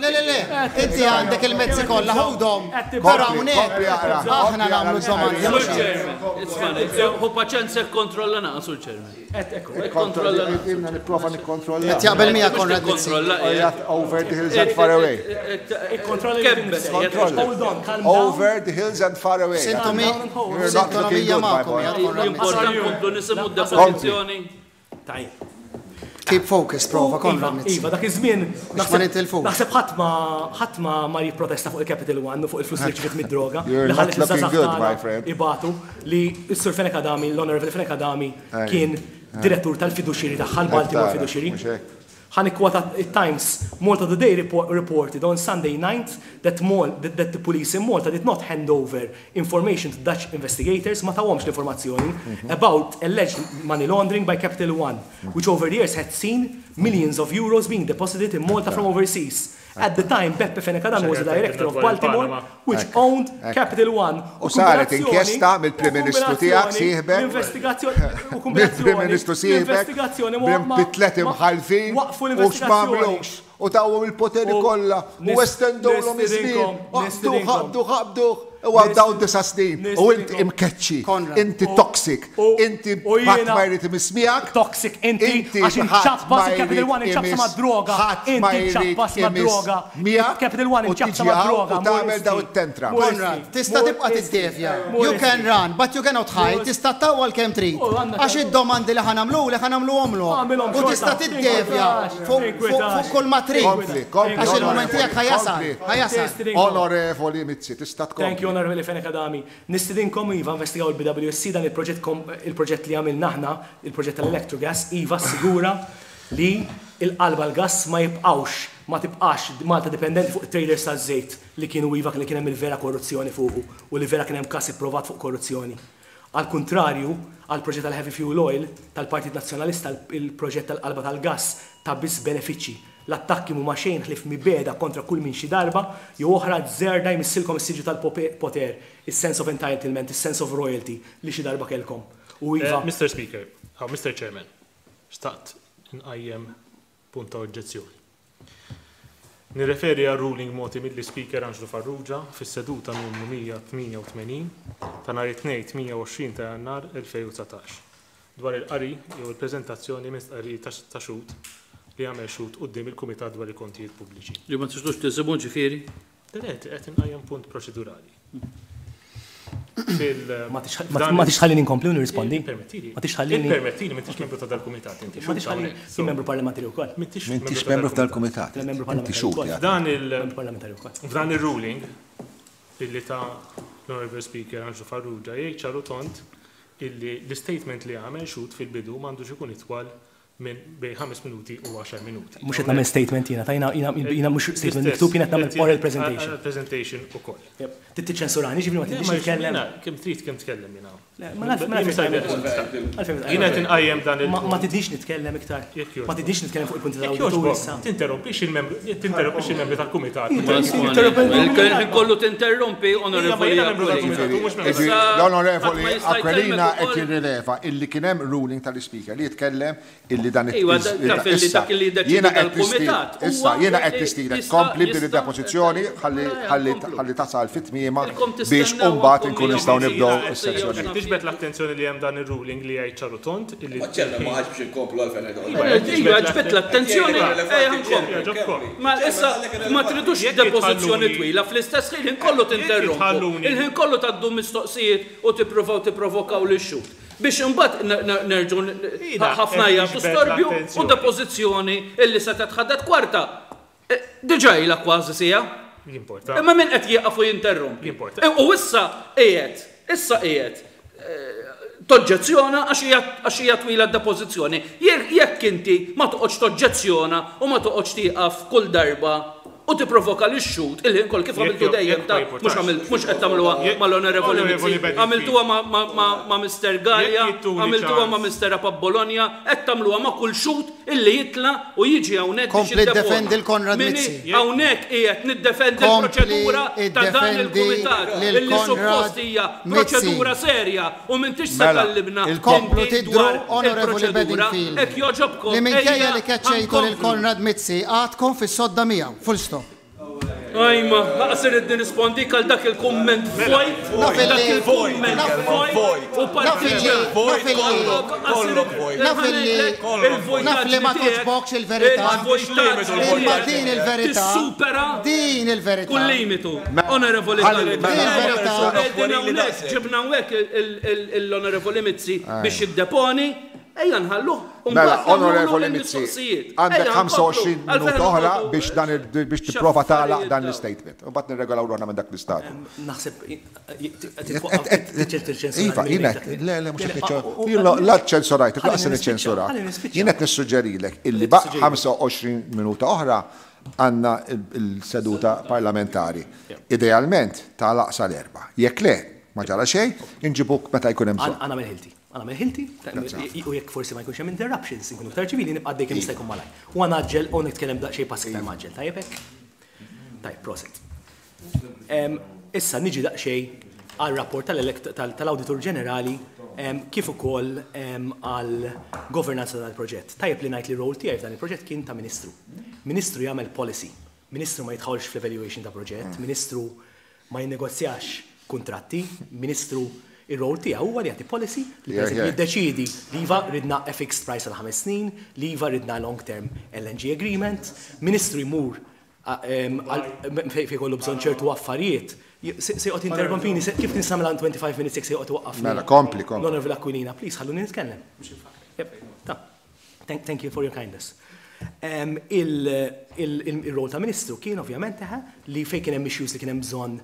Le, le, le. Inti għandek il-mezzi kollha ħudhom. Però hawnhekk aħna nagħmlu d-domandi mhux Ħu paċenzja kkontrolla naqa' Sur Chairman. Ikkontrolla. Nipprova nikkontrolla. Qed jaqbel miegħek Konrad Mizzi. Over the hills and far away. Over the hills and far away. Sintonomija magħkom qiegħed Konrad Mizzi. Importanti nkomplu nisimgħu d-depożizzjoni. Tajjeb. Keep focused, prova, Konrad Mizzi. Iva, dak iż-żmien Biex ma nitilfux. Naħseb ħadd ma ħadd ma mar jipprotesta fuq il-Capital One u fuq il-flus li rċiviet mid-droga You're li not ħallet looking liż-żgħażagħ good, my tagħna friend. ibatu li s-Sur Fenech Adami, l-Honorable Fenech Adami kien direttur tal-fiduċieri tagħha, l-Baltimore Qed tara, Fiduciary. mhux hekk. Ħa nikkwota t-Times, Malta Today reported on Sunday 9th that that the police in Malta did not hand over information to Dutch investigators, ma tawhomx l-informazzjoni, about alleged money laundering by Capital One, which over the years had seen millions of euros being deposited in Malta from overseas. At the time, Beppe Fenech Adami was the director of Baltimore, which owned Capital One. U saret inkjesta mill-Prim Ministru tiegħek sieħbek. Mill-Prim Ministru sieħbek. Bi tlet imħallfin u x'm'għamlux. U tawhom il-poteri kollha u estendewlhom iż-żmien. Aqbduh, aqbduh, aqbduh. U għaddaw disa' snin u int imkeċċi, inti toxic, inti ħadd ma jrid imiss miegħek. Toxic inti għax inċappas il-Capital One inċapsa mad-droga. Ħadd ma Inti jrid ċappas imiss mad-droga. miegħek Capital One u inċapsa tiġi hawn mad-droga. u tagħmel daw it-tantrum. Konrad, tista' tibqa' tiddevja. You can run, but you cannot hide. Tista' ttawwal kemm trid. Għax id-domandi li ħa nagħmlulek ħa nagħmluhomlok. Agħmilhom U xorta. tista' tiddevja fuq Tinkwetax. fuq kull ma trid. Kompli, kompli, Għax il-mument onorevoli, tiegħek ħa jasal, kompli. ħa jasal. Onorevoli Mizzi, tista' tkompli. Thank you, Onorevoli Fenech Adami. Nistidinkom iva investigaw il-BWSC dan il-proġett il-proġett li għamilna aħna, il-proġett tal-Electrogas, iva assigura li il-qalba l-gass ma jibqgħux, ma tibqax Malta dipendenti fuq it-traders taż-żejt li kienu iva li kien hemm il-vera korruzzjoni fuqu u li vera kien hemm każ ipprovat fuq korruzzjoni. Għall-kuntrarju, għall-proġett tal-heavy fuel oil tal-Partit Nazzjonalista il-proġett tal-qalba tal-gass ta biss benefiċċji. L-attakki mhuma xejn ħlief mibegħda kontra kull min xi darba jew oħra azzerda jmissilkom is-siġġu tal-poter, is-sense of entitlement, is-sense of royalty li xi darba kellkom. U iva. Mister Speaker, Mister Chairman, xtaqt inqajjem Punt ta' oġġezzjoni. Nirreferi għar-ruling mogħti mill-Ispeaker Anġlu Farrugia fis-seduta numru 188 ta' nhar it-Tnejn 28 ta' Jannar 2019 dwar il-qari jew il-preżentazzjoni minn stqarrijiet ta' xhud li għamel xhud quddiem il-Kumitat dwar il-Kontijiet Pubbliċi. Li ma tistgħux tisimgħu ġifieri? Le, qed inqajjem punt proċedurali. Ma tix tħallini nkompli u nirrispondi? Ma tix tħallini. Permettili, m'intix membru ta' dal-kumitat inti. Ma tix tħallini. Jien membru parlamentari wkoll. M'intix membru tal-kumitat. Inti xhud. F'dan ir-ruling illi ta l-Honorable Speaker Anġlu Farrugia jgħid ċar u tond illi l-istatement li għamel xhud fil-bidu m'għandux ikun itwal minn bejn ħames minuti u għaxar minuti. Mhux qed nagħmel statement jiena, ta' jiena jiena mhux statement miktub, jiena qed nagħmel oral presentation. Presentation ukoll. Trid tiċċensurani, ġifieri ma tridx nitkellem. Kemm trid kemm tkellem jiena. Ma nafx Jiena qed inqajjem dan il. Ma tidix nitkellem iktar. Ma tidix nitkellem fuq il-punti tal-awditur issa. Tinterrompix il-membru, tinterrompix il-membri tal-kumitat. Il-ħin kollu tinterrompi, onorevoli. L-onorevoli Aquilina qed jirrileva illi kien hemm ruling tal-Ispeaker li jitkellem illi dan Iva, taf illi dak li jiddeċiedi Jiena qed dal-kumitat nistied, issa huwa jiena qed li nistiedek jista' tkompli b'din jista' id-depożizzjoni ħalli Mela, ħalli nkomplu. ħalli tasal fi tmiemha Ilkom biex tistennew imbagħad għandkom inkunu nistgħu nibdew miegħu is-sezzjoni. xi Tiġbed l-attenzjoni li hemm dan ir-ruling li jgħid ċar u tond illi Ma ċella ma ħadx biex inkomplu għalfejn qed Iva, iva, ġbed l-attenzjoni, ejja nkomplu. Ma issa ma tridux depożizzjoni twila, fl-istess ħin il-ħin kollu tinterrompu, il-ħin kollu tgħaddu mistoqsijiet u tippruvaw tipprovokaw lix-xhud. Biex imbagħad nerġgħu ħafna jagħtu storbju u depożizzjoni illi setgħet ħadet kwarta. Diġà ilha kważi siegħa. Imma min qed jieqaf u jinterrompi? U issa qiegħed, issa qiegħed toġġezzjona għax hija twila d-depożizzjoni. Jekk inti ma toqgħodx toġġezzjona u ma toqgħodx tieqaf kull darba u tipprovoka lix-xhud il-ħin kollu kif għamiltu dejjem ta' mhux għamilt mhux qed tagħmluha mal-Onorevoli Mizzi, għamiltuha ma' Mister Galea, għamiltuha ma' Mister Apap Bologna, qed tagħmluha ma' kull xhud illi jitla' u jiġi hawnhekk biex Kompli jiddeponi. ddefendi 'l Konrad Min Mizzi. hawnhekk qiegħed niddefendi Kompli l-proċedura ta' dan iddefendi il-kumitat lil illi Konrad suppost hija Mizzi. proċedura serja u m'intix se Mela, tgħallimna Komplu inti tidhru dwar Onorevoli il-proċedura. Bedingfield Hekk jogħġobkom li minkejja ejja li keċċejtu lil ħa nkomplu. Konrad Mizzi għadkom fis-sodda miegħu. Full stop. Ajma, laqas irrid nirrispondik għal dak il-kumment vojt, Naf dak illi il-kumment naf vojt u naf illi partiġan. naf illi naf illi naf li ma Il-vojtaġni tiegħek, togħġbokx il-verità il-vojtaġni imma tiegħek din il-verità tissupera din il-verità kull limitu. Onorevoli Ħalli Galli, din il-verità qegħdin hawnhekk, ġibna hawnhekk l-Onorevoli Mizzi biex jiddeponi, ejja nħalluh u Mela, mbagħad nagħmlulu Onorevoli Mizzi, il-mistoqsijiet. għandek Ejja nkomplu, 25 għalfejn minuta oħra noqogħdu biex dan biex tipprova tagħlaq x'affarijiet dan dawn. l-istatement. U mbagħad nirregolaw ruħna minn dak l-istadju. Naħseb Iva, jiena le le mhux qed niċċ- la ċensurajt, laqas se niċċensurak. Jien qed nissuġġerilek illi ba' 25 minuta oħra għandna il-seduta parlamentari. Idealment tagħlaq sal-erbgħa. Jekk le, ma ġara xejn, inġibuk meta jkun hemm bżonn. Għana ħilti. Għana ħilti, u jekk forsi ma jkunx hemm interruptions, inkunu iktar ċivili, nibqa' għaddej kemm jista' jkun malajr. U għanaġġel u nitkellem daqsxejn pass iktar mgħaġġel, tajjeb hekk? Tajjeb, prosit. Issa niġi daqsxejn għal-rapport tal-Awditur Ġenerali kif ukoll għal-governanza tal-proġett. Tajjeb li ngħid li role tiegħi f'dan il-proġett kien ta' ministru. Ministru jagħmel policy. Ministru ma jidħolx fl-evaluation ta' proġett, ministru ma jinnegozjax kontratti, ministru ir-role tiegħu huwa li jagħti policy li per eżempju jiddeċiedi li iva ridna a fixed price għal 5 snin, li iva ridna long term LNG agreement, ministru jmur fejn jkollu bżonn ċertu affarijiet. Se joqgħod interrompini, kif nista' nagħmel 25 minutes jekk se joqgħod waqqafni. Mela, kompli, kompli. L-Onorevole Aquilina, please, ħalluni nitkellem. Yep, ta. Thank you for your kindness. Il-rol ta' ministru kien ovvjament eħe, li fejn kien hemm issues li kien hemm bżonn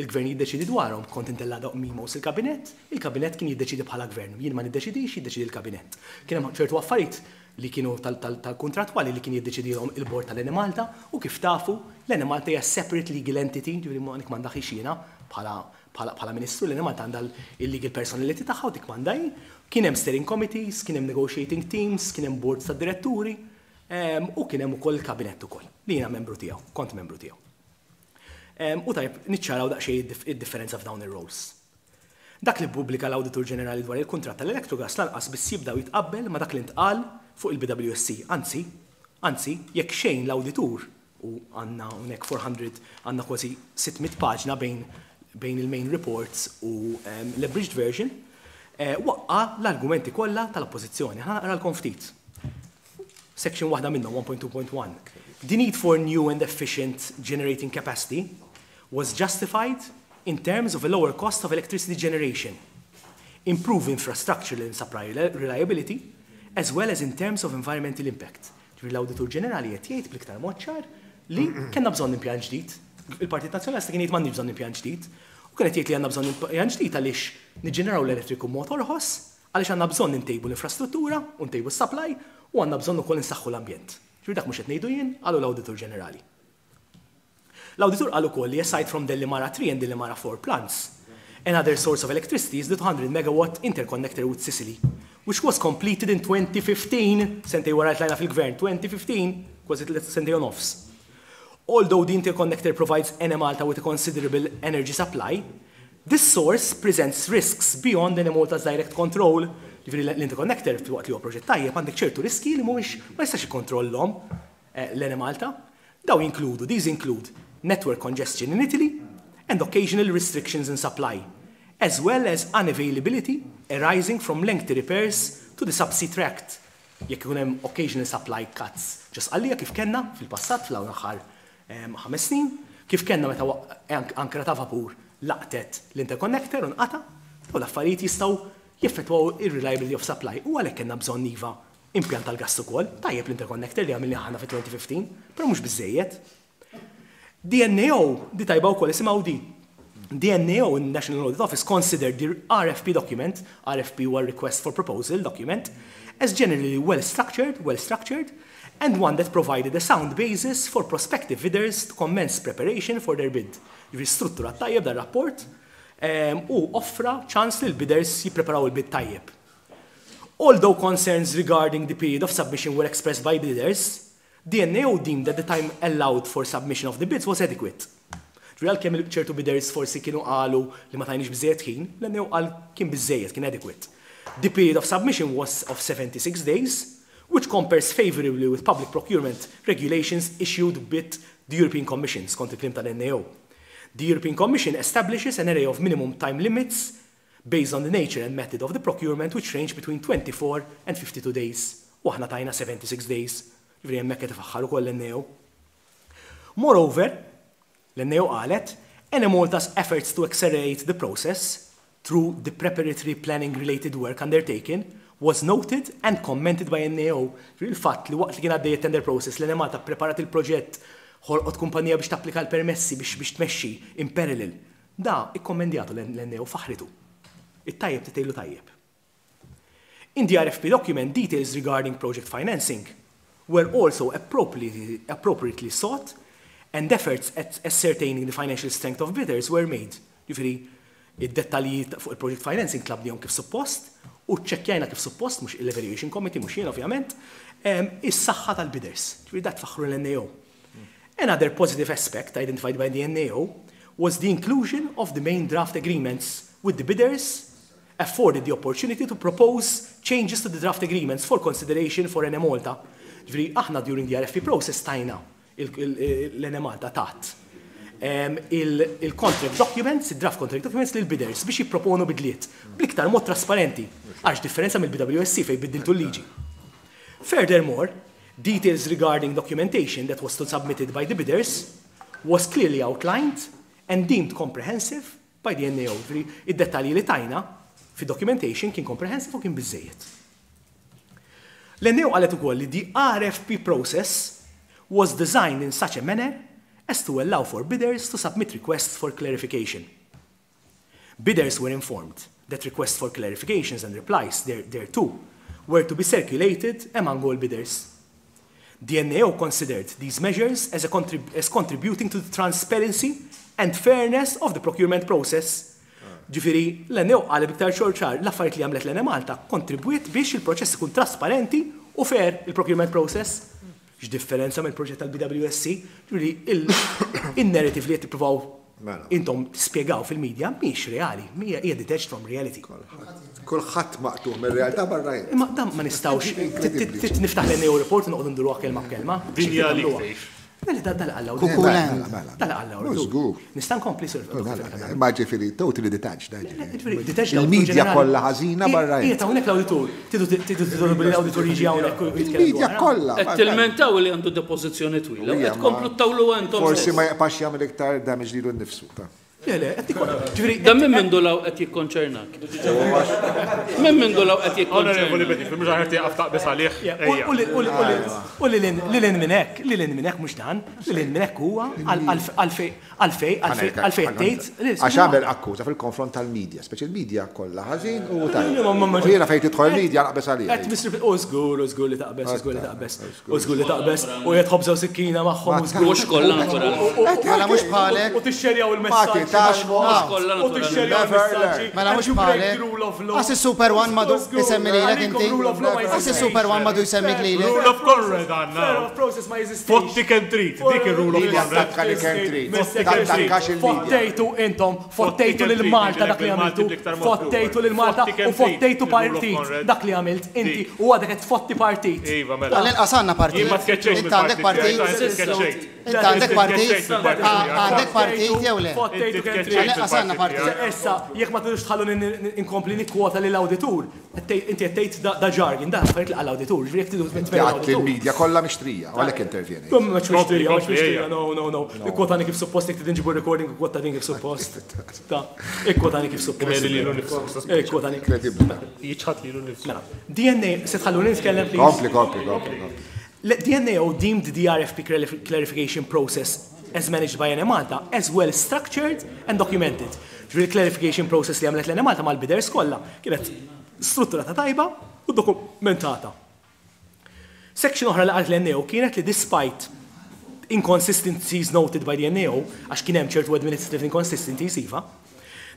il-gvern jiddeċidi dwarhom, kont intella' dawk memos il-kabinett, il-kabinett kien jiddeċidi bħala gvern. Jien ma niddeċidix, jiddeċidi il-kabinett. Kien hemm ċertu affarijiet li kienu tal-kontrattwali li kien jiddeċidihom il-bord tal-Enemalta u kif tafu l-Enemalta hija separate legal entity, ġifieri ma m'għandha jiena bħala bħala Ministru, l-Enemalta għandha l-legal personality tagħha u tikkmanda hi. Kien hemm steering committees, kien hemm negotiating teams, kien hemm boards ta' diretturi u kien hemm ukoll il-kabinett ukoll li jiena membru tiegħu, kont membru tiegħu. U tajjeb niċċaraw daqsxejn id-differenza f'dawn ir-roles. Dak li ppubblika l-Awditur Ġenerali dwar il-kuntratt tal-Electrogas lanqas biss jibda u jitqabbel ma' dak li ntqal fuq il-BWSC. Anzi, anzi, jekk xejn l-Awditur, u għandna hawnhekk 400, għandna kważi 600 paġna bejn bejn il-main reports u l-abridged version, waqqa' l-argumenti kollha tal-Oppożizzjoni. Ħa naqralkom ftit. Section waħda minnhom, 1.2.1. The need for new and efficient generating capacity was justified in terms of a lower cost of electricity generation, improve infrastructural and supply reliability, as well as in terms of environmental impact. Ġifieri l-Awditur Ġenerali qed jgħid bl-iktar mod ċar li kellna bżonn impjant ġdid. Il-Partit Nazzjonalista kien jgħid m'għandniex bżonn impjant ġdid. U kien qed jgħid li għandna bżonn impjant ġdid għaliex niġġeneraw l-elettriku b'mod orħos, għaliex għandna bżonn intejbu l-infrastruttura u ntejbu s-supply u għandna bżonn ukoll insaħħu l-ambjent. Ġifieri dak mhux qed ngħidu jien, qalu l-Awditur Ġenerali. L-Awditur qal ukoll li aside from Delimara 3 and Delimara 4 plants, another source of electricity is the 200 megawatt interconnector with Sicily, which was completed in 2015, sentejn wara li tlajna fil-Gvern, 2015, kważi sentejn u nofs. Although the interconnector provides Enemalta with a considerable energy supply, this source presents risks beyond Enemalta's direct control. Jiġifieri l-interconnector, filwaqt li huwa proġett tajjeb, għandek ċertu riskji li mhumiex ma jistax jikkontrollhom l-Enemalta. Dawn jinkludu, these include network congestion in Italy and occasional restrictions in supply, as well as unavailability arising from lengthy repairs to the subsea tract, jekk ikun hemm occasional supply cuts ġo Sqallija kif kellna fil-passat fl-hawn l-aħħar ħames snin, kif kellna meta ankra ta' vapur laqtet l-interconnector u nqata', dawn l-affarijiet jistgħu jeffettwaw ir-reliability of supply u għalhekk kellna bżonn iva Impjant tal-gass ukoll, tajjeb l-interconnector li għamilnieh aħna fit-2015, però mhux biżżejjed. The NAO, di tajba wkoll isimgħu di. The NAO, National Audit Office, considered the RFP document, RFP huwa Request for Proposal document, as generally well structured, well structured, and one that provided a sound basis for prospective bidders to commence preparation for their bid. Jiġifieri strutturat tajjeb dar-rapport u offra ċans lill-bidders jippreparaw il-bid tajjeb. Although concerns regarding the period of submission were expressed by bidders, the NAO deemed that the time allowed for submission of the bids was adequate. Ġifieri għalkemm ċertu bidders forsi kienu qalu li ma tajniex biżżejjed ħin, l-NAO qal kien biżżejjed, kien adequate. The period of submission was of 76 days, which compares favourably with public procurement regulations issued bit the European Commission, skont il-kliem tal-NAO. The European Commission establishes an array of minimum time limits based on the nature and method of the procurement which range between 24 and 52 days. U aħna tajna 76 days. Ġifieri hemmhekk qed ifaħħar ukoll l-NAO. Moreover, l-NAO qalet, Enemalta's efforts to accelerate the process through the preparatory planning related work undertaken was noted and commented by NAO. Ġifieri l-fatt li waqt li kien għaddej it-tender process l-Enemalta ppreparat il-proġett, ħolqot kumpanija biex tapplika l-permessi biex biex tmexxi in parallel Da ikkommendjatu l-NAO faħħritu. It-tajjeb titgħidlu tajjeb. In the RFP document, details regarding project financing were also appropriately, appropriately sought and efforts at ascertaining the financial strength of bidders were made. Ġifieri, id-dettalji fuq il-project financing tlabnihom kif suppost u ċċekkjajna kif suppost, mhux l-evaluation committee, mhux jien ovvjament, is-saħħa tal-bidders. Ġifieri da tfaħħru l-NAO. Another positive aspect identified by the NAO was the inclusion of the main draft agreements with the bidders afforded the opportunity to propose changes to the draft agreements for consideration for Enemalta. Ġifieri aħna during the RFP process tajna l-Enemalta tat il-contract documents, il-draft contract documents lil bidders biex jipproponu bidliet bl-iktar mod trasparenti għax differenza mill-BWSC fejn biddiltu l-liġi. Furthermore, details regarding documentation that was to submitted by the bidders was clearly outlined and deemed comprehensive by the NAO. Ġifieri, id-dettalji li tajna fi documentation kien comprehensive u kien biżżejjed. L-NAO qalet ukoll li the RFP process was designed in such a manner as to allow for bidders to submit requests for clarification. Bidders were informed that requests for clarifications and replies thereto were to be circulated among all bidders. The NAO considered these measures as, a contrib as contributing to the transparency and fairness of the procurement process. Ġifieri, l-NAO qalet b'iktar xogħol ċar, l-affarijiet li għamlet l-Enemalta kkontribwiet biex il-proċess ikun trasparenti u fair, il-procurement process. X'differenza mill-proġett tal-BWSC. Ġifieri, in-narrative li qed tippruvaw intom tispjegaw fil-media mhijiex reali, hija detached from reality. Kulħadd maqtugħ mir-realtà barra int. Imma dan ma nistgħux, trid niftaħ l-NAO report u noqogħdu nduruha kelma b'kelma. Din hija għalik tgħix. Mela dan qal l-awditur. Cuckoo Land. Dan qal l-awditur. Nista' nkompli, Sir? Mela, imma ġifieri totally detached, ġifieri. Il-media kollha ħażina barra. Qiegħed hawnhekk l-awditur. Tridu titolbu li l-awditur jiġi hawnhekk u jitkellem. Il-media kollha. Qed tilmentaw li għandu depożizzjoni twila u qed tkomplu ttawluha intom stess. Forsi ma jibqax jagħmel iktar damage lilu nnifsu. Le, le, qed nikkontra. Ġifieri. Dan minn mindu 'l hawn qed jikkonċernak? Minn mindu 'l hawn qed jikkonċernak? Onorevoli Bedingfield, mhux aħjar tieqaf taqbeż għalih? Ejja. U lil hinn minn hekk, lil hinn minn hekk mhux dan, lil hinn minn hekk huwa għalfejn, għalfejn, għalfejn qed tgħid. Għax għamel akkuża fil-konfront tal-media, speċi l-media kollha ħażin u tajjeb. U jiena fejn tidħol il-media naqbeż għaliha. Qed misrif, u żgur, u żgur li taqbeż, u żgur li taqbeż. U żgur li taqbeż u qiegħed ħobża u sikkina magħhom u żgur. Mhux kollha naturalment. Mela mhux bħalek. U tixxerjaw il-messaġġi. Mhux kollha U tixxerjaw il-messaġġi. Mela mhux bħalek. Qas is-Super One m'għadu jsemmi lilek inti. Qas is-Super One m'għadu jsemmik lilek. Rule of Conrad għandna. Fotti kemm trid, dik ir-rule of Conrad. Attakka li kemm trid. Tattakkax il-media. Fottejtu intom, fottejtu lil Malta dak li għamiltu. Fottejtu lil Malta u fottejtu partit dak li għamilt inti u għadek qed tfotti partit. Iva, mela. Għall-inqas għandna partit. Jien ma tkeċċejtx Int għandek partit? Int għandek partit? Għandek partit jew le? Fottejtu kemm trid. Għall-inqas għandna partit. Issa, jekk ma tridux tħalluni inkompli nikkwota lill-awditur, inti qed tgħid da jargon, da affarijiet li qal l-awditur, ġifieri jekk tridu Inti għedt li l-media kollha mixtrija, u għalhekk intervjenejt. Mhux mixtrija, mhux mixtrija, no, no, no. Ikkwotani kif suppost jekk trid inġibu r-recording ikkwotani kif suppost. Ta, ikkwotani kif suppost. Imeli lilu nnifsu. Ikkwotani. Inkredibbli. Jiċħad lilu nnifsu. Mela, DNA, se tħalluni nitkellem please? Kompli, kompli, kompli, kompli. The DNAO deemed the RFP clarification process as managed by Enemalta as well structured and documented. Ġifieri l-clarification process li għamlet l-Enemalta mal-bidders kollha kienet strutturata tajba u dokumentata. Section oħra li qalet l-NAO kienet li despite inconsistencies noted by the NAO, għax kien hemm ċertu administrative inconsistencies iva,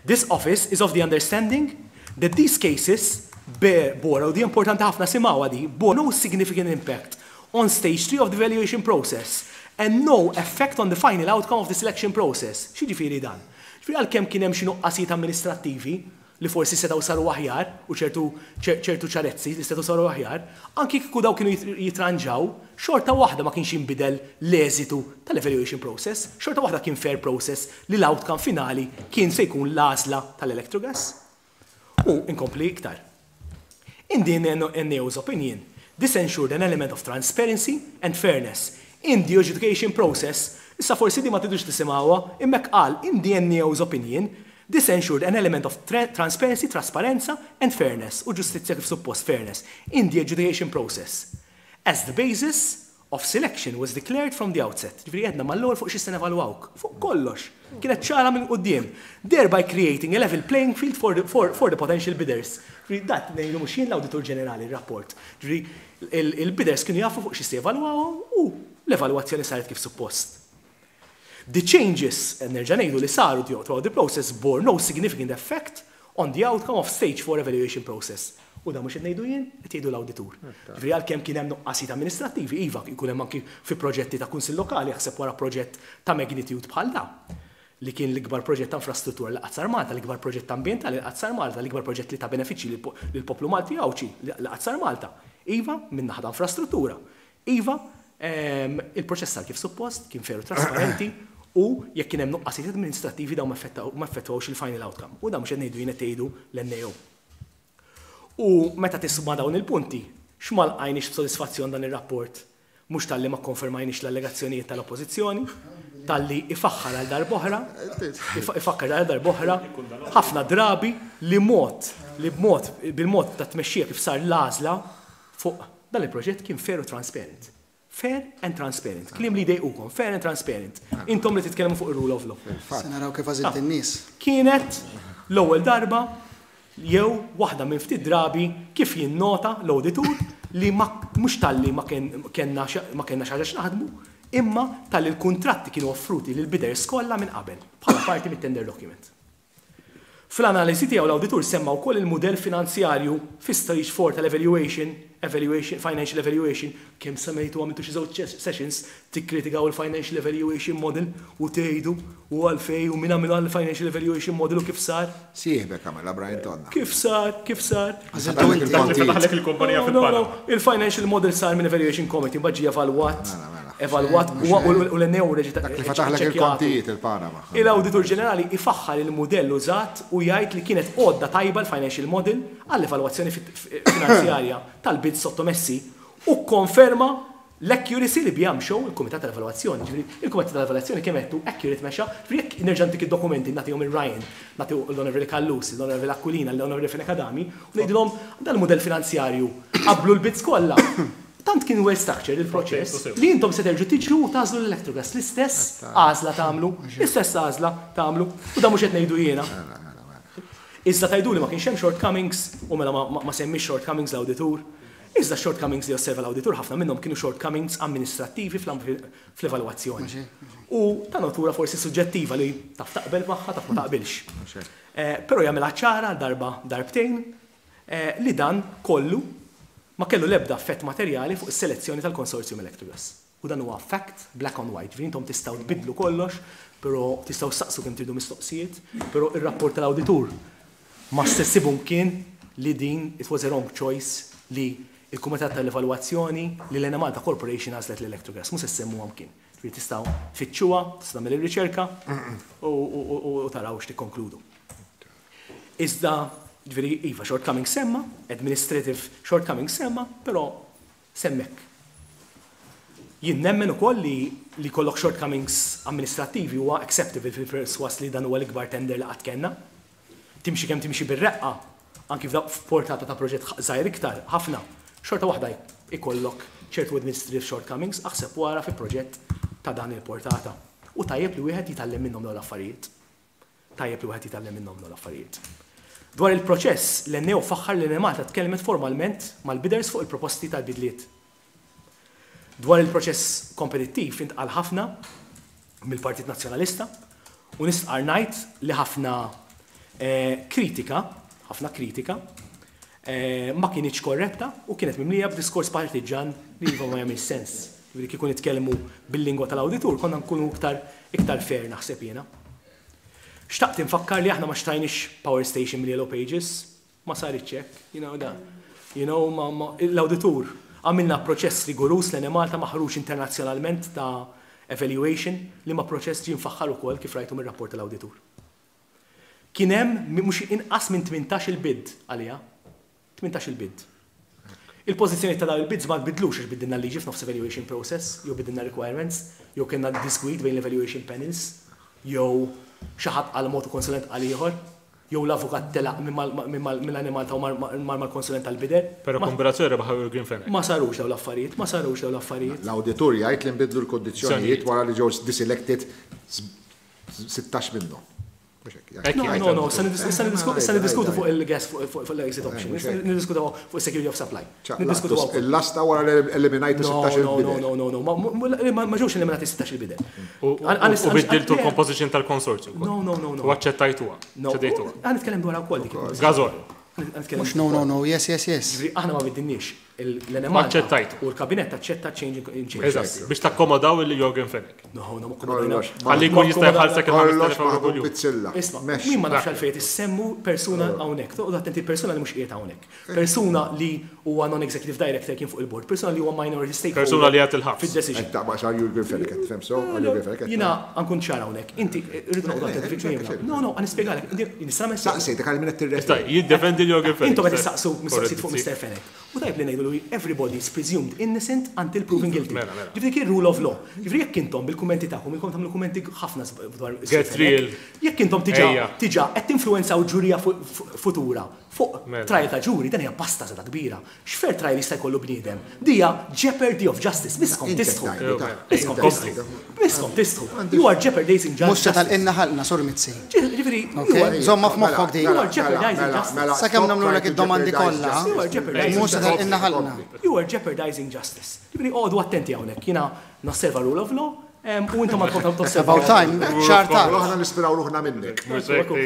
this office is of the understanding that these cases bear, bore, u di importanti ħafna simgħuha di, bore no significant impact on stage 3 of the evaluation process and no effect on the final outcome of the selection process. X'jiġifieri dan? Ġifieri għalkemm kien hemm xi nuqqasijiet amministrattivi li forsi setgħu saru aħjar u ċertu ċertu ċarezzi li setgħu saru aħjar, anki kieku dawn kienu jitranġaw, xorta waħda ma kienx jinbidel l-eżitu tal-evaluation process, xorta waħda kien fair process li l-outcome finali kien se jkun l-għażla tal-Electrogas. U inkompli iktar. In the NAO's opinion, this ensured an element of transparency and fairness in the adjudication process. Issa forsi di ma tridux tisimgħuha, imma hekk qal, in the NAO's opinion, this ensured an element of transparency, trasparenza, and fairness, u ġustizzja kif suppost, fairness, in the adjudication process, as the basis of selection was declared from the outset. Ġifieri għedna mal-ewwel fuq xi se nevalwawk. Fuq kollox. Kienet ċara minn quddiem. Thereby creating a level playing field for the, for, for the potential bidders. Ġifieri dat ngħidu mhux jien l-Awditur Ġenerali r-rapport. Ġifieri il-bidders kienu jafu fuq xi se jevalwawhom u l-evalwazzjoni saret kif suppost. The changes, nerġa' ngħidu li saru throughout the process bore no significant effect on the outcome of stage 4 evaluation process. U dan mhux qed ngħidu jien, qed jgħidu l-awditur. Ġifieri għalkemm kien hemm nuqqasijiet amministrattivi, iva, jkun hemm anki fi proġetti ta' kunsill lokali, jaħseb wara proġett ta' magnitude bħal da, li kien l-ikbar proġett ta' infrastruttura li qatt sar Malta, l-ikbar proġett ambjentali li qatt sar Malta, l-ikbar proġett li ta benefiċċji lill-poplu Malti Għawdxi li qatt sar Malta. Iva, minn naħa ta' infrastruttura. Iva, il-proċess sar kif suppost, kien fair u trasparenti, u jekk kien hemm nuqqasijiet amministrattivi dawn ma effettwawx il-final outcome. U dan mhux qed ngħidu jien qed tgħidu l-NAO. U meta tisma' dawn il-punti, x'ma lqajniex b'sodisfazzjon dan ir-rapport? Mhux talli ma kkonfermajniex l-allegazzjonijiet tal-Oppożizzjoni, talli ifaħħar għal darb'oħra, ifakkar għal darb'oħra, ħafna drabi li mod, li b'mod, bil-mod ta' tmexxija kif sar l-għażla fuq dan il-proġett kien fair u transparent. Fair and transparent. Kliem li jdejqukom, fair and transparent. Intom li titkellmu fuq ir-rule of law. Se naraw kif għażilt in-nies. Kienet l-ewwel darba jew waħda minn ftit drabi kif jinnota l-awditur li ma mhux talli ma kellna ma kellna xi ħaġa x'naħdmu, imma talli l-kuntratti kienu offruti lill-bidders kollha minn qabel bħala parti mit-tender document. Fl-analiżi tiegħu l-awditur semma wkoll il-mudell finanzjarju fi stage 4 tal-evaluation, evaluation, financial evaluation, kemm semmejtu għamiltu xi żewġ sessions tikkritikaw il-financial evaluation model u tgħidu u għalfejn u min għamilha l-financial evaluation model u kif sar. Sieħbek għamilha Brian Tonna. Kif sar, kif sar. Għażiltu inti. Dak li fetaħlek il-kumpanija fil-Panama. Il-financial model sar minn evaluation committee mbagħad ġie evalwat evalwat u l-NAO reġa' Dak li fetaħlek il-kontijiet il-Panama. Il-Awditur Ġenerali ifaħħar il-mudell użat u jgħid li kienet għodda tajba l-financial model għall-evalwazzjoni finanzjarja tal-bids sottomessi u kkonferma l-accuracy li biha mxew il-Kumitat tal-Evalwazzjoni. Ġifieri, il-Kumitat tal-Evalwazzjoni kemm għedtu accurate mexa, ġifieri jekk nerġa' ntik id-dokumenti nagħtihom lil Ryan, nagħti l-Onorevoli Callus, l-Onorevoli Aquilina, l-Onorevoli Fenech Adami u ngħidilhom dan il-mudell finanzjarju qablu l-bids kollha. Tant kien well structured il-proċess li intom se terġgħu tiġru u tagħżlu l-Electrogas. L-istess għażla tagħmlu, l-istess għażla tagħmlu. U dan mhux qed ngħidu jiena. Iżda tgħiduli ma kienx hemm shortcomings u mela ma semmiex shortcomings l-awditur. Iżda x-shortcomings li osserva l-awditur ħafna minnhom kienu shortcomings amministrattivi fl-evalwazzjoni. U ta' natura forsi suġġettiva li taf taqbel magħha, taf ma taqbilx. Però jagħmilha ċara għal darba darbtejn li dan kollu ma kellu l-ebda effett materjali fuq is-selezzjoni tal-konsorzjum Electrogas. U dan huwa fact, black on white. Ġifieri intom tistgħu tbiddlu kollox, però tistgħu ssaqsu kemm tridu mistoqsijiet, però ir-rapport tal-awditur ma ssibu mkien li din it was a wrong choice li il-Kumitat tal-Evalwazzjoni li l-Enemalta Corporation għażlet l-Electrogas. Mhux se ssemmuha mkien. Ġifieri tistgħu tfittxuha, tistgħu tagħmel ir-riċerka u taraw x'tikkonkludu. Iżda, ġifieri iva, shortcomings semma, administrative shortcomings semma, però semmek. Jien nemmen ukoll li li jkollok shortcomings amministrattivi huwa acceptable fil-perswas li dan huwa l-ikbar tender li qatt kellna. Timxi kemm timxi bir-reqqa, anki f'portata ta' proġett żgħir iktar, ħafna, xorta waħda ikollok ċertu administrative shortcomings, aħseb wara fi proġett ta' dan il-portata. U tajjeb li wieħed jitgħallem minnhom dawn l-affarijiet. Tajjeb li wieħed jitgħallem minnhom dawn l-affarijiet. Dwar il-proċess, l-NAO faħħar li Enemalta tkellmet formalment mal-bidders fuq il-proposti tal-bidliet. Dwar il-proċess kompetittiv intqal ħafna mill-Partit Nazzjonalista u nistqar ngħid li ħafna kritika, ħafna kritika, ma kinitx korretta u kienet mimlija b'diskors partiġan li iva ma jagħmilx sens. Ġifieri kieku nitkellmu bil-lingwa tal-awditur konna nkunu iktar iktar fair naħseb jiena. Xtaqt infakkar li aħna ma xtrajniex power station mill-Yellow Pages, ma saritx hekk, you know da. You know, ma, ma, l-awditur għamilna proċess rigorus l-Enemalta maħruġ internazzjonalment ta' evaluation li ma proċess ġie mfaħħar ukoll kif rajtu mir-rapport tal-awditur. Kien hemm mhux inqas minn 18 il-bid għaliha. 18 il-bid. Il-pożizzjoni ta' dawn il-bids ma tbidlux għax biddilna l-liġi f'nofs evaluation process, jew biddilna requirements, jew kellna disgwid bejn l-evaluation panels, jew xi ħadd qal mod u konsulent qal ieħor, jew l-avukat telaq minn Enemalta u mar mal-konsulent tal-bidder. Però kombinazzjoni rebaħ Yorgen Fenech. Ma sarux dawn l-affarijiet, ma sarux dawn l-affarijiet. L-awditur jgħid li nbidlu l-kondizzjonijiet wara li ġew deselected 16 minnhom. No, no, no, issa niddiskutu fuq il-gas fuq l-exit option, niddiskutu fuq security of supply. Niddiskutu Il-lasta wara li eliminajtu 16 il-bidder. No, no, no, no, ma ġewx eliminati 16 il-bidder. U biddiltu l-composition tal-konsorzju. No, no, no, no. U aċċettajtuha. No, ħa nitkellem dwar wkoll dik. Gażol. Mhux no, no, no, yes, yes, yes. Aħna ma biddilniex l-Enemalta. U l-kabinet aċċetta change in change. Eżatt, biex takkomodaw il Yorgen Fenech. No, no, ma akkomodajna. Ħalli jkun jista' jħallsek il-5000 euro kuljum. Isma', min ma nafx għalfejn issemmu persuna hawnhekk. Toqgħod attenti persuna li mhux qiegħed hawnhekk. Persuna li huwa non-executive director kien fuq il-board, persuna li huwa minority stakeholder. Persuna li qed il-ħabs. Fid-decision. Taqbaq xar Yorgen Fenech, qed tifhem so? Yorgen Fenech. Jiena nkun ċar hawnhekk. Inti rridu noqgħodu attenti fi kliemna. No, no, ħa nispjegalek. Nista' nagħmel Saqsejtek għal min qed tirreferi. Jiddefendi l-Yorgen Fenech. Intom qed issaqsu mistoqsijiet fuq Mr. Fenech. U tajb li ngħidu li everybody is presumed innocent until proven guilty. Mela, mela. Ġifieri kien rule of law. Ġifieri jekk intom bil-kummenti tagħkom ilkom tagħmlu kummenti ħafna dwar Get real. Jekk intom diġà diġà qed tinfluwenzaw ġurija futura fuq Mela. trial ta' ġuri, dan hija pasta żgħda kbira. X'fair trial jista' jkollu bniedem? Dija jeopardy of justice. Miskom tistħu. Miskom tistħu. Miskom tistħu. You are jeopardizing Mhux se justice. tal-inna ħalqna, Sur Mizzi. Ġifieri, Ok, żomma f'moħħok di. You are jeopardizing justice. Sakemm nagħmlulek id-domandi kollha, You are jeopardizing mhux se tal-inna ħalqna. You are jeopardizing justice. Ġifieri oqogħdu attenti hawnhekk. Jiena nosserva rule of law. U intom għadkom tosservaw. About time, xahar tard. Aħna nispiraw ruħna minnek.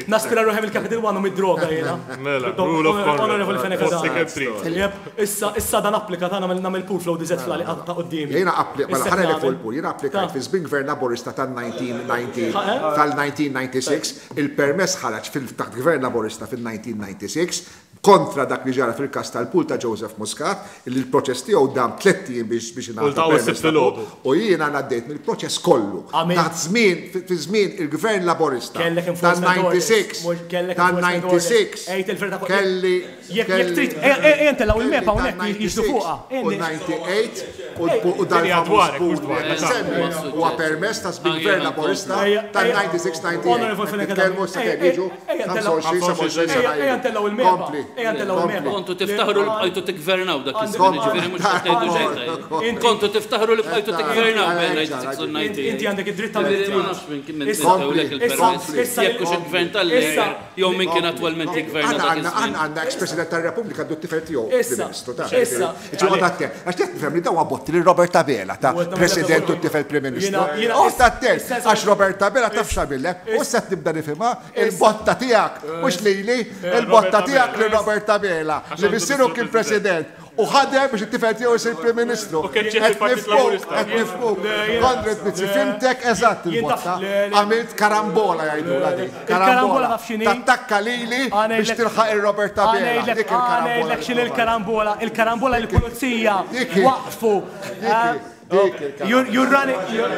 Naspira ruħi mill-Capital One u mid-droga jiena. Mela, rule of conduct. Honorable Fenech Adami. Issa, issa dan applika ta' nagħmel nagħmel pool flow dizet fl ta' qudiemi. Jiena appli, mela ħa ngħidlek fuq il-pool, jiena applikajt fi żmien gvern Laburista tan-1990 tal-1996, il-permess ħareġ fil taħt gvern Laburista fil-1996, kontra dak li ġara fil-każ tal-pool ta' Joseph Muscat, li l-proċess tiegħu dam tlett ijiem biex biex ingħata ltaqgħu permess s-Sibt ta' pool, filgħodu. u jiena ngħaddejt mill-proċess kollu. Għamilt- Taħt żmien, fi żmien il-Gvern Laburista Kellek enforcement orders. tan-96, Mhux kellek enforcement orders. tan-96, Għid il-verità kollha. kelli Jekk jekk trid, ejja ntellgħu il-map hawnhekk jiġdu fuqha. U 98 u dan Dinja il-famuż dwarek, pool mhux dwarek. li semmi huwa permess ta' żmien Gvern Laburista tan-96-98. Honorable Fenech Adami. Nitkellmu sakemm jiġu Ejja, ntellgħu- 25 27 sena Ejja ilu. ntellgħu il-map. Kompli. Ejja ntellgħu il-map. Kontu tiftaħru li bqajtu tiggvernaw dak iż-żmien, jiġifieri mhux qed tgħidu xejn tajjeb. Kontu tiftaħru li bqajtu tiggvernaw bejn 96 u 98. Inti għandek id-dritt tagħmel Jiġifieri ma li nafx minn kien minn Issa- tewlek il-permess. issa- Jekk hux il-gvern tal-Labour jew min kien attwalment jiggverna Għanna dak għanna iż-żmien. għanna ex-president tal-Repubblika għandu t-tifel tiegħu Issa, Prim Ministru ta' issa. Ġi attent, għax qed nifhem li dawn botti lil Robert Abela ta' President u t-tifel Prim Ministru. Jiena- jiena- Oqgħod attent, issa- għax Robert Abela taf x'għamillek, u issa tibda nifhimha il-botta tiegħek, mhux lili, il-botta tiegħek lil Robert Abela li missieru kien President u ħadem biex it-tifel tiegħu jsir Prim Ministru. U kien ġie Qed fil-Partit nifhmuk, Laburista. qed nifhmuk. Konrad Mizzi, fimtek eżatt il-botta. Għamilt karambola jgħidulha din. Il-karambola taf x'inhi? Tattakka lili biex tilħaq il-Robert Abela. Dik il-karambola. Għanejdlek x'inhi il-karambola. Il-karambola li l-pulizija Dik hi. waqfu. Dik hi, dik il-karambola. You're you're running you're,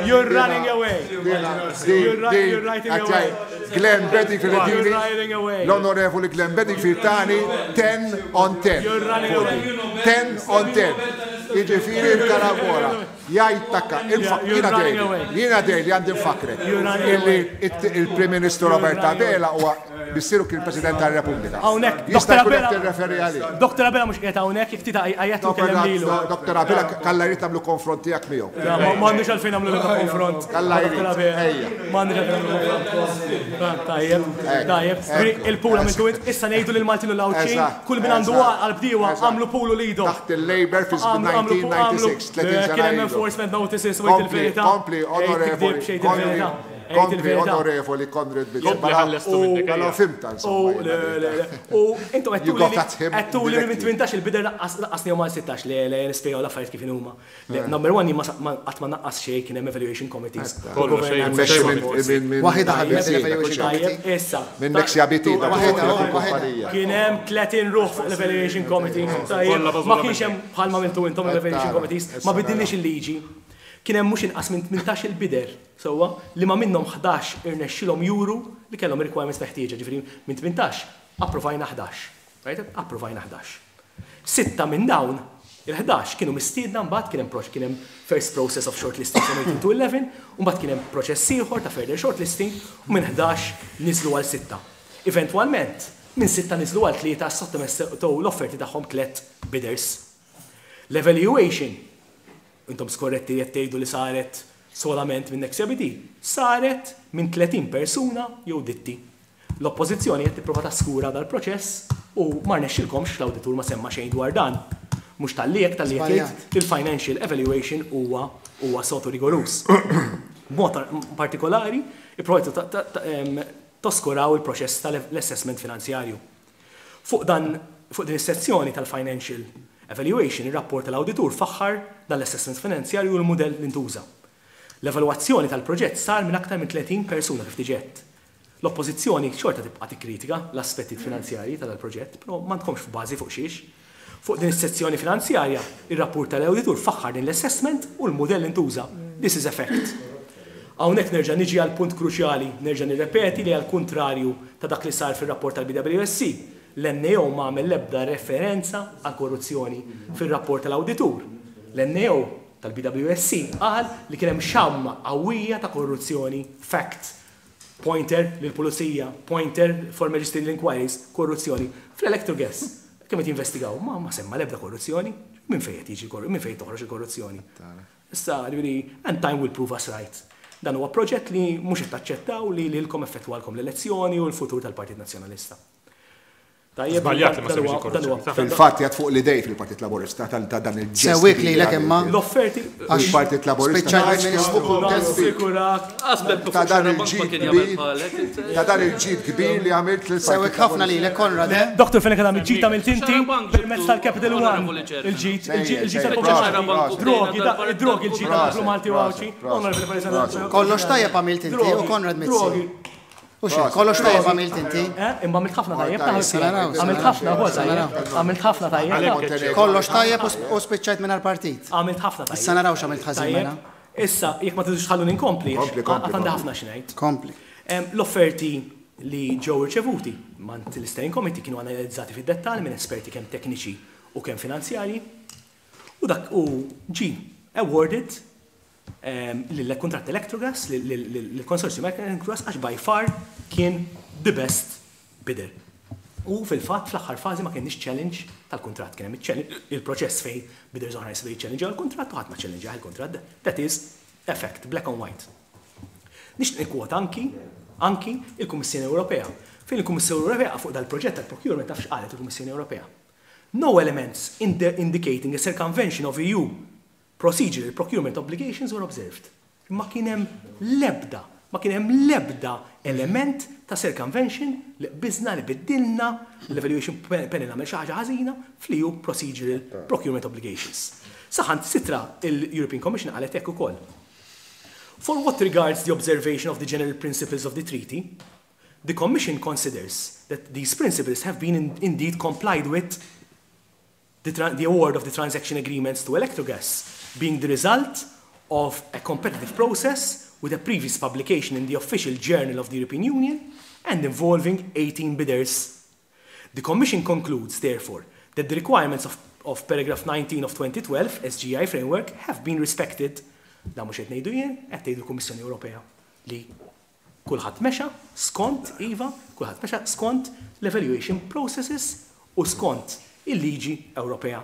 you're running away. You're ri- you're writing away. Glenn Bedingfield You're Dini, riding away. l-onorevoli Glenn Bedingfield tani 10 on 10. You're running away. 10 on 10. Jiġifieri il-karambola. Jgħid takka, you're jiena running dejli, away. jiena dejli għandi nfakrek. You're running Illi away. il-Prim Ministru Robert running away. Abela huwa missieru kien President tar-Repubblika. Hawnhekk, Jista' Dr. jkun qed Abela- tirreferi għalih. Dr. Abela mhux qiegħed hawnhekk, jekk tita għajjatlu kellem lilu. Dr. Abela kalla jrid tagħmlu konfront tiegħek miegħu. Ma għandux għalfejn nagħmlu l konfront. Kalla jrid, Dr. Abela. ejja. Ma għandux għalfejn nagħmlu konfront. Tajjeb, tajjeb. Il-pool għamiltu int, issa ngħidu lil Maltin u l-Għawdxin, Eżatt, kull min għandu eżatt, għal-bdiewa eżatt. għamlu pool u lido. Taħt il-Labour fi żmien 1996, 30 Kien sena hemm ilu. enforcement notices u għid Kompli, il-verità. kompli, onorevoli, Għid kompli, il-verità. Għid kompli, il-verità. onorevoli Konrad Mizzi. Kompli ħallestu minnek, Mela ejja. fimta, U insomma. le, le, le. U intom You got at him għettu li minn directly. 18 il-bider laqqasni għal 16 le le nispjegaw l-affarijiet kif huma. Le, Number one, jien ma sa- ma- qatt ma naqqas xejn kien hemm evaluation committees. Kollox, xejn, Mmexxi xejn minn- ma minn- minn- Waħida ħabib minn- l-evaluation minn- committee. Tajjeb, issa. Minn Nexia BT, dak Waħida, il waħida. kumpanija. Kien hemm 30 ruħ fuq l-evaluation committee. Tajjeb, Kollha ma bażula kienx hemm bħalma mintu intom l-evaluation committees, ma bidilniex il-liġi. Kien hemm mhux inqas minn 18 il-bider, sewwa, li ma minnhom 11 irnexxilhom juru li kellhom requirements meħtieġa, ġifieri minn 18 approvajna 11. Right? Approvajna 11. Sitta minn dawn il-11 kienu mistiedna mbagħad kien hemm proċ kien hemm first process of shortlisting from 18 to 11, u mbagħad kien hemm proċess ieħor ta' further shortlisting u minn 11 niżlu għal sitta. Eventwalment, minn sitta niżlu għal tlieta sottomessew l-offerti tagħhom tliet bidders. L-evaluation, intom skorretti qed tgħidu li saret solament minn Nexia BT, saret minn 30 persuna jew ditti. L-oppożizzjoni qed tipprova taskura dal-proċess u ma rnexxilkomx l-awditur ma semma xejn dwar dan. Mhux talli hekk talli qed jgħid li l-financial evaluation huwa huwa sotu rigorus. B'mod partikolari, ipprovajtu ta- ta- ta- em, toskuraw il-proċess tal-assessment finanzjarju. Fuq dan fuq din is-sezzjoni tal-financial evaluation, ir-rapport tal-awditur faħħar dan l-assessment finanzjarju u l-mudell li ntuża. L-evalwazzjoni tal-proġett sar minn aktar minn 30 persuna kif diġett. L-oppożizzjoni xorta tibqa' tikkritika l-aspetti finanzjarji tal-proġett, però m'għandkomx bażi fuq xiex. Fuq din is-sezzjoni finanzjarja, ir-rapport tal-awditur faħħar din l-assessment u l-mudell li ntuża. This is a fact. Hawnhekk nerġa' niġi għal punt kruċjali, nerġa' nirrepeti li għal kuntrarju ta' dak li sar fir-rapport tal-BWSC, l-NAO ma għamel l-ebda referenza għal korruzzjoni fir-rapport tal-awditur. L-NAO tal-BWSC qal li kien hemm xamma qawwija ta' korruzzjoni fact. Pointer lill-pulizija, pointer for magisterial inquiries, korruzzjoni. Fl-Electrogas, kemm qed jinvestigaw, ma, ma semma l-ebda korruzzjoni. Minn fejn qed jiġi minn fejn toħroġ il-korruzzjoni. Issa, ġifieri, and time will prove us right. Dan huwa proġett li mhux qed taċċettaw li lilkom effettwalkom l-elezzjoni u l-futur tal-Partit Nazzjonalista. Tajjeb, Żbaljat li ma dan semmiex huwa- il-korruzzjoni. dan huwa- Fil-fatt jgħat fuq l-idej fil-Partit Laburista ta' dan il-ġest. Sewwik lilek imma. L-offerti. Il-Partit Laburista. Spiċċajt il-Ministru. Nassigurak. Aspet Ta' dan ma il-ġid kien jagħmel kbir. bħalek. Ta' dan il-ġid kbir li għamilt lil Sewwik ħafna lilek, Konrad, eh? Dr. Fenech Adami, ġid għamilt inti Xarabank permezz ġibtu, tal-Capital One. Onorevoli Chairman. Il-ġid, il-ġid, il-ġid Sejjer, tal-popolazzjoni. proset, Drogi, da- proset. drogi, il-ġid tal-poplu Malti u Proset, Għawdxi. proset, Onorevoli President. Kollox tajjeb għamilt inti u Drogi, Konrad Mizzi. drogi. U xejn, kollox tajjeb għamilt inti. Eh, Imma għamilt ħafna tajjeb, Tajjeb, taħseb. naraw, Għamilt ħafna wkoll tajjeb. Għamilt ħafna tajjeb. Kollox tajjeb u sp- u spiċċajt mingħajr partit. Għamilt ħafna tajjeb. Issa naraw x'għamilt ħażin Tajjeb. mela. Issa, jekk ma tridux tħalluni nkompli, Kompli, kompli, għad għandi kompli. ħafna xi ngħid. Kompli. L-offerti li ġew irċevuti mant l-Steering Committee kienu analizzati fid-dettall minn esperti kemm tekniċi u kemm finanzjarji u dak u ġi awarded lill-kuntratt Electrogas, lill-konsorzju Electrogas għax by far kien the best bidder. U fil-fatt fl-aħħar fażi ma kienx challenge tal-kuntratt, kien hemm il-challenge- il-proċess fejn bidders oħra jistgħu jiċċellenġjaw il-kuntratt u ħadd ma challenge il-kuntratt. That is a fact, black and white. Nixtieq nikkwota anki il-Kummissjoni Ewropea. Fejn il-Kummissjoni Ewropea fuq dal-proġett tal-procurement taf x'qalet il-Kummissjoni Ewropea. No elements indicating a circumvention of EU procedural procurement obligations were observed. Ma kien hemm l-ebda, ma kien hemm l-ebda element ta' circumvention li qbiżna li biddilna l-evaluation panel għamel xi ħaġa ħażina fl-EU procedural procurement obligations. Saħansitra il-European Commission qalet hekk ukoll. For what regards the observation of the general principles of the treaty, the Commission considers that these principles have been indeed complied with, the award of the transaction agreements to Electrogas being the result of a competitive process with a previous publication in the official journal of the European Union and involving 18 bidders. The Commission concludes, therefore, that the requirements of paragraph 19 of 2012 SGI framework have been respected. Da mhux qed ngħidu jien, qed tgħidu l-Kummissjoni Ewropea li kulħadd mexa skont iva, kulħadd mexa skont l-evaluation processes u skont il-liġi Ewropea.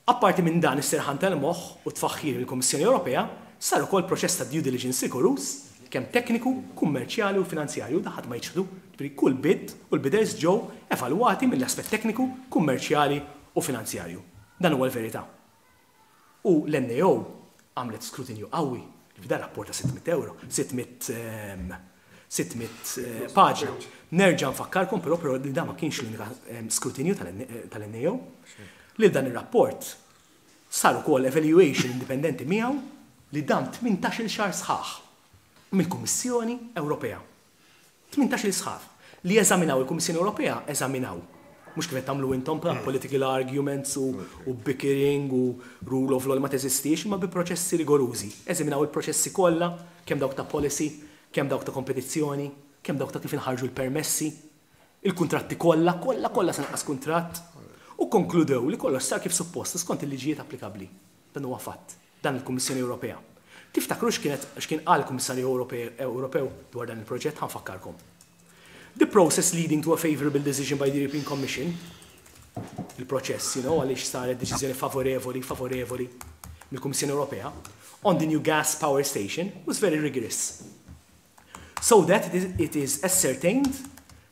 Apparti minn dan is-serħan tal-moħħ u tfaħħir il-Kummissjoni Ewropea, sar ukoll proċess ta' due diligence rigorus, kemm tekniku, kummerċjali u finanzjarju, da ħadd ma jiċħdu, ġifieri kull bid u l-bidders ġew evalwati mill-aspett tekniku, kummerċjali u finanzjarju. Dan huwa l-verità. U l-NAO għamlet skrutinju qawwi, ġifieri dan rapport ta' 600 euro, 600 paġna. Nerġa' nfakkarkom però li dan ma kienx l-unika skrutinju tal-NAO. Li dan ir-rapport sar ukoll evaluation indipendenti miegħu li dam 18-il xahar sħaħ mill-Kummissjoni Ewropea. 18-il sħaħ li eżaminaw il-Kummissjoni Ewropea, eżaminaw. Mhux kif qed tagħmlu intom bħala political arguments u bickering u rule of law li ma teżistix, imma bi proċessi rigorużi. Eżaminaw il-proċessi kollha, kemm dawk ta' policy, kemm dawk ta' kompetizzjoni, kemm dawk ta' kif inħarġu l-permessi, il-kuntratti kollha, kollha, kollha sa naqas kuntratt, u konkludew li kollox sar kif suppost skont il-liġijiet applikabbli. Dan huwa fatt, dan il-Kummissjoni Ewropea. Tiftakru x'kien qal il-Kummissarju Ewropew dwar dan il-proġett? Ħa nfakkarkom. The process leading to a favorable decision by the European Commission, il-proċess, għaliex saret deċiżjoni favorevoli mill-Kummissjoni Ewropea, on the new gas power station was very rigorous. So that it is ascertained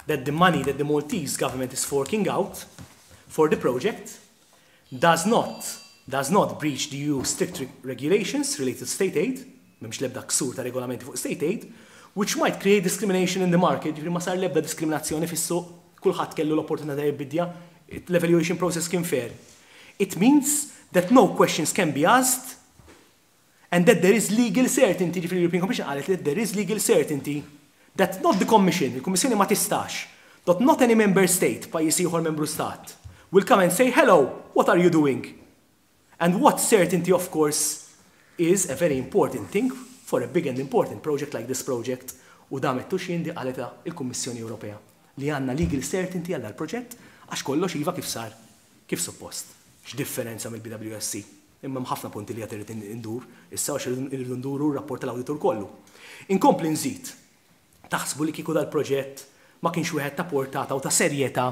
that the money that the Maltese government is forking out for the project does not breach the EU strict regulations related to state aid, m'hemmx l-ebda ksur ta' regolamenti fuq state aid, which might create discrimination in the market, ġifieri ma sar l-ebda diskriminazzjoni fis-suq, kulħadd kellu l-opportunità jibbidja, l-evaluation process kien fair. It means that no questions can be asked and that there is legal certainty, ġifieri l-European Commission qalet li there is legal certainty that not the Commission, il-Kummissjoni ma tistax, that not any member state, pajjiż ieħor membru stat, will come and say, hello, what are you doing? And what certainty, of course, is a very important thing for a big and important project like this project, u da mettux jindi qaleta il-Kummissjoni Ewropea li għandna legal certainty għal dal-proġett għax kollox iva kif sar, kif suppost. X'differenza mill-BWSC? Imma hemm ħafna punti li qed irid indur, issa għax irridu nduru r-rapport tal-awditur kollu. Inkompli nżid, taħsbu li kieku dal-proġett ma kienx wieħed ta' portata u ta' serjetà.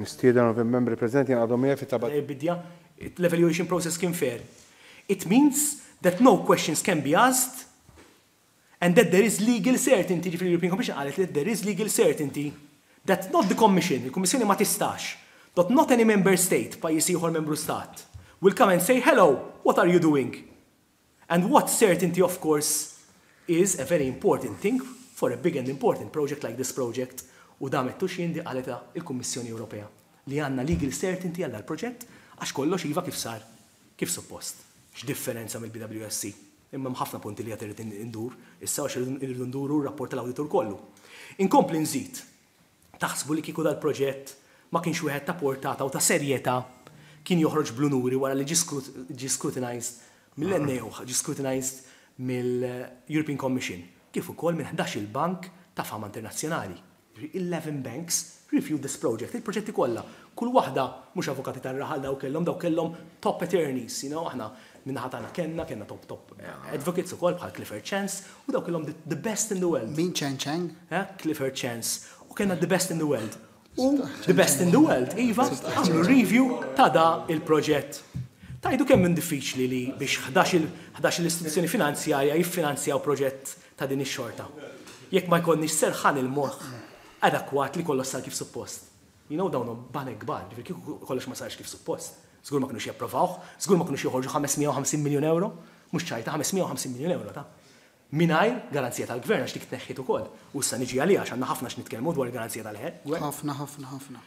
Nistieden membri preżenti għadhom miegħi fit-tabat. Bidja, l-evaluation process kien fair. It means that no questions can be asked and that there is legal certainty, ġifieri l-European Commission qalet li there is legal certainty That not the Commission, il-Kummissjoni ma tistax, that not any member state, pajjiż ieħor membru stat, will come and say, hello, what are you doing? And what certainty, of course, is a very important thing for a big and important project like this project, u da m'għedtux jien di qaletha il-Kummissjoni Ewropea, li għandna legal certainty għal dal-proġett għax kollox iva kif sar kif suppost. X'differenza mill-BWSC. Imma hemm ħafna punti li għad irrid indur issa għax irridu nduru r-rapport tal-awditur kollu. Inkompli nżid, taħsbu li kieku dal-proġett ma kienx wieħed ta' portata u ta' serjetà kien joħroġ bl-unuri wara li ġie scrutinized mill-NAO, ġie scrutinized mill-European Commission, kif ukoll minn 11-il bank ta' fama internazzjonali. Jiġifieri 11 banks reviewed this project, il-proġetti kollha, kull waħda, mhux avukati tar-raħal dawk kellhom, dawk kellhom top attorneys, you know, aħna min-naħa tagħna kellna, kellna top top advocates ukoll bħal Clifford Chance, u dawk kellhom the best in the world. Min Chen Cheng? Eh, Clifford Chance. U kellna the best in the world. U the best in the world, iva, għamlu review ta' da il-proġett. Tajdu kemm minn diffiċli li biex 11 l-istituzzjoni finanzjarja jiffinanzjaw proġett ta' din ix-xorta. Jekk ma jkollniex serħan il-moħħ adekwat li kollox sar kif suppost. You know dawn banek kbar, ġifieri kieku kollox ma sarx kif suppost. Żgur ma kinux japprovawh, żgur ma kinux joħorġu 550 miljun euro, mhux ċajta 550 miljun euro ta' mingħajr garanzija tal-gvern għax dik tneħħiet ukoll. U issa niġi għaliha għax għandna ħafna x'nitkellmu dwar il-garanzija tal-gvern. Ħafna, ħafna, ħafna.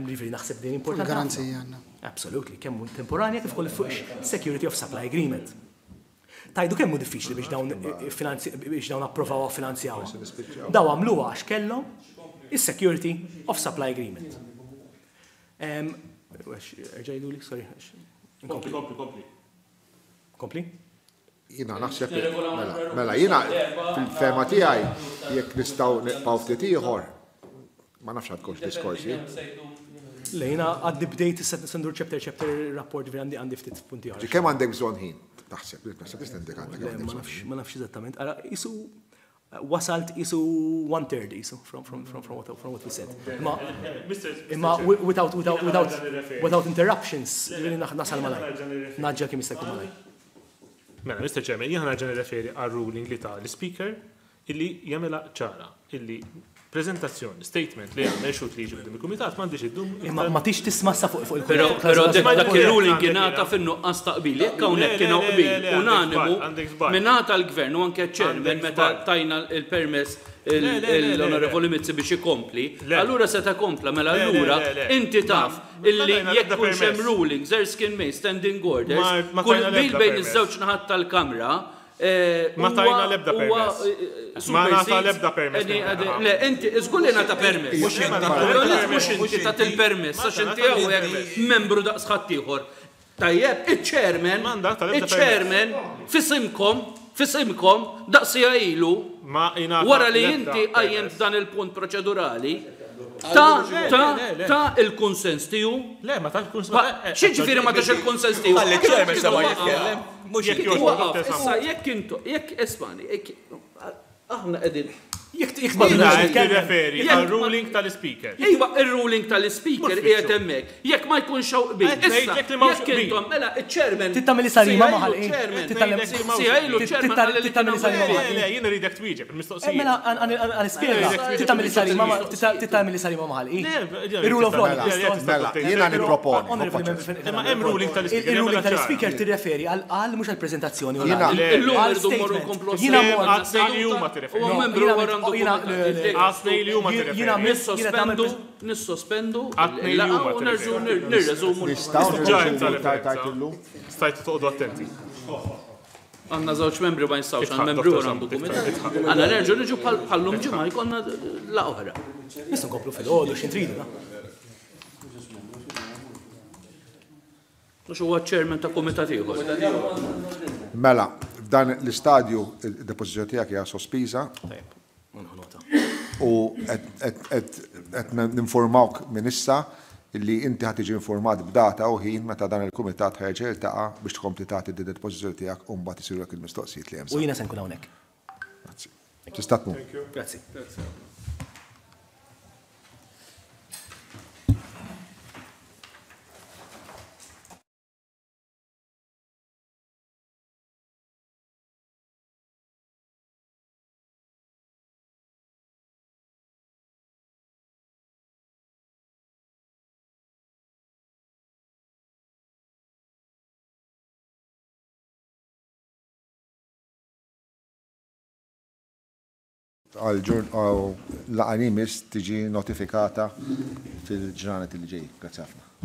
Ġifieri naħseb din importanti. Garanzija għandna. Absolutely, kemm temporanja kif ukoll fuq security of supply agreement. Tajdu kemm hu diffiċli biex dawn biex dawn approvawha u finanzjawha. Daw għamluha għax kellhom is-security of supply agreement. Erġa' sorry. Kompli, kompli, kompli. Kompli? Jiena naħseb, mela, mela jiena fil-fehma tiegħi jekk nistgħu nibqgħu ftit ieħor, ma nafx għandkomx diskorsi. Le, jiena għaddi bdejt issa ndur chapter chapter rapport ġifieri għandi għandi ftit punti oħra. Kemm għandek bżonn ħin? Taħseb, naħseb tista' indik għandek. Ma nafx, ma nafx eżattament. Ara, isu wasalt isu one third isu from, from, from, from, what, from what we said. Imma, imma without, without, without, without interruptions, ġifieri nasal malaj. Naġġa kemm jista' jkun malaj. Mela, Mr. Chairman, jiena nerġa' nirreferi għal ruling li ta l-Speaker illi jagħmilha ċara illi prezentazzjoni, statement li għamel xut li jiġi quddiem il-kumitat m'għandix iddum. Imma ma tix tisma' sa fuq fuq Però però dak ir-ruling ingħata fin-nuqqas ta' qbil. Jekk hawnhekk kien hawn qbil unanimu mingħata l-Gvern u anke ċ-Chairman meta tajna l-permess l-Onorevoli Mizzi biex ikompli, allura seta' kompla mela allura inti taf illi jekk ikunx hemm rulings, Erskine May, standing orders, kull qbil bejn iż-żewġ naħat tal-Kamra Ma tajna l-ebda permess. Ma ngħata l-ebda permess. Le, inti, żgur li ngħata permess. Mhux inti tat il-permess, għax inti hawnhekk membru daqs ħaddieħor. Tajjeb, iċ-chairman, iċ-chairman, f'isimkom, f'isimkom, daqs siegħa ilu, wara li inti qajjimt dan il-punt proċedurali, ta ta ta il-kunsens tiegħu. Le, ma tax kunsens. X'jiġifieri ma tax il-kunsens tiegħu? Ħalli ċ-chairman sema' jitkellem. Mhux Jekk jogħġbok, issa jekk intu, jekk ismani, aħna qegħdin. Jekk jekk ma Jiena qed nirreferi għar-ruling tal-Ispeaker. Iva, ir-ruling tal-Ispeaker qiegħed hemmhekk. Jekk ma jkunx hawn qbil. Qed ngħidlek li m'hawnx Jekk qbil. intom, mela, iċ-chairman. Trid tagħmel sarima ma' ħalqi. Sija ilu ċ-chairman qal li Trid tagħmel sarima ma' Le, le, jien irridek twieġeb il-mistoqsija. Mela, għan nispjega. Trid tagħmel sarima ma' trid tagħmel sarima ma' ħalqi. Ir-rule of law. Mela, jiena nipproponi. Imma hemm ruling tal-Ispeaker. Il-ruling tal-Ispeaker tirreferi għal għal mhux għall-preżentazzjoni Jiena- orali. Illum Għal irridu mmorru statement. nkomplu Jiena s-sejm. mort. Għat-tnejn li huma tirreferi. Huwa membru wara għandu Jiena- kumitat. Għat-tnejn li huma tirreferi. Jiena Nissospendu, nissospendu Għat-tnejn li il-laqgħa huma u nerġgħu tirreferi. nirreżumu. Nistgħu Ġa hemm nirreżumu tard tard referenza. illum? Stajtu toqgħodu attenti. Għandna żewġ membri ma jistgħux, Idħaq, għal membru Dr. wara għandu Zammit, kumitat. idħaq. Għandna nerġgħu niġu bħal bħallum ġimgħa jkollna laqgħa oħra. Nistgħu nkomplu fil-għodu x'in tridu. na? Mhux huwa ċ-chairman ta' kumitat ieħor. Mela, f'dan l-istadju id-depożizzjoni tiegħek hija sospiża Tajjeb, nieħu nota. u qed ninformawk minn issa li inti ħa tiġi informat b'data u ħin meta dan il-kumitat ħa jerġa' jiltaqa' biex tkompli tagħti d-depożizzjoni tiegħek u mbagħad isirulek il-mistoqsijiet li hemm U bżonn. jiena se nkun hawnhekk. Grazzi. Tista' tmur. Grazzi. Għal laqgħa li jmiss tiġi notifikata fil-ġranet li ġejjin. Grazzi ħafna.